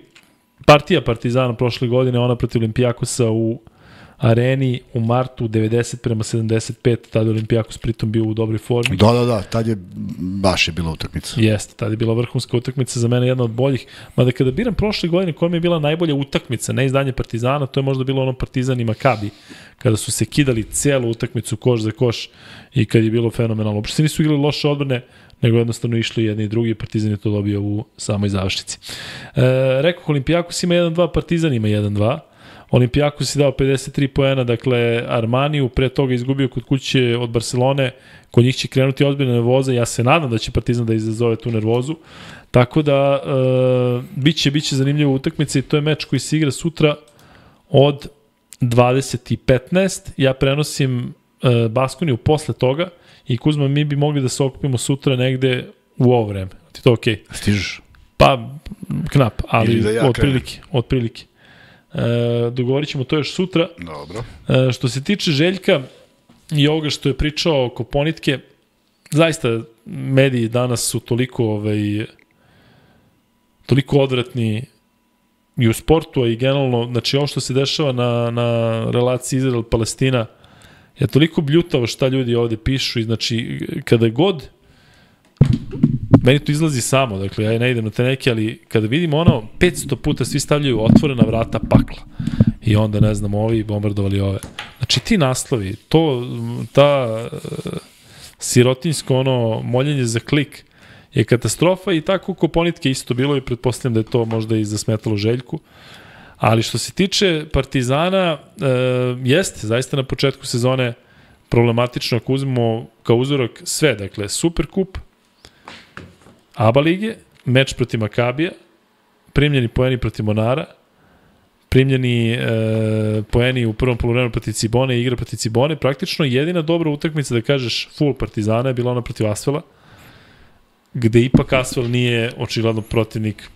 partija Partizana prošle godine, ona protiv Olimpijakosa u areni u martu devedeset prema sedamdeset pet, tada je Olimpijakos pritom bio u dobroj formi. Da, da, da, tad je baš je bila utakmica. Jeste, tada je bila vrhunska utakmica, za mene jedna od boljih. Mada kada biram prošle godine koja mi je bila najbolja utakmica, ne izdanje Partizana, to je možda bilo ono Partizan i Makabi, kada su se kidali celu utakmicu koš za koš i kad je bilo fenomenalno. Uopšte se nisu igrali loše odbrane, nego jednostavno išli jedni i drugi, Partizan je to dobio u samoj završnici. E, rekao, Olimpijakos ima jedan dva, Partizan ima jedan dva. Olimpijakos je dao pedeset tri poena, dakle Armaniju, pre toga izgubio kod kuće od Barcelone, kod njih će krenuti ozbiljna nervoza, ja se nadam da će Partizan da izazove tu nervozu, tako da e, biće, biće zanimljiva utakmica i to je meč koji se igra sutra od dvadeset i petnaest, ja prenosim e, Baskoniju posle toga i Kuzma, mi bi mogli da se okupimo sutra negde u ovo vreme, ti to okej? Okay? Stižeš? Pa, knap, ali da ja od prilike, od prilike. E, dogovorit ćemo to još sutra. Dobro. E, što se tiče Željka i ovoga što je pričao oko Ponitke, zaista mediji danas su toliko ovaj, toliko odvratni i u sportu, a i generalno, znači ovo što se dešava na, na relaciji Izrael-Palestina je toliko bljutavo šta ljudi ovde pišu i znači kada god meni to izlazi samo, dakle ja ne idem na te neke, ali kada vidimo ono, petsto puta svi stavljaju otvorena vrata pakla i onda ne znam, ovi bombardovali ove. Znači ti naslovi, to, ta uh, sirotinjsko ono, moljenje za klik je katastrofa i tako Koponitke isto bilo i pretpostavljam da je to možda i zasmetalo Željku. Ali što se tiče Partizana, uh, jeste, zaista na početku sezone problematično ako uzmemo kao uzorak sve, dakle Superkup, A B A lige, meč protiv Makabija, primljeni poeni protiv Monara, primljeni e, poeni u prvom poluvremenu protiv Cibone i igra protiv Cibone. Praktično jedina dobra utakmica da kažeš full Partizana je bila ona protiv Asvela, gde ipak Asvel nije očigledno protivnik.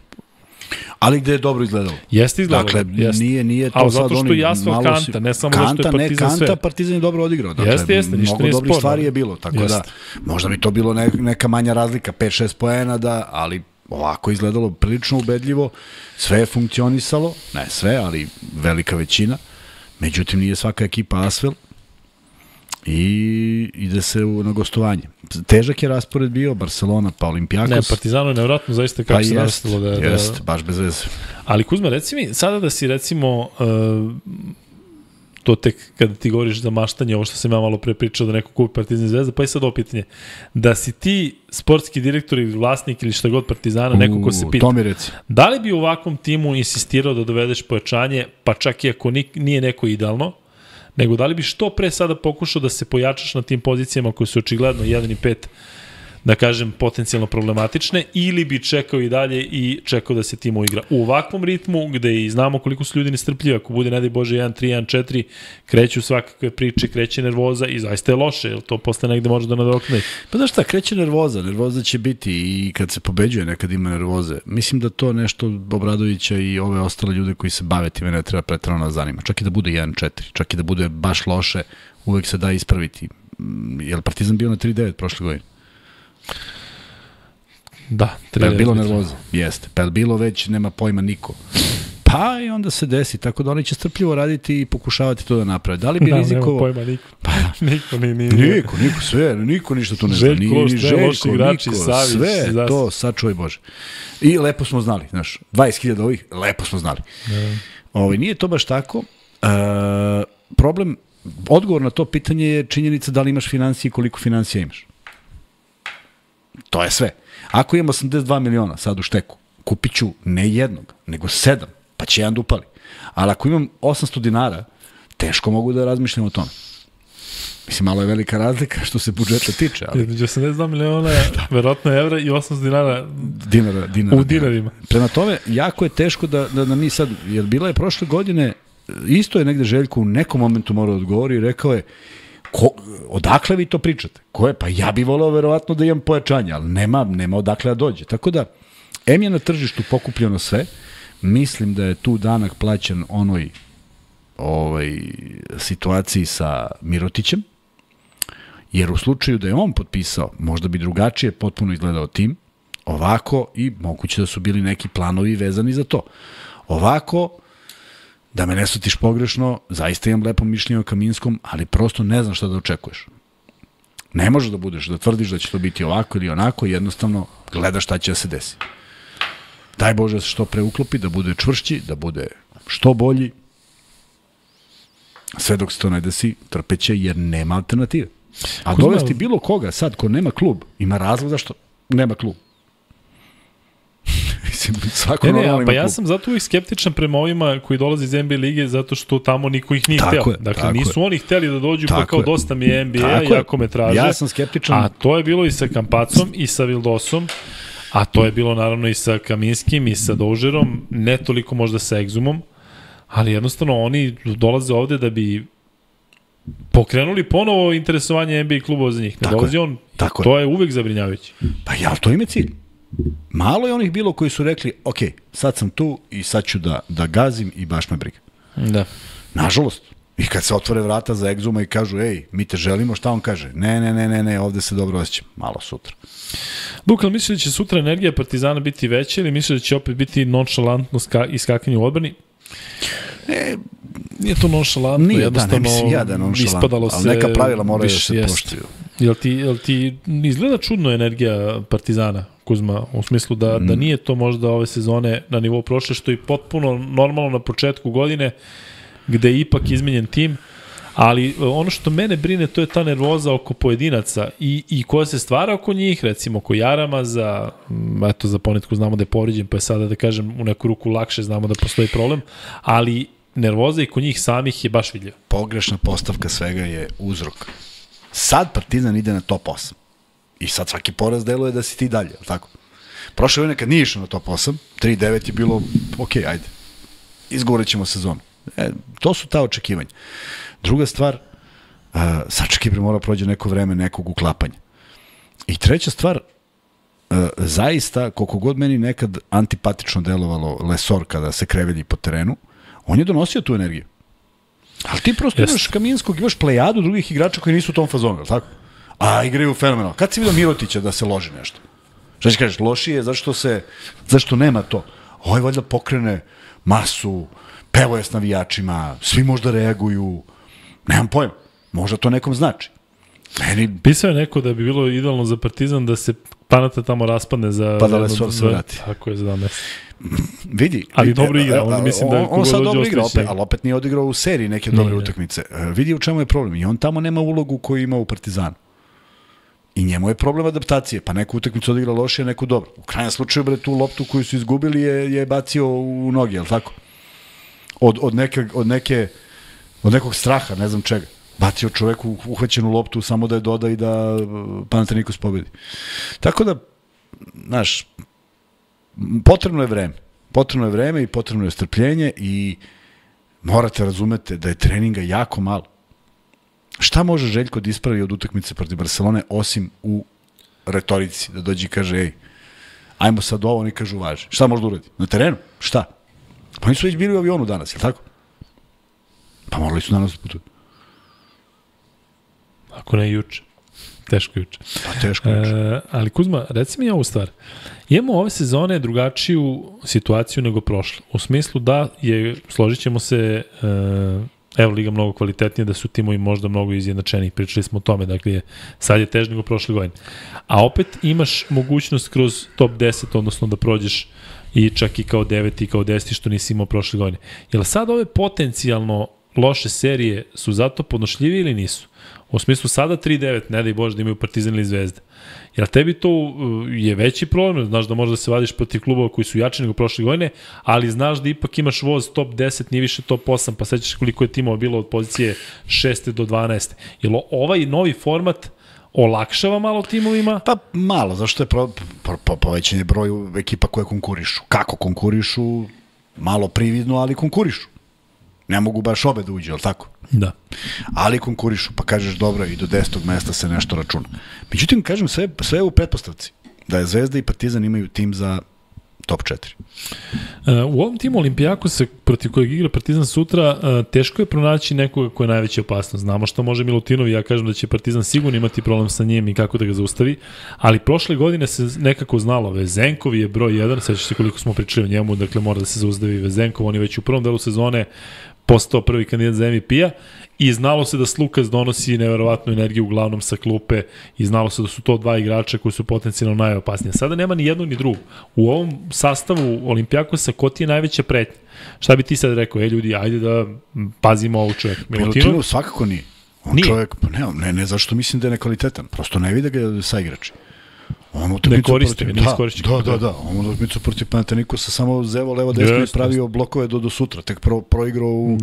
Ali gde je dobro izgledalo. Jeste izgledalo. Dakle, jeste. nije, nije to ali sad zato što oni je Asvel malo kanta, si... ne samo kanta, zato što je Partizan ne, sve. Kanta, Partizan je dobro odigrao. Dakle, jeste, jeste, ništa mnogo nije dobrih sporno. stvari je bilo, tako jeste. da možda bi to bilo ne, neka manja razlika, pet šest poena, da, ali ovako izgledalo prilično ubedljivo, sve je funkcionisalo, ne sve, ali velika većina, međutim nije svaka ekipa Asvel i ide se u, na gostovanje. Težak je raspored bio, Barcelona pa Olimpijakos. Ne, Partizano je nevjerojatno zaista kako pa se jest, nastavilo da, jest, da... baš bez veze. Ali Kuzma, reci mi, sada da si recimo, uh, to tek kada ti govoriš za maštanje, ovo što sam ja malo pre pričao da neko kupi Partizan i Zvezda, pa i sad ovo pitanje, da si ti sportski direktor ili vlasnik ili šta god Partizana, neko ko se pita, to mi reci. Da li bi u ovakvom timu insistirao da dovedeš pojačanje, pa čak i ako nije neko idealno, nego da li bi što pre sada pokušao da se pojačaš na tim pozicijama koje su očigledno jedan i pet, da kažem, potencijalno problematične, ili bi čekao i dalje i čekao da se tim uigra. U ovakvom ritmu, gde i znamo koliko su ljudi nestrpljivi, ako bude, ne daj Bože, jedan tri, jedan četiri, kreću svakakve priče, kreće nervoza i zaista je loše, jer to posle negde može da nadokne. Pa znaš šta, kreće nervoza, nervoza će biti i kad se pobeđuje nekad ima nervoze. Mislim da to nešto Obradovića i ove ostale ljude koji se bave time ne treba pretrano da zanima. Čak i da bude jedan četiri, čak i da bude baš loše, uvek se da ispraviti. Je li Partizan bio na tri devet prošle godine? Da, pa je bilo nervoza, jeste. Pa je bilo već, nema pojma niko. Pa i onda se desi, tako da oni će strpljivo raditi i pokušavati to da naprave. Da li bi da, rizikovo... Nema pojma niko. Pa, niko, ni, ni, niko, niko, sve, niko ništa tu ne zna. Željko, ni, ni Željko, igrači, niko, Savić, sve zas... to, sačuvaj Bože. I lepo smo znali, znaš, dvadeset hiljada ovih, lepo smo znali. Ne. Ovo, nije to baš tako. E, problem, odgovor na to pitanje je činjenica da li imaš financije i koliko financija imaš. To je sve. Ako imam osamdeset dva miliona sad u šteku, kupit ću ne jednog, nego sedam, pa će jedan da upali. Ali ako imam osamsto dinara, teško mogu da razmišljam o tome. Mislim, malo je velika razlika što se budžeta tiče. Ali... Između osamdeset dva miliona, verovatno evra i osamsto dinara, dinara, dinara u dinarima. Prema tome, jako je teško da, da, da mi sad, jer bila je prošle godine, isto je negde Željko u nekom momentu morao da odgovori i rekao je, Ko, odakle vi to pričate? Ko je? Pa ja bih voleo verovatno da imam pojačanje, ali nema, nema odakle da dođe. Tako da, em je na tržištu pokupljeno sve, mislim da je tu danak plaćen onoj ovaj, situaciji sa Mirotićem, jer u slučaju da je on potpisao, možda bi drugačije potpuno izgledao tim, ovako i moguće da su bili neki planovi vezani za to. Ovako, da me ne shvatiš pogrešno, zaista imam lepo mišljenje o Kaminskom, ali prosto ne znam šta da očekuješ. Ne može da budeš, da tvrdiš da će to biti ovako ili onako, jednostavno gledaš šta će da se desi. Daj Bože da se što pre uklopi, da bude čvršći, da bude što bolji. Sve dok se to ne desi, trpeće jer nema alternative. A Kuzma, dovesti bilo koga sad ko nema klub, ima razlog zašto nema klub. Svako ne, ne, pa klub. ja sam zato uvijek skeptičan prema ovima koji dolaze iz N B A lige zato što tamo niko ih nije tako hteo. Je, dakle, nisu je. Oni hteli da dođu tako pa kao je. Dosta mi je N B A, jako me traže. Ja sam skeptičan. A to je bilo i sa Kampacom i sa Vildosom, a to je bilo naravno i sa Kaminskim i sa Dožerom, ne toliko možda sa Egzumom, ali jednostavno oni dolaze ovde da bi pokrenuli ponovo interesovanje N B A klubova za njih. Ne tako dolazi je. on, tako to je. je uvek zabrinjavajuće. Pa ja, to ime cilj. Malo je onih bilo koji su rekli, ok, sad sam tu i sad ću da, da gazim i baš me briga. Da. Nažalost. I kad se otvore vrata za Egzuma i kažu, ej, mi te želimo, šta on kaže? Ne, ne, ne, ne, ne, ovde se dobro osjećam. Malo sutra. Luka, misli da će sutra energija Partizana biti veća ili misli da će opet biti nonšalantno ska, iskakanje u odbrani? E, nije to nonšalantno, nije, jednostavno da, ne mislim ja da je nonšalantno, ispadalo se... ali neka pravila moraju da se poštuju. Jel ti, jel ti izgleda čudno energija Partizana, Kuzma, u smislu da, mm. da nije to možda ove sezone na nivou prošle, što je potpuno normalno na početku godine, gde je ipak izmenjen tim, ali ono što mene brine to je ta nervoza oko pojedinaca i, i koja se stvara oko njih, recimo oko Jarama, za, eto, za Ponetku znamo da je povređen, pa je sada da kažem u neku ruku lakše, znamo da postoji problem, ali nervoza i kod njih samih je baš vidljiva. Pogrešna postavka svega je uzrok. Sad Partizan ide na top osam. I sad svaki poraz deluje da si ti dalje, ali tako? Prošle godine kad nije išao na top osam, tri devet je bilo, ok, ajde. izgovorit ćemo sezonu. E, to su ta očekivanja. Druga stvar, uh, Sača Kipre mora prođe neko vreme nekog uklapanja. I treća stvar, uh, zaista, koliko god meni nekad antipatično delovalo Lesor kada se krevelji po terenu, on je donosio tu energiju. Ali ti prosto Jest. imaš Kaminskog, imaš plejadu drugih igrača koji nisu u tom fazonu, ali tako? A igraju fenomenalno. Kad si vidio Mirotića da se loži nešto? Šta ćeš kažeš, lošije, zašto se, zašto nema to? Ovo je valjda pokrene masu, pevo je s navijačima, svi možda reaguju, nemam pojma, možda to nekom znači. Meni... Pisao je neko da bi bilo idealno za Partizan da se Panata tamo raspadne za... Pa da Lesor se vrati. Tako je, za dva mesta. Vidi. Ali vidi, dobro igra, on mislim da... On, on sad dobro igra, opet, ali opet nije odigrao u seriji neke dobre nije. utakmice. Vidi u čemu je problem. I on tamo nema ulogu koju ima u Partizanu. I njemu je problem adaptacije, pa neku utakmicu odigra lošije, neku dobro. U krajnjem slučaju, bre, tu loptu koju su izgubili je, je bacio u noge, je li tako? Od, od, neke, od, neke, od nekog straha, ne znam čega. Bacio čoveku uhvaćenu loptu samo da je doda i da Panathinaikos pobedi. Tako da, znaš, potrebno je vreme. Potrebno je vreme i potrebno je strpljenje i morate razumete da je treninga jako malo. Šta može Željko da ispravi od utakmice protiv Barcelone osim u retorici, da dođe i kaže, ej, ajmo sad ovo, oni kažu važi. Šta može da uradi? Na terenu? Šta? Pa oni su već bili u avionu danas, je li tako? Pa morali su danas da putuju. Ako ne juče. Teško juče. Pa teško juče. E, ali Kuzma, reci mi ovu stvar. Imamo ove sezone drugačiju situaciju nego prošle. U smislu da je, složit ćemo se, e, Euroliga mnogo kvalitetnija, da su timovi možda mnogo izjednačeniji. Pričali smo o tome, dakle, sad je teže nego prošle godine. A opet imaš mogućnost kroz top deset, odnosno da prođeš i čak i kao deveti i kao deseti, što nisi imao prošle godine. Jel sad ove potencijalno loše serije su zato podnošljivi ili nisu? U smislu sada tri devet, ne daj Bože da imaju Partizan ili Zvezda. Jer tebi to je veći problem, znaš da možeš da se vadiš protiv klubova koji su jači nego prošle godine, ali znaš da ipak imaš voz top deset, nije više top osam, pa sećaš koliko je timova bilo od pozicije šeste do dvanaeste. Jel ovaj novi format olakšava malo timovima? Pa malo, zašto je pro, pro, pro, povećanje broju ekipa koje konkurišu. Kako konkurišu? Malo prividno, ali konkurišu. Ne mogu baš obe da uđe, ali tako? Da. Ali konkurišu, pa kažeš dobro, i do desetog mesta se nešto računa. Međutim, kažem, sve, sve je u pretpostavci. Da je Zvezda i Partizan imaju tim za top četiri. U ovom timu Olimpijakosa, protiv kojeg igra Partizan sutra, teško je pronaći nekoga ko je najveća opasnost. Znamo što može Milutinov, ja kažem da će Partizan sigurno imati problem sa njim i kako da ga zaustavi, ali prošle godine se nekako znalo, Vezenkov je broj jedan, sećaš se koliko smo pričali o njemu, dakle mora da se zaustavi Vezenkov, on je već u prvom delu sezone postao prvi kandidat za M V P-a i znalo se da Slukas donosi neverovatnu energiju uglavnom sa klupe i znalo se da su to dva igrača koji su potencijalno najopasnije. Sada nema ni jednog ni drugog. U ovom sastavu Olimpijakosa ko ti je najveća pretnja? Šta bi ti sad rekao? E ljudi, ajde da pazimo ovog čovjeka. Milutinov svakako nije. On nije. Čovjek, pa ne, ne, ne zašto mislim da je nekvalitetan. Prosto ne vide ga sa igrači. On ne koriste, protiv, da, da, da, da. On utakmicu protiv Panathinaikosa samo zevo levo desno i pravio blokove do, do sutra. Tek pro, proigrao u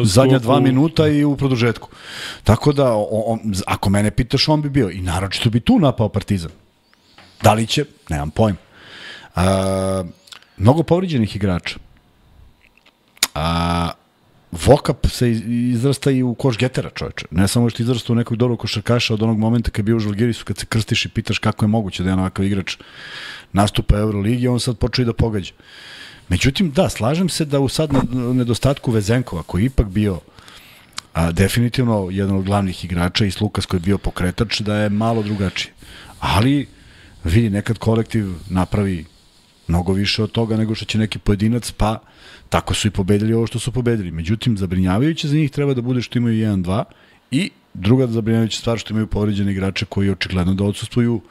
zadnja dva minuta i u produžetku. Tako da, on, on, ako mene pitaš, on bi bio. I naročito bi tu napao Partizan. Da li će? Nemam pojma. A, mnogo povriđenih igrača. A, Vokap se izrasta i u koš getera, čoveče. Ne samo što izrasta u nekog dobrog košarkaša od onog momenta kad je bio u Žalgirisu, kad se krstiš i pitaš kako je moguće da je ovakav igrač nastupa u Euroligi, on sad počeo i da pogađa. Međutim, da, slažem se da u sad nedostatku Vezenkova, koji je ipak bio a, definitivno jedan od glavnih igrača i Slukas koji je bio pokretač, da je malo drugačije. Ali, vidi, nekad kolektiv napravi mnogo više od toga nego što će neki pojedinac, pa tako su i pobedili ovo što su pobedili. Međutim, zabrinjavajuće za njih treba da bude što imaju jedan dva i druga zabrinjavajuća stvar što imaju povređene igrače koji očigledno da odsustvuju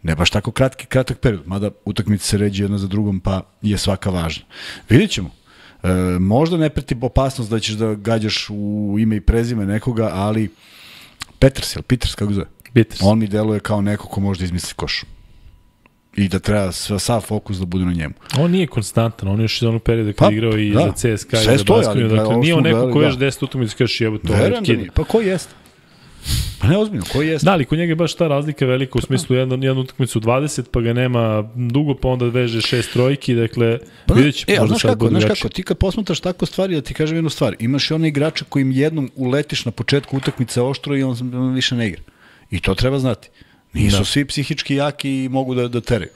ne baš tako kratki, kratak period, mada utakmice se ređe jedna za drugom, pa je svaka važna. Vidjet ćemo. E, možda ne preti opasnost da ćeš da gađaš u ime i prezime nekoga, ali Peters, jel Peters, kako zove? Peters. On mi deluje kao neko ko može da izmisli koš. I da treba sav fokus da bude na njemu. On nije konstantan, on je još iz onog perioda kad pa, igrao i da. za C S K A i sve za stoji, Baskoniju, dakle nije on neko ko još deset utakmica kažeš jebo to. Verujem da nije, pa ko jeste? Pa ne ozbiljno, koji jeste? Da, ali kod njega je baš ta razlika velika u smislu jednu, jednu utakmicu dvadeset, pa ga nema dugo, pa onda veže šest trojki, dakle, pa, vidjet će, e, možda znaš sad kako, bude znaš drugačije. kako, ti kad posmatraš tako stvari, da ti kažem jednu stvar, imaš i one igrače kojim jednom uletiš na početku utakmice oštro i on, on više ne igra. I to treba znati. Nisu Da. svi psihički jaki i mogu da, da teraju.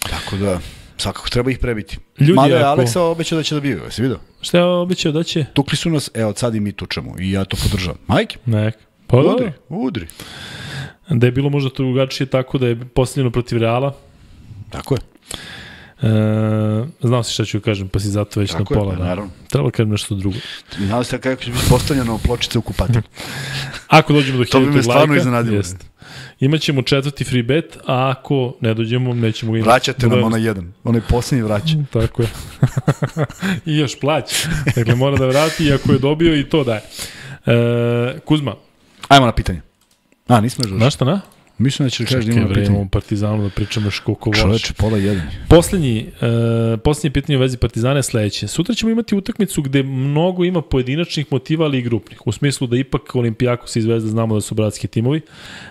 Tako da, svakako treba ih prebiti. Ljudi, Mada je ako- Aleksa obećao da će da biju, jesi vidio? Šta je obećao da će? Tukli su nas, evo sad i mi tučemo i ja to podržavam. Majke, Nek. Pa udri, udri. udri. Da je bilo možda to drugačije tako da je postavljeno protiv Reala. Tako je. E, znao si šta ću kažem, pa si zato već Tako na je, pola. pa Da. naravno. Treba kažem nešto drugo. Znao se kako će biti postavljeno pločice u kupati. Ako dođemo do To bi me hiljaditog stvarno lajka, iznenadilo. jest. Imaćemo četvrti free bet, a ako ne dođemo, nećemo ga imati. Vraćate nam Dobro. onaj jedan, onaj posljednji vraća. Tako je. I još plaća. Dakle, mora da vrati, iako je dobio i to daje. E, Kuzma, Ajmo na pitanje. A, nismo još došli. znaš šta na? Mislim da ćeš da kažeš da Čekaj, imamo na bre, pitanje. imamo Partizanu da pričamo još koliko voliš. Čoveče, pola jedan. Poslednji, e, poslednje pitanje u vezi Partizana je sledeće. Sutra ćemo imati utakmicu gde mnogo ima pojedinačnih motiva, ali i grupnih. U smislu da ipak Olimpijakos i Zvezda znamo da su bratski timovi.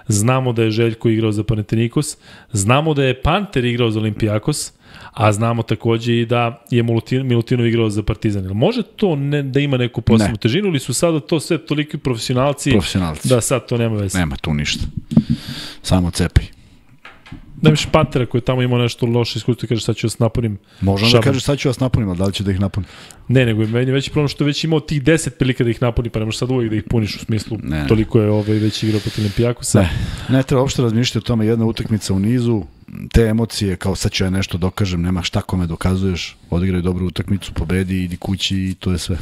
Znamo da je Željko igrao za Panathinaikos. Znamo da je Panter igrao za Olimpijakos. A znamo takođe i da je Milutin, Milutinov igrao za Partizan. Jel može to ne, da ima neku posebnu Ne. težinu ili su sada to sve toliki profesionalci, Profesionalci. da sad to nema veze? Nema tu ništa. Samo cepaj. Da imaš Pantera koji je tamo imao nešto loše iskustvo i kaže sad ću vas napunim. Možda da šabom. kažeš sad ću vas napunim, ali da li će da ih napunim? Ne, nego je meni veći problem što je već imao tih deset prilika da ih napuni, pa ne možeš sad uvijek da ih puniš u smislu. Ne. Toliko je ovaj već igrao protiv Olimpijakosa. Ne, ne treba uopšte razmišljati o tome, jedna utakmica u nizu, te emocije, kao sad ću ja nešto dokažem, nema šta kome dokazuješ, odigraj dobru utakmicu, pobedi, idi kući i to je sve.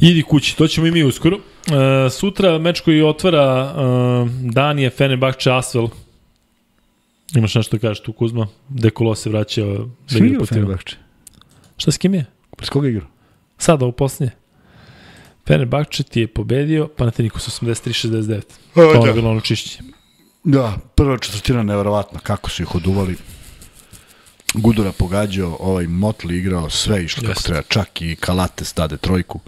Idi kući, to ćemo i mi uskoro. E, sutra meč koji otvara e, dan je Fenerbahče Asvel. Imaš nešto da kažeš tu, Kuzma? Dekolo se vraća da S kim igra igrao protiv. Fenerbahče? Šta s kim je? S koga igrao? Sada, ovo posljednje. Fenerbahče ti je pobedio Panathinaikos osamdeset tri šezdeset devet. A, To je da. bilo ono čišćenje. Da, prva četvrtina neverovatna, kako su ih oduvali. Gudura pogađao, ovaj Motli igrao, sve išlo kako Jeste. treba, čak i Kalate stade trojku.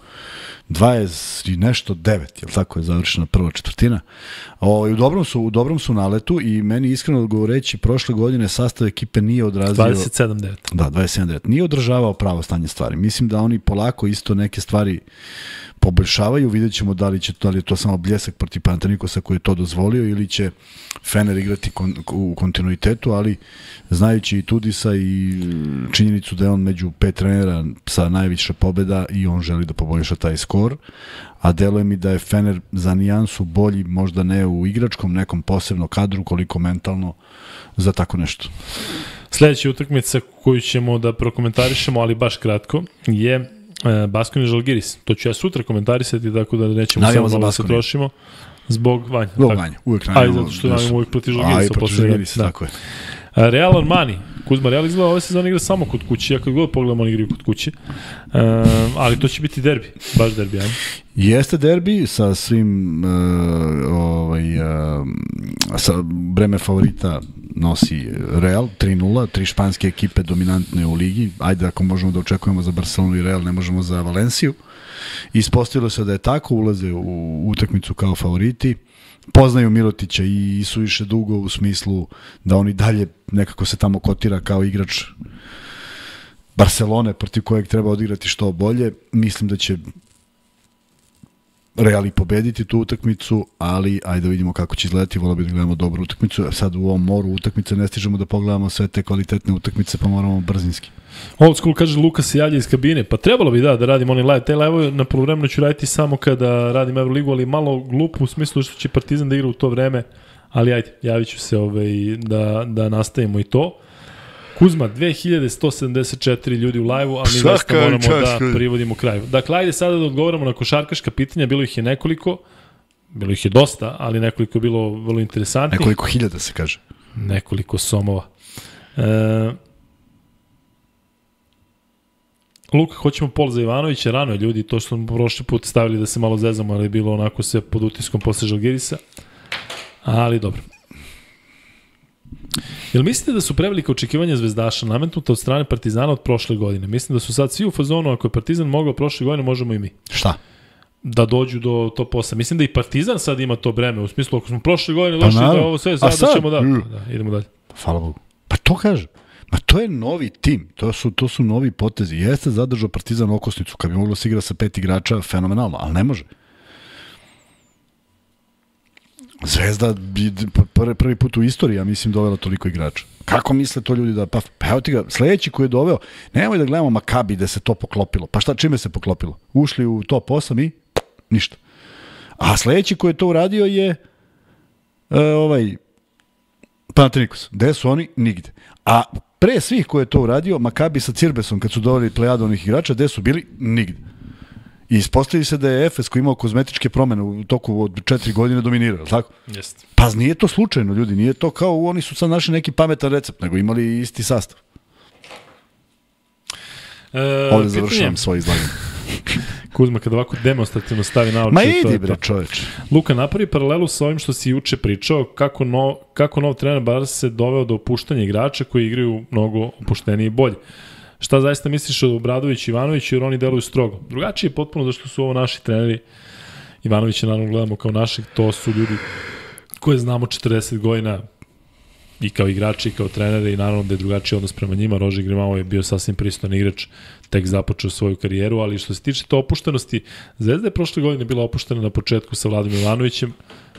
dvadeset i nešto devet, jel tako je završena prva četvrtina. O, u, dobrom su, u dobrom su naletu i meni iskreno govoreći, prošle godine sastav ekipe nije odrazio... dvadeset sedam devet. Da, dvadeset sedam devet. Nije održavao pravo stanje stvari. Mislim da oni polako isto neke stvari poboljšavaju, vidjet ćemo da li, će, da li je to samo bljesak protiv Panathinaikosa koji je to dozvolio ili će Fener igrati kon, u kontinuitetu, ali znajući i Tudisa i činjenicu da je on među pet trenera sa najviše pobjeda i on želi da poboljša taj skor, a deluje mi da je Fener za nijansu bolji, možda ne u igračkom nekom posebnom kadru, koliko mentalno za tako nešto. Sledeća utakmica koju ćemo da prokomentarišemo, ali baš kratko, je e, Baskonia Žalgiris. To ću ja sutra komentarisati, tako da nećemo Navijamo samo za malo da se Baskoniju. trošimo. Zbog Vanja. Zbog tako. Vanja, uvijek A i navijamo. zato što navijamo uvijek protiv A i Žalgirisa. protiv posle- Žalgirisa, da. tako je. A, Real Armani. Kuzma, Real izgleda ove sezone igra samo kod kuće. Ja kad god pogledam, oni igraju kod kuće. E, ali to će biti derbi. Baš derbi, ajmo. Jeste derbi sa svim uh, ovaj, uh, sa breme favorita nosi Real, tri nula, tri španske ekipe dominantne u ligi. Ajde, ako možemo da očekujemo za Barcelonu i Real, ne možemo za Valenciju. Ispostavilo se da je tako, ulaze u utakmicu kao favoriti. Poznaju Mirotića i su više dugo u smislu da oni dalje nekako se tamo kotira kao igrač Barcelone protiv kojeg treba odigrati što bolje. Mislim da će Real i pobediti tu utakmicu, ali ajde da vidimo kako će izgledati, volio bih da gledamo dobru utakmicu. Sad u ovom moru utakmice ne stižemo da pogledamo sve te kvalitetne utakmice, pa moramo brzinski. Old School kaže Luka se javlja iz kabine. Pa trebalo bi da, da radim oni live. Te live na poluvremenu ću raditi samo kada radim Euroligu, ali malo glupo u smislu što će Partizan da igra u to vreme. Ali ajde, javit ću se ovaj, da, da nastavimo i to. Kuzma, dve hiljade sto sedamdeset četiri ljudi u live-u, a mi Svaka zaista moramo čast, da ljudi. privodimo kraju. Dakle, ajde sada da odgovoramo na košarkaška pitanja. Bilo ih je nekoliko, bilo ih je dosta, ali nekoliko je bilo vrlo interesantnih. Nekoliko hiljada se kaže. Nekoliko somova. E, Luka, hoćemo Pol za Ivanovića, rano je ljudi, to što smo prošli put stavili da se malo zezamo, ali je bilo onako sve pod utiskom posle Žalgirisa. Ali dobro. Jel mislite da su prevelika očekivanja zvezdaša nametnuta od strane Partizana od prošle godine? Mislim da su sad svi u fazonu, ako je Partizan mogao prošle godine, možemo i mi. Šta? da dođu do top osam. Mislim da i Partizan sad ima to breme, u smislu ako smo prošle godine došli pa, da ovo sve sad, sad ćemo da, mm. da, idemo dalje. Hvala Bogu. Pa to kažem. Ma to je novi tim, to su, to su novi potezi. Jeste zadržao Partizan okosnicu, kad bi moglo se igra sa pet igrača, fenomenalno, ali ne može. Zvezda bi prvi, prvi put u istoriji, ja mislim, dovela toliko igrača. Kako misle to ljudi da... Pa, pa evo ti ga, sledeći koji je doveo, nemoj da gledamo Makabi da se to poklopilo. Pa šta, čime se poklopilo? Ušli u top osam i ništa. A sledeći koji je to uradio je e, ovaj Panathinaikos. Gde su oni? Nigde. A pre svih koji je to uradio, Makabi sa Cirbesom, kad su doveli plejadu onih igrača, gde su bili? Nigde. I ispostavili se da je Efes koji imao kozmetičke promene u toku od četiri godine dominirao, tako? Jeste. Pa nije to slučajno, ljudi, nije to kao oni su sad našli neki pametan recept, nego imali isti sastav. E, Ovdje završavam svoje izlaganje. Kuzma, kada ovako demonstrativno stavi na oči... Ma idi bre, čoveč. Luka, napravi paralelu sa ovim što si juče pričao, kako, no, kako nov trener Barca se doveo do opuštanja igrača koji igraju mnogo opuštenije i bolje. Šta zaista misliš o Obradoviću i Ivanoviću, jer oni deluju strogo? Drugačije je potpuno zašto su ovo naši treneri. Ivanovića naravno gledamo kao naših, to su ljudi koje znamo četrdeset godina i kao igrači i kao trenere i naravno da je drugačiji odnos prema njima. Roži Grimao je bio sasvim pristojan igrač, tek započeo svoju karijeru, ali što se tiče to opuštenosti, Zvezda je prošle godine bila opuštena na početku sa Vladom Ivanovićem,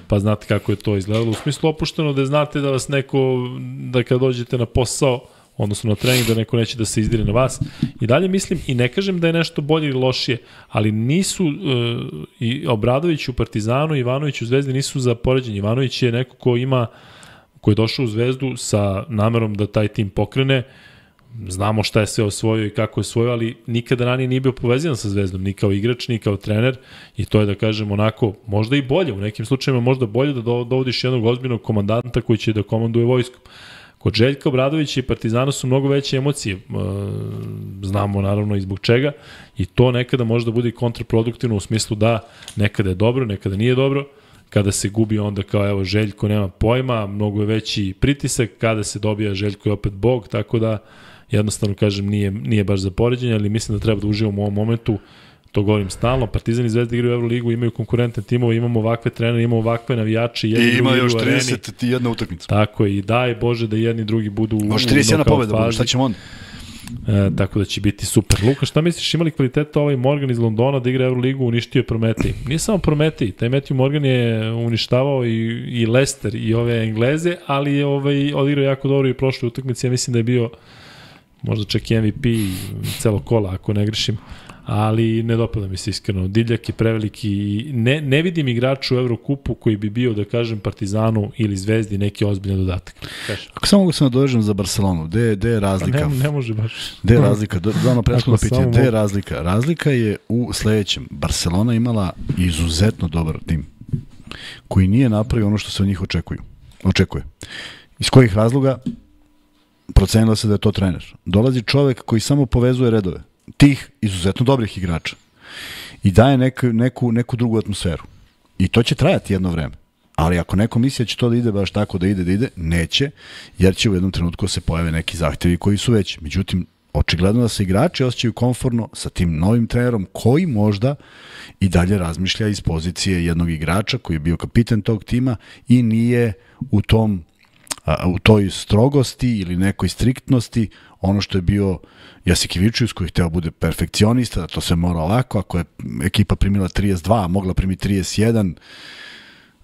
pa znate kako je to izgledalo. U smislu opušteno da znate da vas neko, da kad dođete na posao, odnosno na trening, da neko neće da se izdire na vas. I dalje mislim, i ne kažem da je nešto bolje ili lošije, ali nisu uh, i Obradović u Partizanu i Ivanović u Zvezdi nisu za poređenje. Ivanović je neko ko ima, ko je došao u Zvezdu sa namerom da taj tim pokrene. Znamo šta je sve osvojio i kako je osvojio, ali nikada ranije nije bio povezan sa Zvezdom, ni kao igrač, ni kao trener, i to je, da kažem, onako, možda i bolje, u nekim slučajima možda bolje da dovodiš jednog ozbiljnog komandanta koji će da komanduje vojskom. Kod Željka Obradovića i Partizana su mnogo veće emocije, znamo naravno i zbog čega, i to nekada može da bude kontraproduktivno u smislu da nekada je dobro, nekada nije dobro, kada se gubi onda kao evo Željko nema pojma, mnogo je veći pritisak, kada se dobija Željko je opet bog, tako da jednostavno kažem nije, nije baš za poređenje, ali mislim da treba da uživamo u ovom momentu, to govorim stalno. Partizan i Zvezda igraju u Euroligu, imaju konkurentne timove, imamo ovakve trenere, imamo ovakve navijače. I ima još trideset jedna utakmica. Tako je, i daj Bože da jedni i drugi budu u Može trideset jedna pobeda, bude, šta ćemo onda? E, tako da će biti super. Luka, šta misliš, imali kvaliteta ovaj Morgan iz Londona da igra Euroligu, uništio je Prometej? Nije samo Prometej, taj Matthew Morgan je uništavao i, i Leicester i ove Engleze, ali je ovaj, odigrao jako dobro i prošle utakmice, ja mislim da je bio možda čak i M V P celo kola, ako ne grešim, ali ne dopada mi se iskreno. Divljak je preveliki i ne, ne vidim igrača u Evrokupu koji bi bio, da kažem, Partizanu ili Zvezdi neki ozbiljan dodatak. Kaži. Ako samo mogu se nadovežem za Barcelonu, gde, gde je razlika? Ne, ne može baš. Gde je razlika? Dano prethodno pitanje, gde je razlika? Razlika je u sledećem. Barcelona imala izuzetno dobar tim koji nije napravio ono što se od njih očekuju. Očekuje. Iz kojih razloga? Procenilo se da je to trener. Dolazi čovek koji samo povezuje redove tih izuzetno dobrih igrača i daje neku, neku, neku drugu atmosferu. I to će trajati jedno vreme. Ali ako neko misli da će to da ide baš tako da ide, da ide, neće, jer će u jednom trenutku se pojave neki zahtevi koji su veći. Međutim, očigledno da se igrači osjećaju komfortno sa tim novim trenerom koji možda i dalje razmišlja iz pozicije jednog igrača koji je bio kapitan tog tima i nije u tom a, u toj strogosti ili nekoj striktnosti ono što je bio Jasikevičius koji je hteo bude perfekcionista, da to se mora ovako, ako je ekipa primila trideset dva, a mogla primiti trideset jedan,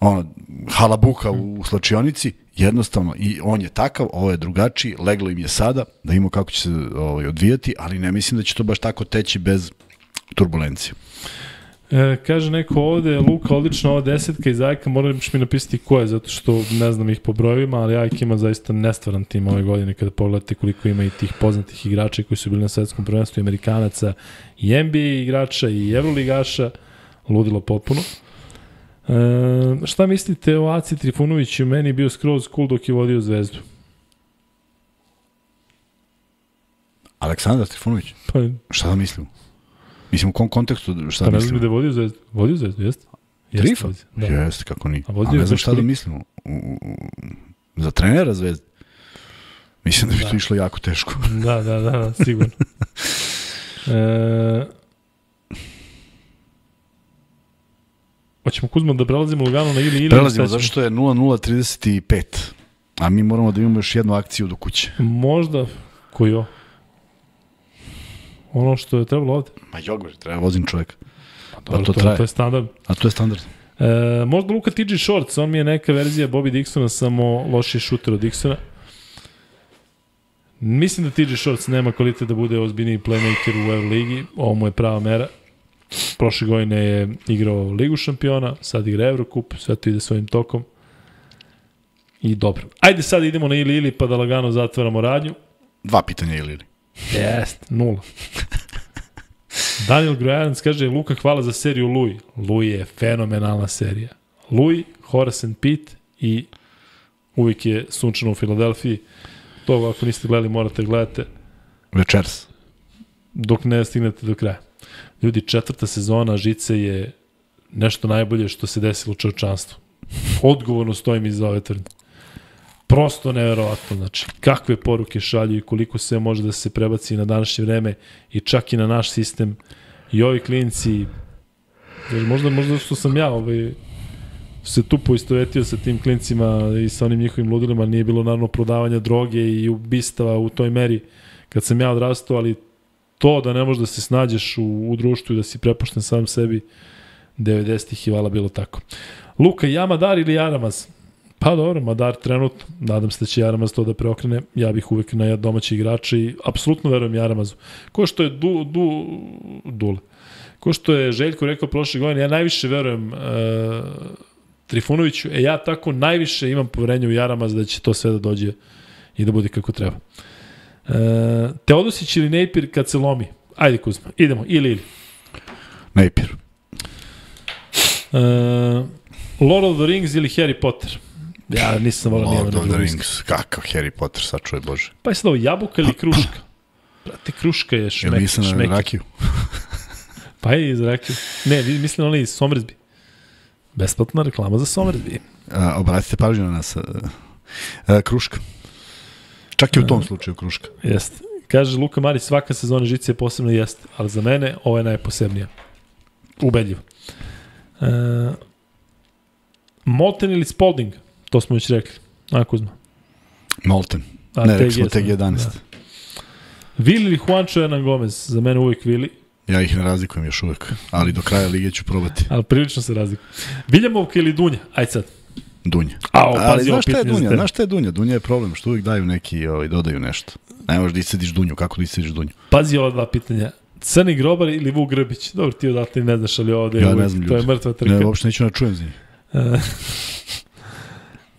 ono, halabuka u, u slačionici, jednostavno, i on je takav, ovo je drugačiji, leglo im je sada, da imamo kako će se ovaj, odvijati, ali ne mislim da će to baš tako teći bez turbulencije. E, kaže neko ovde, Luka, odlična ova desetka iz Ajka, morali biš mi napisati ko je, zato što ne znam ih po brojevima, ali Ajka ima zaista nestvaran tim ove godine kada pogledate koliko ima i tih poznatih igrača koji su bili na svetskom prvenstvu, i Amerikanaca, i N B A igrača, i Evroligaša, ludilo potpuno. E, šta mislite o Aci Trifunoviću? Meni je bio skroz cool dok je vodio Zvezdu. Aleksandar Trifunović? Pa, šta da mislim? Mislim, u kom kontekstu šta pa da ne znam da je vodio Zvezdu. Vodio Zvezdu, jeste? Trifa? Da. Jeste, kako nije. A, A ne znam šta da mislim. U, u, za trenera Zvezde? Mislim da bi da. to išlo jako teško. Da, da, da, da sigurno. e, Hoćemo Kuzma da prelazimo lagano na ili ili? Prelazimo, zato što je nula nula trideset pet. A mi moramo da imamo još jednu akciju do kuće. Možda, koji jo? Ono što je trebalo ovde. Ma jogver, treba vozim čovjek. Pa dobro, da to, to, traje. to je standard. A to je standard. E, možda Luka T J Shorts, on mi je neka verzija Bobby Dixona, samo lošiji šuter od Dixona. Mislim da T J Shorts nema kvalitet da bude ozbiljniji playmaker u Euroligi. Ovo mu je prava mera. Prošle godine je igrao Ligu šampiona, sad igra Eurocup, sve to ide svojim tokom. I dobro. Ajde sad idemo na ili ili pa da lagano zatvaramo radnju. Dva pitanja ili ili. Jest, nula. Daniel Grojanac kaže, Luka, hvala za seriju Louis. Louis je fenomenalna serija. Louis, Horace and Pete i uvijek je sunčano u Filadelfiji. To ako niste gledali morate gledate. Večers. Dok ne stignete do kraja. Ljudi, četvrta sezona Žice je nešto najbolje što se desilo u čovječanstvu. Odgovorno stojim iza ove tvrdnje. Prosto neverovatno, znači, kakve poruke šalju i koliko sve može da se prebaci na današnje vreme i čak i na naš sistem. I ovi klinci, možda, možda što sam ja ovaj, se tu poistovetio sa tim klincima i sa onim njihovim ludilima, nije bilo naravno prodavanja droge i ubistava u toj meri kad sam ja odrastao, ali to da ne možeš da se snađeš u, u društvu i da si prepušten sam sebi, devedesetih je vala bilo tako. Luka, ja Madar ili Jaramaz? Pa dobro, Madar trenutno, nadam se da će Jaramaz to da preokrene, ja bih uvek na domaći igrača i apsolutno verujem Jaramazu. Ko što je du, du, Dule, ko što je Željko rekao prošle godine, ja najviše verujem e, Trifunoviću, e ja tako najviše imam poverenje u Jaramaz da će to sve da dođe i da bude kako treba. E, Teodosić ili Napier kad se lomi? Ajde Kuzma, idemo, ili ili. Napier. E, Lord of the Rings ili Harry Potter? Ja nisam volao nijedan. Lord of the Rings, kakav Harry Potter, sačuvaj Bože. Pa je sad ovo jabuka ili kruška? Brate, kruška je šmek, Jel nisam šmek. na rakiju? Pa je iz rakiju. Ne, mislim oni iz Somersby. Besplatna reklama za Somersby. A, obratite pažnju na nas. A, a, kruška. Čak i u tom slučaju kruška. Jeste. Kaže Luka Marić, svaka sezona Žice je posebna, jeste, ali za mene ovo je najposebnija. Ubedljivo. E, Molten ili Spalding? To smo već rekli. A, Kuzma? Molten. A, ne, rekli smo T G jedanaest. Da. Vili ili Juancho Hernan Gomez? Za mene uvijek Vili. Ja ih ne razlikujem još uvijek, ali do kraja lige ću probati. Ali prilično se razlikujem. Viljamovka ili Dunja? Ajde sad. Dunja. A, ali znaš šta je Dunja? Znaš šta je Dunja? Dunja je problem, što uvijek daju neki, ovaj, dodaju nešto. Ne možeš da iscediš Dunju, kako da iscediš Dunju? Pazi ova dva pitanja. Crni Grobar ili Vuk Grbić? Dobro, ti odatle ne znaš, ali ovde ja je, ne znam, to je mrtva trka. Ne, uopšte neću na čujem za njih.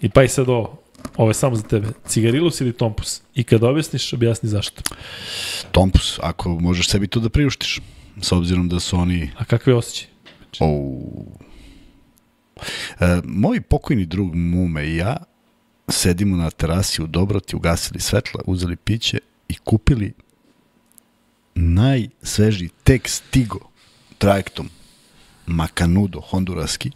I pa i sad ovo, ovo je samo za tebe. Cigarilus ili Tompus? I kad objasniš, objasni zašto. Tompus, ako možeš sebi to da priuštiš, s obzirom da su oni... A kakve osjećaj? Oh. E, moj pokojni drug Mume i ja sedimo na terasi u Dobroti, ugasili svetla, uzeli piće i kupili najsvežiji tek stigo trajektom Macanudo, honduraski,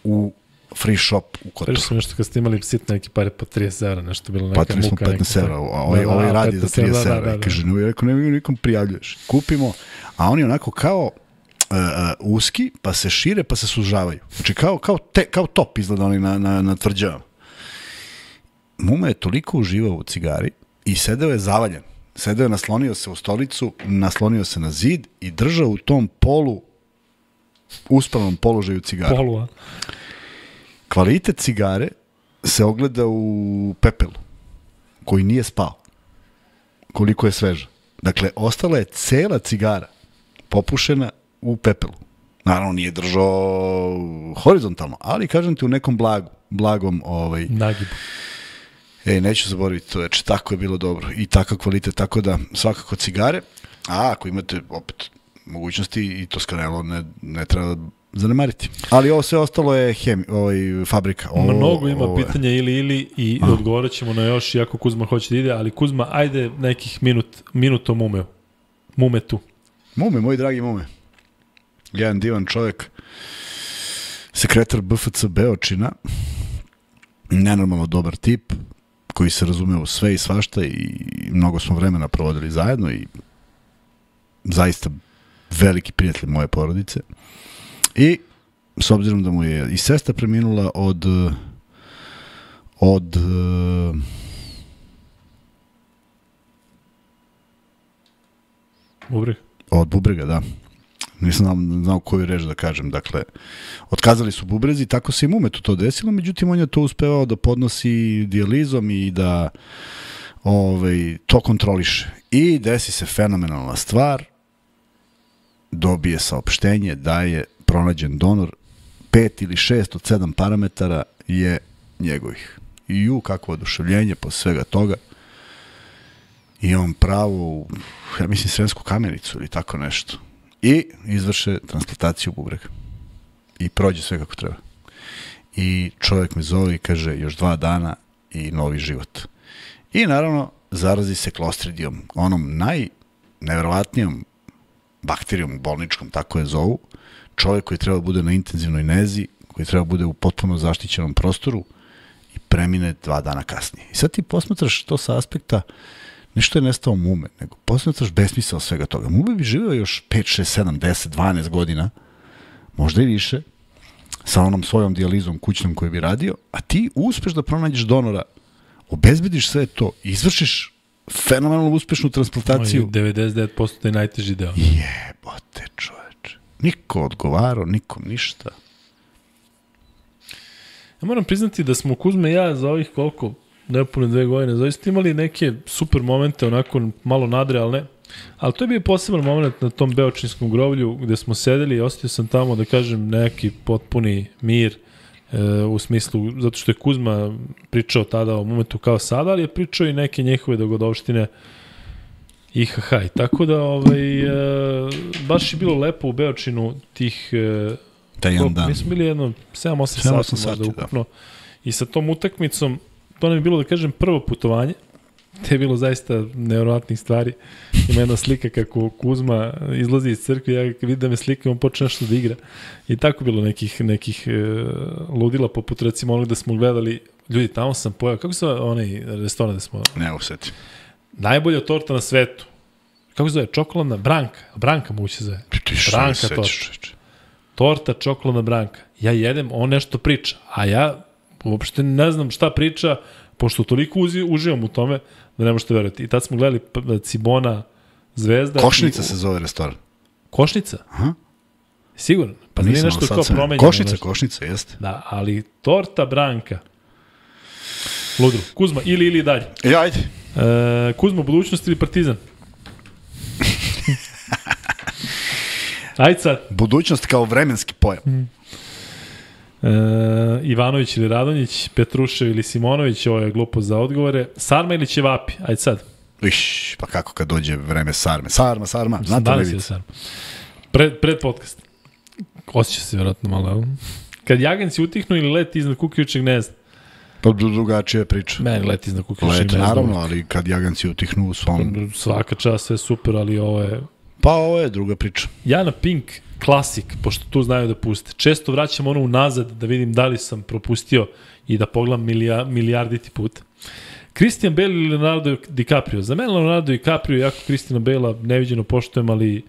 u free shop u Kotoru. Prešli smo nešto kad ste imali sitne neki pare po trideset evra, nešto bilo neka muka. Patili smo petnaest evra, a ovaj, da, ovaj radi za trideset evra. Da, da, da. Kaže, ne, rekao, ne, nikom prijavljuješ. Kupimo, a oni onako kao uh, uh, uski, pa se šire, pa se sužavaju. Znači, kao, kao, te, kao top izgleda oni na, na, na tvrđavama. Muma je toliko uživao u cigari i sedeo je zavaljen. Sedeo je, naslonio se u stolicu, naslonio se na zid i držao u tom polu, uspavnom položaju cigara. Polu, a? Kvalitet cigare se ogleda u pepelu, koji nije spao. Koliko je sveža. Dakle, ostala je cela cigara popušena u pepelu. Naravno, nije držao horizontalno, ali kažem ti u nekom blagu, blagom ovaj, nagibu. Ej, neću zaboraviti to, znači tako je bilo dobro i takav kvalitet, tako da svakako cigare, a ako imate opet mogućnosti i to skanelo ne, ne treba zanemariti. Ali ovo sve ostalo je hemi, ovaj, fabrika. Ovo, Mnogo ima ovo pitanja ili ili i a. odgovorit ćemo na još, iako Kuzma hoće da ide, ali Kuzma, ajde nekih minut, minut o Mume. Mume tu. Mume, moj dragi Mume. Jedan divan čovjek, sekretar B F C Beočina, nenormalno dobar tip, koji se razume u sve i svašta i mnogo smo vremena provodili zajedno i zaista veliki prijatelj moje porodice. I s obzirom da mu je i sestra preminula od od Bubreg. od bubrega, da. Nisam znao, znao koju reč da kažem. Dakle, otkazali su bubrezi, tako se i Mumetu to desilo, međutim on je to uspevao da podnosi dijalizom i da ovaj, to kontroliše. I desi se fenomenalna stvar, dobije saopštenje da je pronađen donor, pet ili šest od sedam parametara je njegovih. I ju, kakvo oduševljenje posle svega toga. I on pravo, ja mislim, Sremsku Kamenicu ili tako nešto. I izvrše transplantaciju bubrega. I prođe sve kako treba. I čovjek me zove i kaže još dva dana i novi život. I naravno zarazi se klostridijom, onom najneverovatnijom bakterijom bolničkom, tako je zovu. Čovjek koji treba bude na intenzivnoj nezi, koji treba bude u potpuno zaštićenom prostoru i premine dva dana kasnije. I sad ti posmatraš to sa aspekta nešto je nestao Mume, nego posmatraš besmisao svega toga. Mume bi živio još pet, šest, sedam, deset, dvanaest godina, možda i više, sa onom svojom dijalizom kućnom koju bi radio, a ti uspeš da pronađeš donora, obezbediš sve to, izvršiš fenomenalno uspešnu transplantaciju. devedeset devet posto je najteži deo. Jebote, čoveče. Niko odgovarao, nikom ništa. Ja moram priznati da smo Kuzme i ja za ovih koliko, nepune dve godine, zaista imali neke super momente, onako malo nadrealne, ali to je bio poseban moment na tom beočinskom groblju gde smo sedeli i osetio sam tamo, da kažem, neki potpuni mir, e, u smislu, zato što je Kuzma pričao tada o momentu kao sada, ali je pričao i neke njihove dogodovštine ihaha. I tako da, ovaj, e, baš je bilo lepo u Beočinu tih... E, Taj jedan dan. Mi smo bili jedno sedam osam sati, sati možda ukupno. Da. I sa tom utakmicom, to nam je bilo, da kažem, prvo putovanje. Te je bilo zaista nevjerovatnih stvari. Ima jedna slika kako Kuzma izlazi iz crkve, ja vidim da me slika, on počne nešto da igra. I tako bilo nekih, nekih e, ludila, poput recimo onog da smo gledali, ljudi, tamo sam pojao, kako se onaj restoran da smo... Ne usetim. Najbolja torta na svetu. Kako se zove? Čokoladna branka. Branka mu se zove. Branka torta. Torta, čokoladna branka. Ja jedem, on nešto priča, a ja uopšte ne znam šta priča, pošto toliko uzi, uživam u tome da ne možete verovati. I tad smo gledali Cibona, Zvezda. Košnica i, se zove restoran. Košnica? Aha. Sigurno. Pa nije nešto kao promenjeno. Košnica, nešto. košnica, jeste. Da, ali torta branka. Ludro. Kuzma, ili, ili dalje. E, ajde. E, Kuzma, budućnost ili Partizan? Ajde sad. Budućnost kao vremenski pojam. Mm. E, Ivanović ili Radonjić, Petrušev ili Simonović, ovo je glupo za odgovore. Sarma ili Ćevapi? Ajde sad. Iš, pa kako kad dođe vreme Sarme? Sarma, Sarma, znate li vidite? Sarma. Pred, pred podcast. Osjeća se vjerojatno malo. Kad jaganci utihnu ili leti iznad kukajućeg gnezda? Pa drugačija priča. Meni leti iznad kukajućeg Let, gnezda. naravno, ali kad jaganci utihnu u svom... Svaka čast, sve super, ali ovo je... Pa ovo je druga priča. Ja na Pink Classic, pošto tu znaju da puste, često vraćam ono unazad da vidim da li sam propustio i da pogledam milija, milijarditi put. Christian Bale ili Leonardo DiCaprio? Za mene Leonardo DiCaprio, jako Christiana Bale-a neviđeno poštujem, ali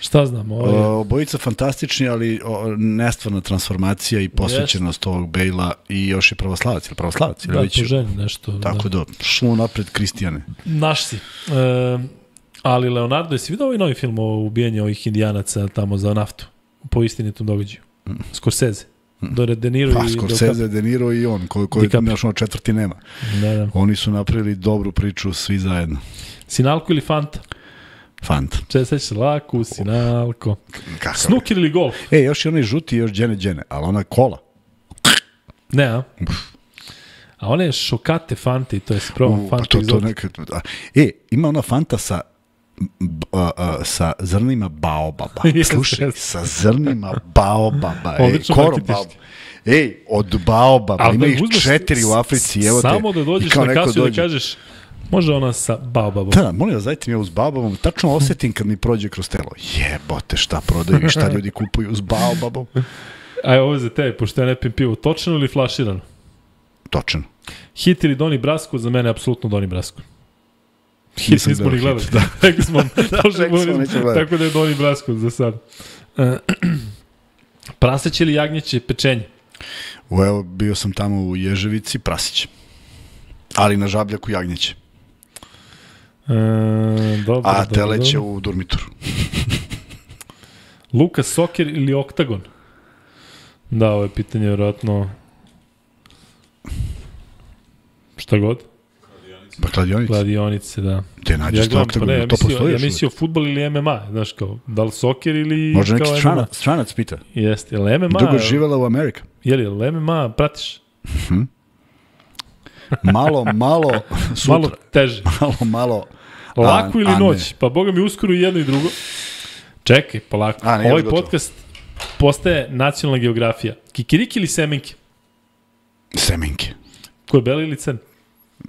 šta znam? Ovo je... Obojica fantastični, ali o, nestvarna transformacija i posvećenost yes. ovog Bale-a i još je pravoslavac, ili pravoslavac? Ili da, već... po ženi nešto. Tako da, da šlo napred Kristijane. Naš si. E, ali Leonardo, jesi vidio ovaj novi film o ubijanju ovih indijanaca tamo za naftu? Po istinitom događaju. Mm. Scorsese. Mm. Do De Niro pa, i Scorsese, De Niro i on, koji ko naš ono četvrti nema. Da, da. Oni su napravili dobru priču svi zajedno. Sinalko ili Fanta? Fanta. Če se će laku, Sinalko. Kakav? Snooker ili golf? E, još je onaj žuti, još džene džene, ali ona kola. Ne, a? A one šokate Fante i to je se probam Fanta pa to, to neka, E, ima ona Fanta sa B, a, a, sa zrnima baobaba. Slušaj, sa zrnima baobaba. Ej, koro baobaba. Ej, od baobaba. Ima ih četiri u Africi. Evo te. Samo da dođeš na kasu i da kažeš, može ona sa baobabom. Da, molim vas, dajte mi ja uz baobabom. Tačno osetim kad mi prođe kroz telo. Jebote, šta prodaju i šta ljudi kupuju uz baobabom. Aj, ovo je za tebe, pošto ja ne pijem pivo. Točeno ili flaširano? Točeno. Hit ili Doni Brasco? Za mene je apsolutno Doni Brasco. Hit nismo ni gledali. Da. Rekli smo, da, smo tako da je Doni Brasco za sad. Uh, Praseće ili jagnjeće pečenje? U, evo, bio sam tamo u Ježevici, prasić. Ali na Žabljaku jagnjeće. E, dobro, A dobro, teleće dobro. u Durmitoru. Luka Soker ili Oktagon? Da, ovo je pitanje vjerojatno šta god. Pa kladionice. Kladionice, da. Gde nađeš Ja to gledam, pa oktagon? ne, ja To mislio, postoji ja još mislio futbol ili M M A, znaš kao, da li soker ili Možda kao neki M M A? stranac, stranac pita. Jeste, je li M M A? Dugo živela u Amerika. Je li, je li M M A pratiš? Malo, malo sutra. Malo teže. Malo, malo. Lako a, ili a noć? Ne. Pa boga mi uskoro i jedno i drugo. Čekaj, polako. A, ne, Ovaj gotovo. podcast postaje nacionalna geografija. Kikiriki ili semenke? Semenke. Ko je beli ili crn?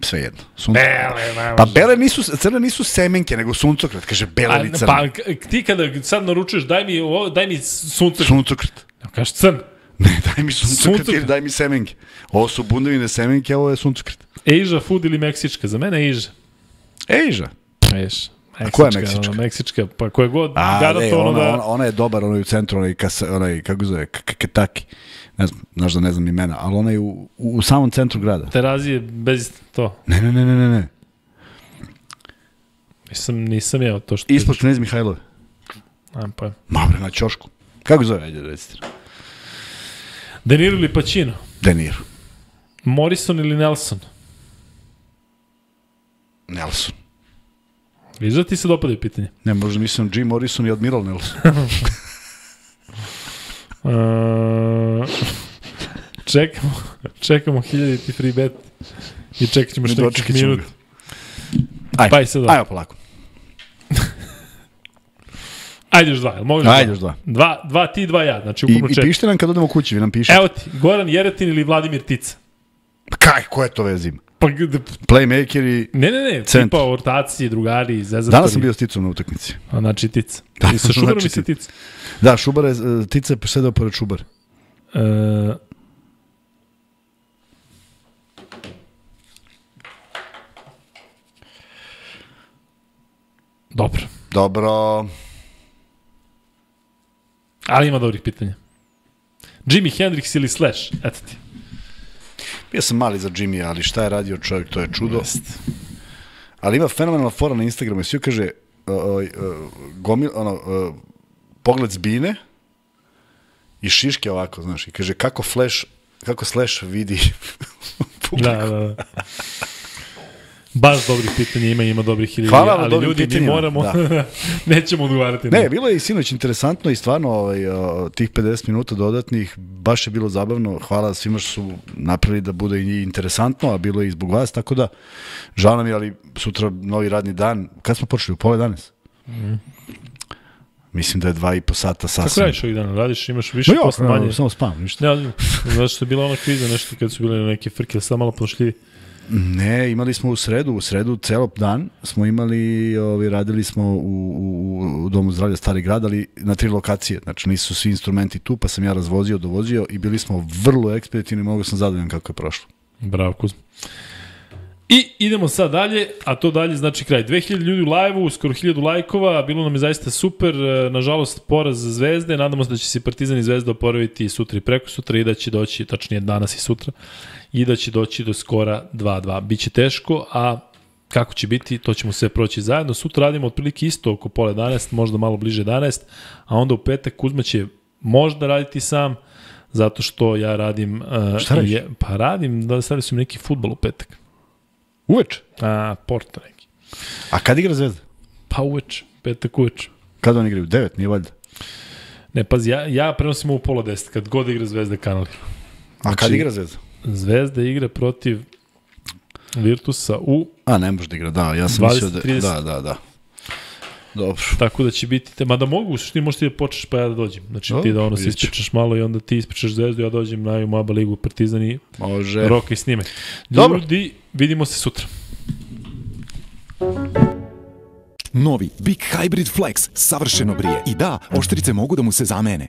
Sve jedno. Suncokret. Bele, ne Pa može. bele nisu, crne nisu semenke, nego suncokret. Kaže bele A, ili crne. pa k- ti kada sad naručuješ, daj mi, ovo, daj mi suncokret. Suncokret. Ja kažeš crn. Ne, daj mi suncokret Suncokret. ili daj mi semenke. Ovo su bundevine semenke, a ovo je suncokret. Asia food ili meksička? Za mene Asia. Ejža. Eš. A koja je meksička? Ono, meksička, pa koja god A, ne, garantovano ona, da... ona, ona je dobar, ona je u centru, onaj, kasa, onaj kako zove, Kentucky. Ne znam, znaš da ne znam imena, ali ona je u, u, u samom centru grada. Terazije bez to. Ne, ne, ne, ne, ne, ne. Nisam, nisam jeo to što... Ispod Knez Mihajlove. A, pa. Ma bre, na ćošku. Kako zove, ajde, recite. De Niro ili Pacino? De Niro. Morrison ili Nelson? Nelson. Viš da ti se dopadaju pitanje? Ne, možda mislim Jim Morrison i Admiral Nelson. Uh, čekamo, čekamo hiljaditi free bet i čekat ćemo Ne što nekih dočekat ćemo minut. ga. Ajde, Pa i sad ajmo polako. Ajde još dva, jel možeš Ajde dva? još dva. Dva, dva ti, dva ja, znači I, ukupno I četiri. pišite nam kad odemo kući, vi nam pišete. Evo ti, Goran Jeretin ili Vladimir Tica? Pa kaj, ko je to veze ima? Pa, gde- Playmaker i... ne, ne, ne, Centar. tipa ortaci, drugari, zezatovi. Danas sam bio s Ticom na utakmici. A, znači Tica. Da, I sa Šubarom znači i sa Tica. Da, Šubar je, e, Tica je sedao pored Šubara. E, dobro. Dobro. Ali ima dobrih pitanja. Jimi Hendrix ili Slash? Eto ti. Bio sam mali za Jimmy, ali šta je radio čovjek, to je čudo. Jest. Ali ima fenomenalna fora na Instagramu i svi kaže uh, uh, gomil, ono, uh, pogled zbine i šiške ovako, znaš, i kaže kako Flash, kako Slash vidi publiku. Da, da, da. Baš dobrih pitanja ima, ima dobrih hiljada. Hvala vam ali dobrim ljudi, mi pitanjima, moramo, da. nećemo odgovarati. na- Ne, bilo je i sinoć interesantno i stvarno ovaj, uh, tih pedeset minuta dodatnih, baš je bilo zabavno. Hvala svima što su napravili da bude i interesantno, a bilo je i zbog vas, tako da žao nam je, ali sutra novi radni dan. Kad smo počeli? U pola danas? Mm. Mislim da je dva i po sata sasvim. Kako radiš ovih dana? Radiš, imaš više No, jo, posla manje? samo spam, ništa. Ne, znaš što je bila ona kviza, nešto kad su bile neke frke, sad malo pošljivi. Ne, imali smo u sredu, u sredu celo dan smo imali, ovaj, radili smo u, u, u Domu zdravlja Stari grad, ali na tri lokacije, znači nisu svi instrumenti tu, pa sam ja razvozio, dovozio i bili smo vrlo ekspeditivni, mogu sam zadovoljan kako je prošlo. Bravo, Kuzma. I idemo sad dalje, a to dalje znači kraj. dve hiljade ljudi u live-u, skoro hiljadu lajkova, bilo nam je zaista super, e, nažalost poraz Zvezde, nadamo se da će se Partizan i Zvezda oporaviti sutra i preko sutra i da će doći, tačnije danas i sutra, i da će doći do skora dva dva. Biće teško, a kako će biti, to ćemo sve proći zajedno. Sutra radimo otprilike isto oko pola jedanaest, možda malo bliže jedanaest, a onda u petak Kuzma će možda raditi sam, zato što ja radim... Uh, Šta radiš? je, pa radim, da stavili su mi neki fudbal u petak. Uveč? A, Porto neki. A kad igra Zvezda? Pa uveč, petak uveč. Kad oni igraju? Devet, nije valjda. Ne, pazi, ja, ja prenosim u pola deset, kad god igra Zvezda kanal. A kad igra Zvezda? Zvezda igra protiv Virtusa u, A, ne može da igra, da, ja sam dvadeset mislio da... trideset. Da, da, da. Dobro. tako da će biti, te, mada mogu, što ti možeš ti da počneš pa ja da dođem. Znači ti da ono se vidjet ću. ispričaš malo i onda ti ispričaš Zvezdu, ja dođem na Maba ligu Partizan i Može. Roka i snime. Dobro. Ljudi, vidimo se sutra. Novi Big Hybrid Flex savršeno brije. I da, oštrice mogu da mu se zamene.